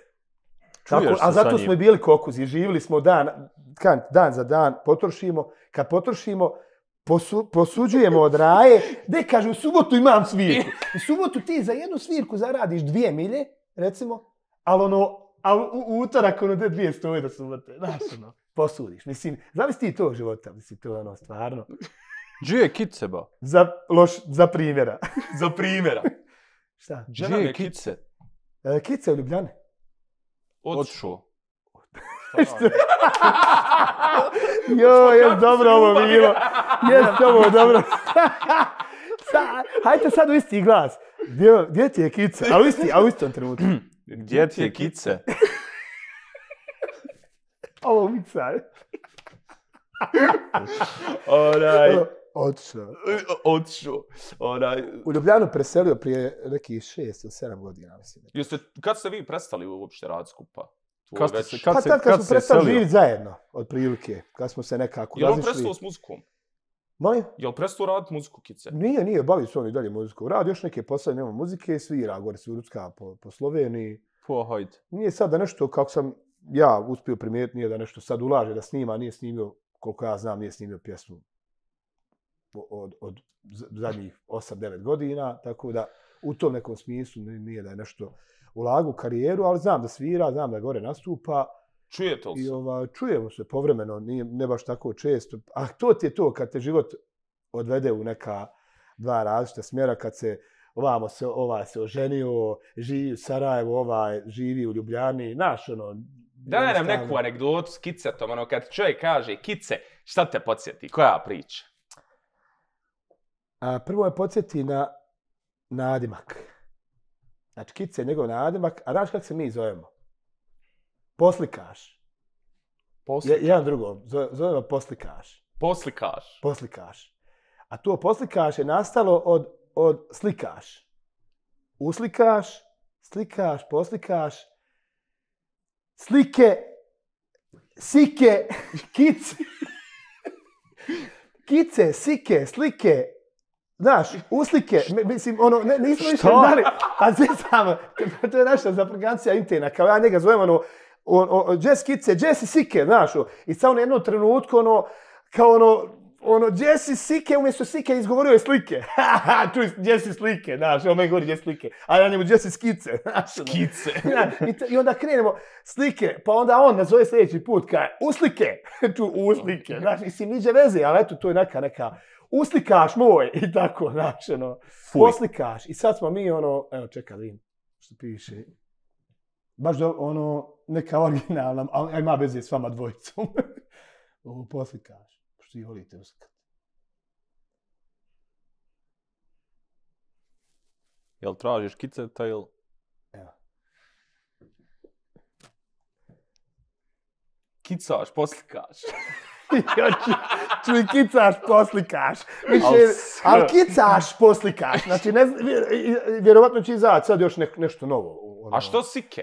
A zato smo i bili kokuzi, živjeli smo dan za dan, potrošimo, kad potrošimo, posuđujemo od raje, gdje kaže, u subotu imam svirku. U subotu ti za jednu svirku zaradiš 2 milje, recimo, ali u utorak 200 do subote, znaš, posudiš. Mislim, zamisli ti tog života, mislim, to je stvarno. Gdje je Kice, ba? Za primjera. Za primjera. Šta? Gdje je Kice? Kice u Ljubljane. Odšao. Jes dobro ovo bilo. Jes ovo dobro. Hajde sad u isti glas. Gdje ti je Kice? A u istom trenutku. Gdje ti je Kice? Ovo mica. Otišao. U Ljubljanu preselio prije nekih 6 ili 7 godina, mislim. Kad ste vi prestali uopšte raditi skupa? Kad smo prestali živjeti zajedno, otprilike. Kad smo se nekako razišli. Je li on prestao s muzikom? Molim? Je li prestao raditi muziku, Kice? Nije, bavi se on i dalje muziku. Radi još neke poslove, nema muzike, svira, gore svirutska po Sloveniji. Hajde. Nije sad da nešto, kako sam ja uspio primijetiti, nije da nešto sad ulaže, da snima, nije snimio, koliko ja znam, nije snimio pjesmu od zadnjih 8-9 godina, tako da u tom nekom smislu nije da je nešto ulagu u karijeru, ali znam da svira, znam da gore nastupa. Čujete li se? Čujemo se povremeno, ne baš tako često. A to ti je to, kad te život odvede u neka dva različita smjera, kad se ovaj se oženio, živi u Sarajevu, ovaj živi u Ljubljani, znaš, Daj nam neku anegdotu s Kicetom, kad čovjek kaže, Kice, šta te podsjeti, koja priča? Prvo me podsjeti na nadimak. Znači, Kice je njegov nadimak, a znaš kako se mi zovemo? Poslikaš. Jedan drugom, zovemo poslikaš. Poslikaš. A to poslikaš je nastalo od slikaš. Uslikaš, slikaš, poslikaš, slike, sike, kice. Kice, sike, slike, znaš, uslike, mislim, nismo više znali, a sve samo, to je naša zapregancija interna, kao ja njega zovem, Jess Kice, Jesse Sike, znaš, i sad na jednom trenutku, Jesse Sike, umjesto Sike izgovorio je slike. Čuj, Jesse Slike, znaš, on me govori Jesse Slike, a ja njemu Jesse Skice. Skice. I onda krenemo slike, pa onda on nazove sljedeći put, kaže, uslike, uslike, znaš, mislim, niđe veze, ali eto, to je neka, uslikaš moj, i tako, znaš, poslikaš. I sad smo mi, evo, čekaj, vidim što piše. Baš neka originalna, ali ima veze s vama dvojicom. Ovo poslikaš. Što i volite uslikati. Jel tražiš Kiceta ili? Evo. Kicaš, poslikaš. Čuj, kicaš, poslikaš. Ali kicaš, poslikaš. Znači, vjerovatno će izaći sad još nešto novo. A što Sike?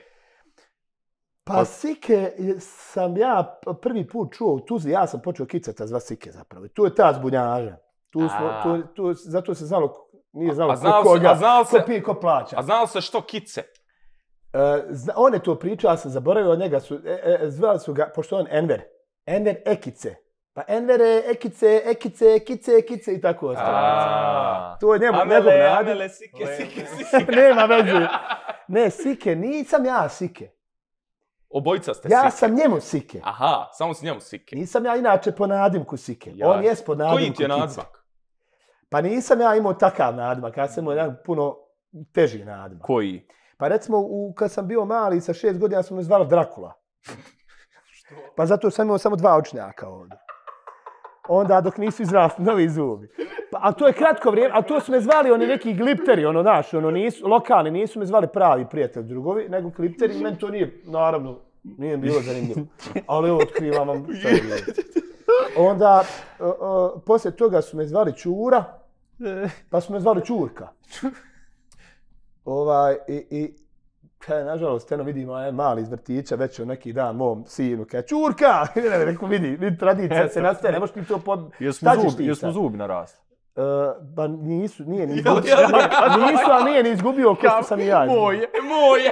Pa Sike sam ja prvi put čuo u Tuzli, ja sam počeo kicata zva Sike zapravo. Tu je ta zbunjaža. Zato se znalo, nije znalo koga, ko pije, ko plaća. A znalo se što Kice? On je to pričao, ja sam zaboravio od njega, zvali su ga, pošto on Enver Ekice. Pa Envere, Ekice i tako ostalo. To je njegov nadimak. Amele, Sike. Nema veze. Ne, Sike, nisam ja Sike. Obojica ste Sike. Ja sam njemu Sike. Aha, samo si njemu Sike. Nisam ja inače po nadimku Sike. On jest po nadimku Kice. Koji ti je nadimak? Pa nisam ja imao takav nadimak. Ja sam imao jedan puno teži nadimak. Koji? Pa recimo, kad sam bio mali, sa 6 godina sam me zvali Drakula. Pa zato sam imao samo 2 očnjaka ovdje. Onda dok nisu izrasli novi zubi. A to je kratko vrijeme, ali to su me zvali oni neki glipteri, lokalni, nisu me zvali pravi prijatelj drugovi, nego glipteri, meni to nije, naravno, nije bilo zanimljivo. Ali evo, otkrivam vam šta je bilo. Onda, poslije toga su me zvali Čura, pa su me zvali Čurka. Nažalost, vidimo mali iz vrtića, već od neki dan mom sinu, kaže, Čurka! Rekao, vidi, tradicija se nastaje, ne možeš ti to Jesmo zubi narasli? Pa nije ni izgubio. Nisu, ali nije ni izgubio ko što sam i ja. Moje!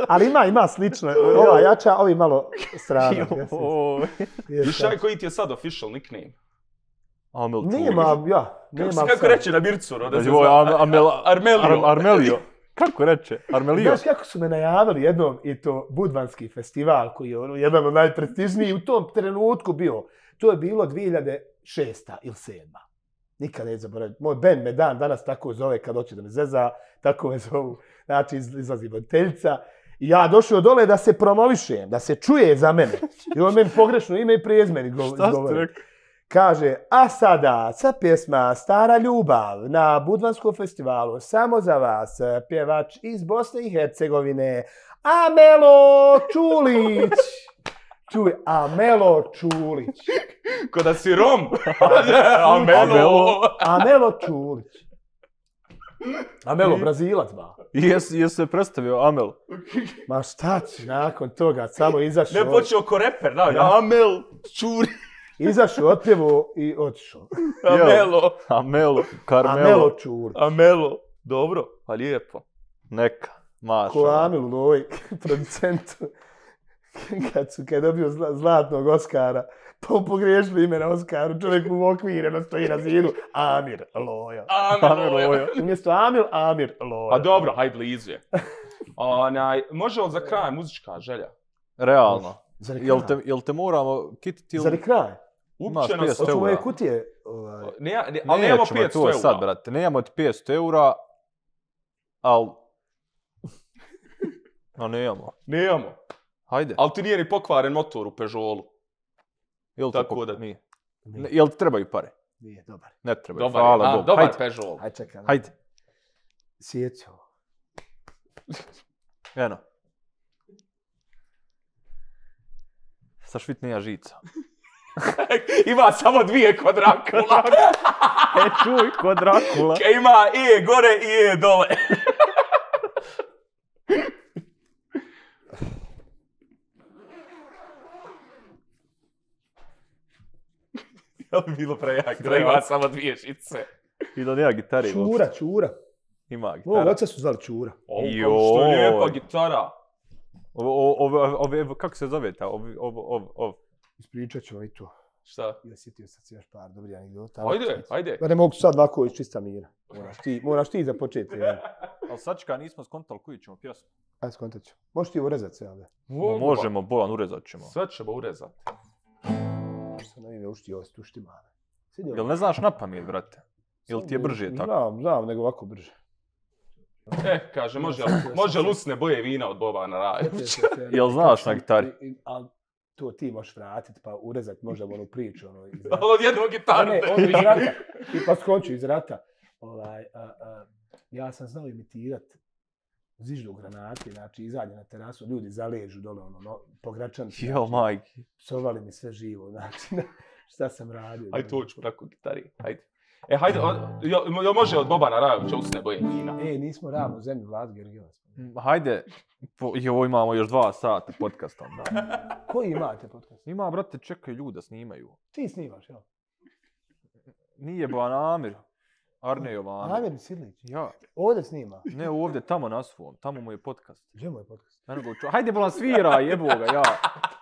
Ali ima slično. Ova jača, ovi malo strana. Višaj, koji ti je sad official nickname? Nema. Kako reče na Mircu? Armelio. Kako reče? Armelio. Znaš kako su me najavili jednom i to Budvanski festival koji je jedan od najprestižnijih u tom trenutku bio. To je bilo 2006. ili 2007. Nikad ne zaboravim. Moj band me danas tako zove kad hoće da me zeza. Tako me zovu. Znači izlazi voditeljica. I ja došao dole da se promovišem, da se čuje za mene. I on meni pogrešno ime i prijezmen izgovori. Kaže, a sada, pjesma Stara ljubav na Budvanskom festivalu, samo za vas, pjevač iz Bosne i Hercegovine, Amelo Čulić. Čuj, Amelo Čulić. Ko da si Rom. Amelo. Amelo Čulić. Amelo, Brazilac, ba. Jesu se predstavio Amel. Ma šta će nakon toga, samo izašao. Ne počeo ko reper, da, Amel Čulić. Izašao, otpjevo i otišao. Amelo, Carmelo. Amelo Čulić. Amelo, dobro, pa lijepo. Neka, maša. Ko Amil Loj, producentu. Kad je dobio zlatnog Oskara, pa pogriješili ime na Oskaru, čovjek mu okvireno stoji na zidu, Amir Loja. Amir Loja. Umjesto Amir Loja. A dobro, hajde blizu je. Može li za kraj muzička želja? Realno. Jel te moramo kititi ili... Za kraj? Upće nas... Hoću moje kutije... Ali nemamo 500 eura. Sad, brate, nemamo ti 500 eura, ali... No, nemamo. Hajde. Ali ti nije ni pokvaren motor u Peugeotu. Tako da nije. Jel ti trebaju pare? Nije, dobar. Ne trebaju, hvala Bogu. Dobar Peugeot. Hajde, čekaj. Hajde. Sjećao. Eno. Sa švitnija žica. Ima samo 2 kod Drakula. Čuj, kod Drakula. Ima E gore i E dole. To bi bilo prejak, da ima samo 2 žice. I da nema gitari. Čura. Ima gitara. Ovo oca su zvali Čura. Što je lijepa gitara. Kako se zove ta? Ispričat ću i to. Šta? Ja sjetio sam se još par dobrih anegdota. Ajde. Ne mogu sad ovako iz čista mira. Moraš ti započeti. Ali sačka, nismo skontali koju ćemo pjesmu. Ajde, skontat ću. Možeš ti urezati sve ovdje? Možemo, Bojan, urezat ćemo. Sve ćemo urezati. Sam na ime uštio osti uštimane. Jel ne znaš na pamet, brate? Jel ti je brže tako? Znam, nego ovako brže. Kaže, može lusne boje vina od Bobana Rajovića. Jel znaš na gitari? Ali to ti možeš vratiti, pa urezati možda onu priču. Ali od jednog gitaru. Ne, ono iz rata. I pa skonču iz rata. Ja sam znao imitirati ziždu granati, znači izađe na terasu, ljudi zaležu dole, po Gračanci. Jo, majki. Psovali mi sve živo, znači, šta sam radio. Ajde, to ću tako gitari, hajde. Hajde, jel može od Bobana Rajovića usne boje vina? Nismo ravno u zemlji Vlad Gergilas. Hajde, ovo imamo još 2 sata podcasta. Koji imate podcast? Ima, brate, čekaj, ljuda snimaju. Ti snimaš, jel? Nije Bojan Amir. Arnejov Amir. Amir Sidlić? Ja. Ovdje snima? Ne, ovdje, tamo na svom. Tamo mu je podcast. Gdje mu je podcast? Hajde, Bolan, sviraj, jebo ga, ja.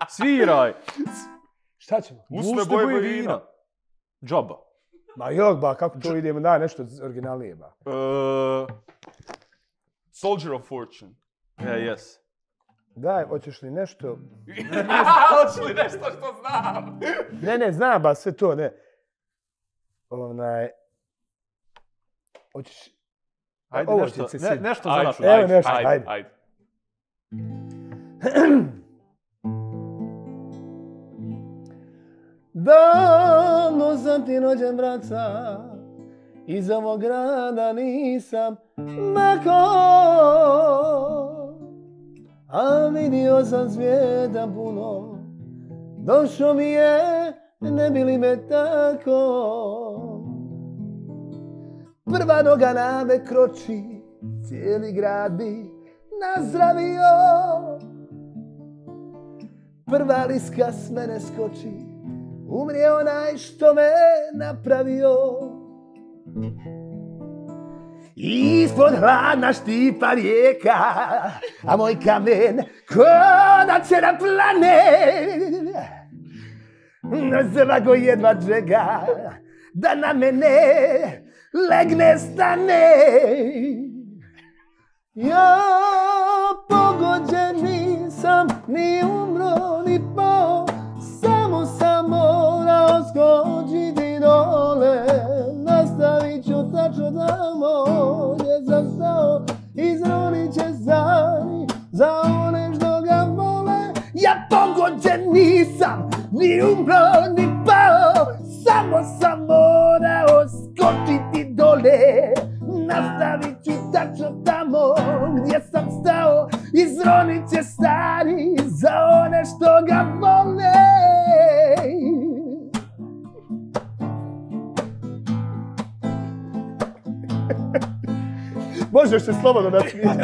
Sviraj. Šta ćemo? Usne boje vina. Džaba. Ma jok, ba, kako to idemo, daj nešto originalnije, ba. Soldier of Fortune. Yes. Daj, hoćeš li nešto... Hoćeš li nešto što znam? Ne, znam, ba, sve to, ne. Hoćeš... Ajde, nešto za našu. Evo nešto, ajde. Davno sam ti rođen, braca, iz ovog grada nisam mako, a vidio sam svijeta puno, došao mi je, ne bi li me tako. Prva noga na me kroči, cijeli grad bi nazdravio. Prva liska s mene skoči, umrije onaj što me napravio. Ispod hladna štipa rijeka, a moj kamen ko da će da plane. Svako jedva čeka da na mene legne stane. Ja pogođen nisam, ni umro, ni pao, samo sam morao skočiti dole. Nastavit ću tačno tamo gdje sam stao, izronit će stani za one što ga vole. Ja pogođen nisam, ni umro, ni pao, samo sam morao skočiti dole. Nastavit ću tačno tamo gdje sam stao, izronit će stari za one što ga vole. Možeš se slobodno nasmijati.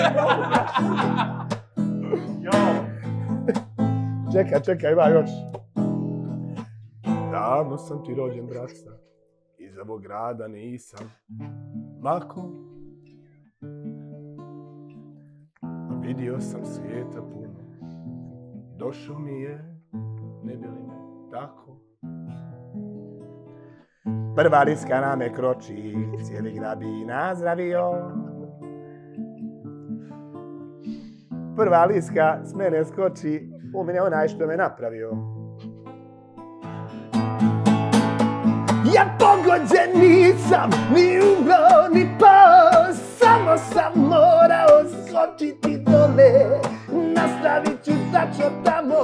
Čekaj, ima još. Davno sam ti rođen, braca. Iz ovog grada nisam mako. Vidio sam svijeta puno. Došao mi je, ne bi li me tako. Prva liska na me kroči, cijeli grad bi nazdravio. Prva liska s mene skoči, u mene onaj što me napravio. Ja pogođen nisam, ni umro, ni pao, samo sam morao skočiti dole. Nastavit ću tačno tamo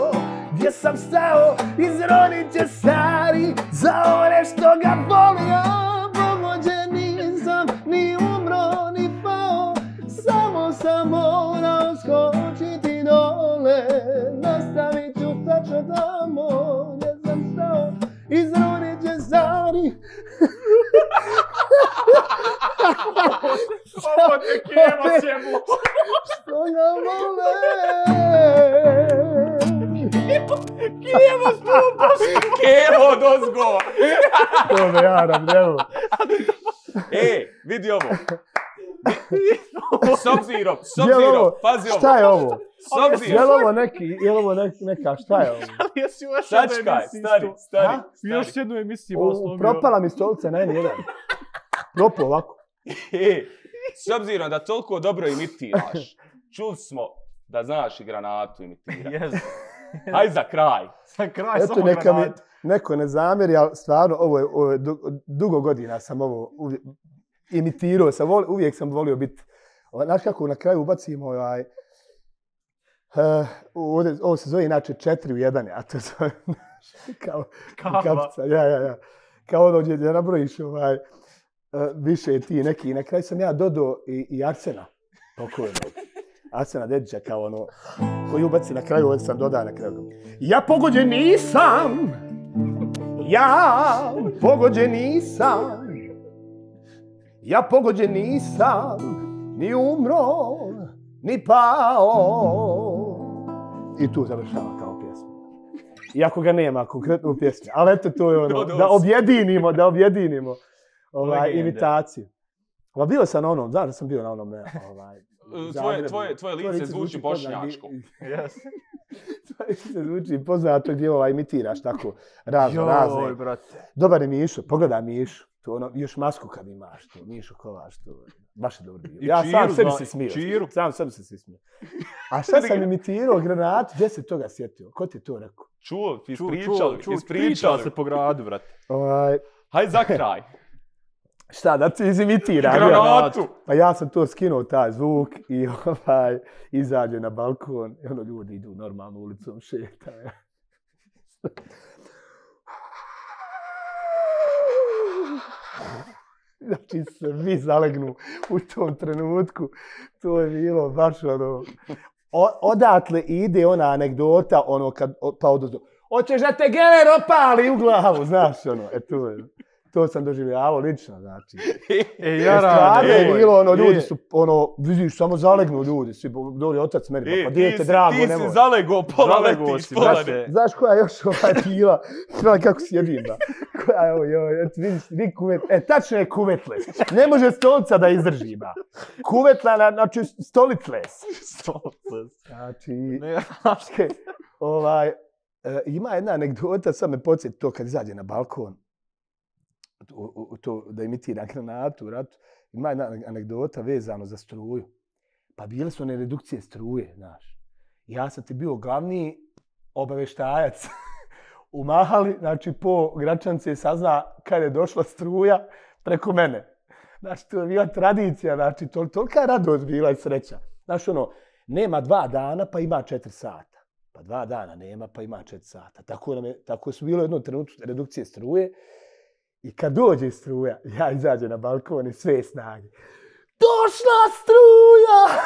gdje sam stao, izronit će stari za one što ga volio. Pogođen nisam, ni umro, ni pao, samo sam morao skočiti dole. Nastavit ću tačno tamo gdje sam stao, izronit će stari. Ovo te Kevo ćemo. Što ga vole. Kevo stupo. Kevo dozgo. To me jaram, evo. Vidi ovo. S obzirom, pazi ovo. Šta je ovo? S obzirom. Je li ovo neka, šta je ovo? Sačkaj, stari. Još jednu emisiju. Propala mi stolica na N1. Propao ovako. S obzirom da toliko dobro imitiraš, čuli smo da znaš i granatu imitirati. Hajde za kraj. Za kraj, eto, samo neka granatu. mi neko ne zamjeri, ali stvarno, ovo je dugo godina sam ovo imitirao. Uvijek sam volio biti. Znaš kako na kraju ubacimo ovo se zove inače 4 u 1, a to zove kao kapica. Ja. Kao ono gdje nabrojiš više ti neki. Na kraju sam ja dodao i Arsena. Pokojnog. Arsena Dedića kao ono koji ubaci na kraju, ovdje sam dodao na kraju. Ja pogođen nisam. Ja pogođen nisam. Ja pogođen nisam. Ni umro, ni pao. I tu završava kao pjesma. Iako ga nema konkretno u pjesmi. Ali eto to je ono, da objedinimo imitaciju. Bio sam na onom, znaš da sam bio na onom... Tvoje lice zvuči bošnjačko. Tvoje lice zvuči poznato gdje imitiraš tako razne. Dobar je Mišo, pogledaj Mišu. To ono, još masku kad imaš, to Mišo Kovač, to baš je dobro bio. Ja sam sebi se smio. Sam sebi se smio. A šta sam imitirao granatu, gdje se toga sjetio? Ko ti je to rekao? Čuo, ispričali se po gradu, brate. Hajde za kraj. Šta, da ti izimitiram? Granatu! Pa ja sam to skinuo, taj zvuk, i izađe na balkon, i ono ljudi idu normalno ulicom, šetaju. Znači, svi zalegnu u tom trenutku. To je bilo baš ono... Odatle ide ona anegdota, ono kad pa odozdo. Hoćeš da te geler opali u glavu, znaš ono. To sam doživljavao lično, znači. Stvarno je bilo, ono, ljudi su, ono, vidiš, samo zalegnu ljudi, svi doli otac meni, pa dijete drago, nemoj. Ti si zalego, pola letiš, pola ne. Znaš koja je još bila, gledaj kako sjedim, da. Koja je ovo, vidi kuvet, tačno je kuvetles. Ne može stolica da izdrži, ba. Kuvetla, znači, stolicles. Znači, ima jedna anegdota, sad me podsjeti to kad izađe na balkon. To da imitira granatu u ratu. Ima jedna anegdota vezano za struju. Pa bile su one redukcije struje, znaš. Ja sam ti bio glavni obavještajac u Mahali, znači po Gračance sazna kad je došla struja preko mene. Znači, to je bila tradicija, znači, tolika radost bila i sreća. Znaš, ono, nema 2 dana pa ima 4 sata. Pa 2 dana nema pa ima 4 sata. Tako su bilo jedno trenutku redukcije struje. I kad dođe struja, ja izađem na balkon i sve snage. Došla struja!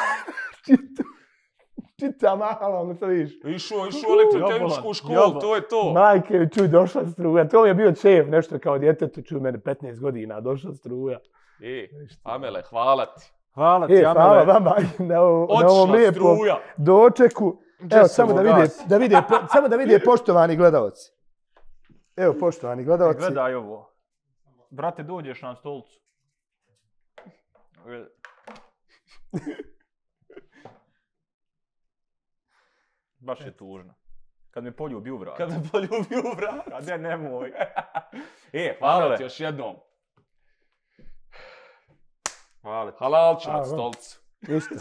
Čita Mahala, ono to vidiš. Išao elektrotehničku školu, to je to. Majke mi čuj, došla struja. To mi je bio čef, nešto kao djetetu, čuj mene 15 godina, došla struja. Amele, hvala ti. Hvala ti, Amele. Hvala vama na ovom lijepom dočeku. Evo, samo da vide poštovani gledalci. Evo, poštovani gledalci. Gledaj ovo. Brate, dođeš na stolicu. Baš je tužno. Kad me poljubi u vrat. A ne, nemoj. Hvala ti još jednom. Hvala ti. Halal ću na stolicu. Ništa.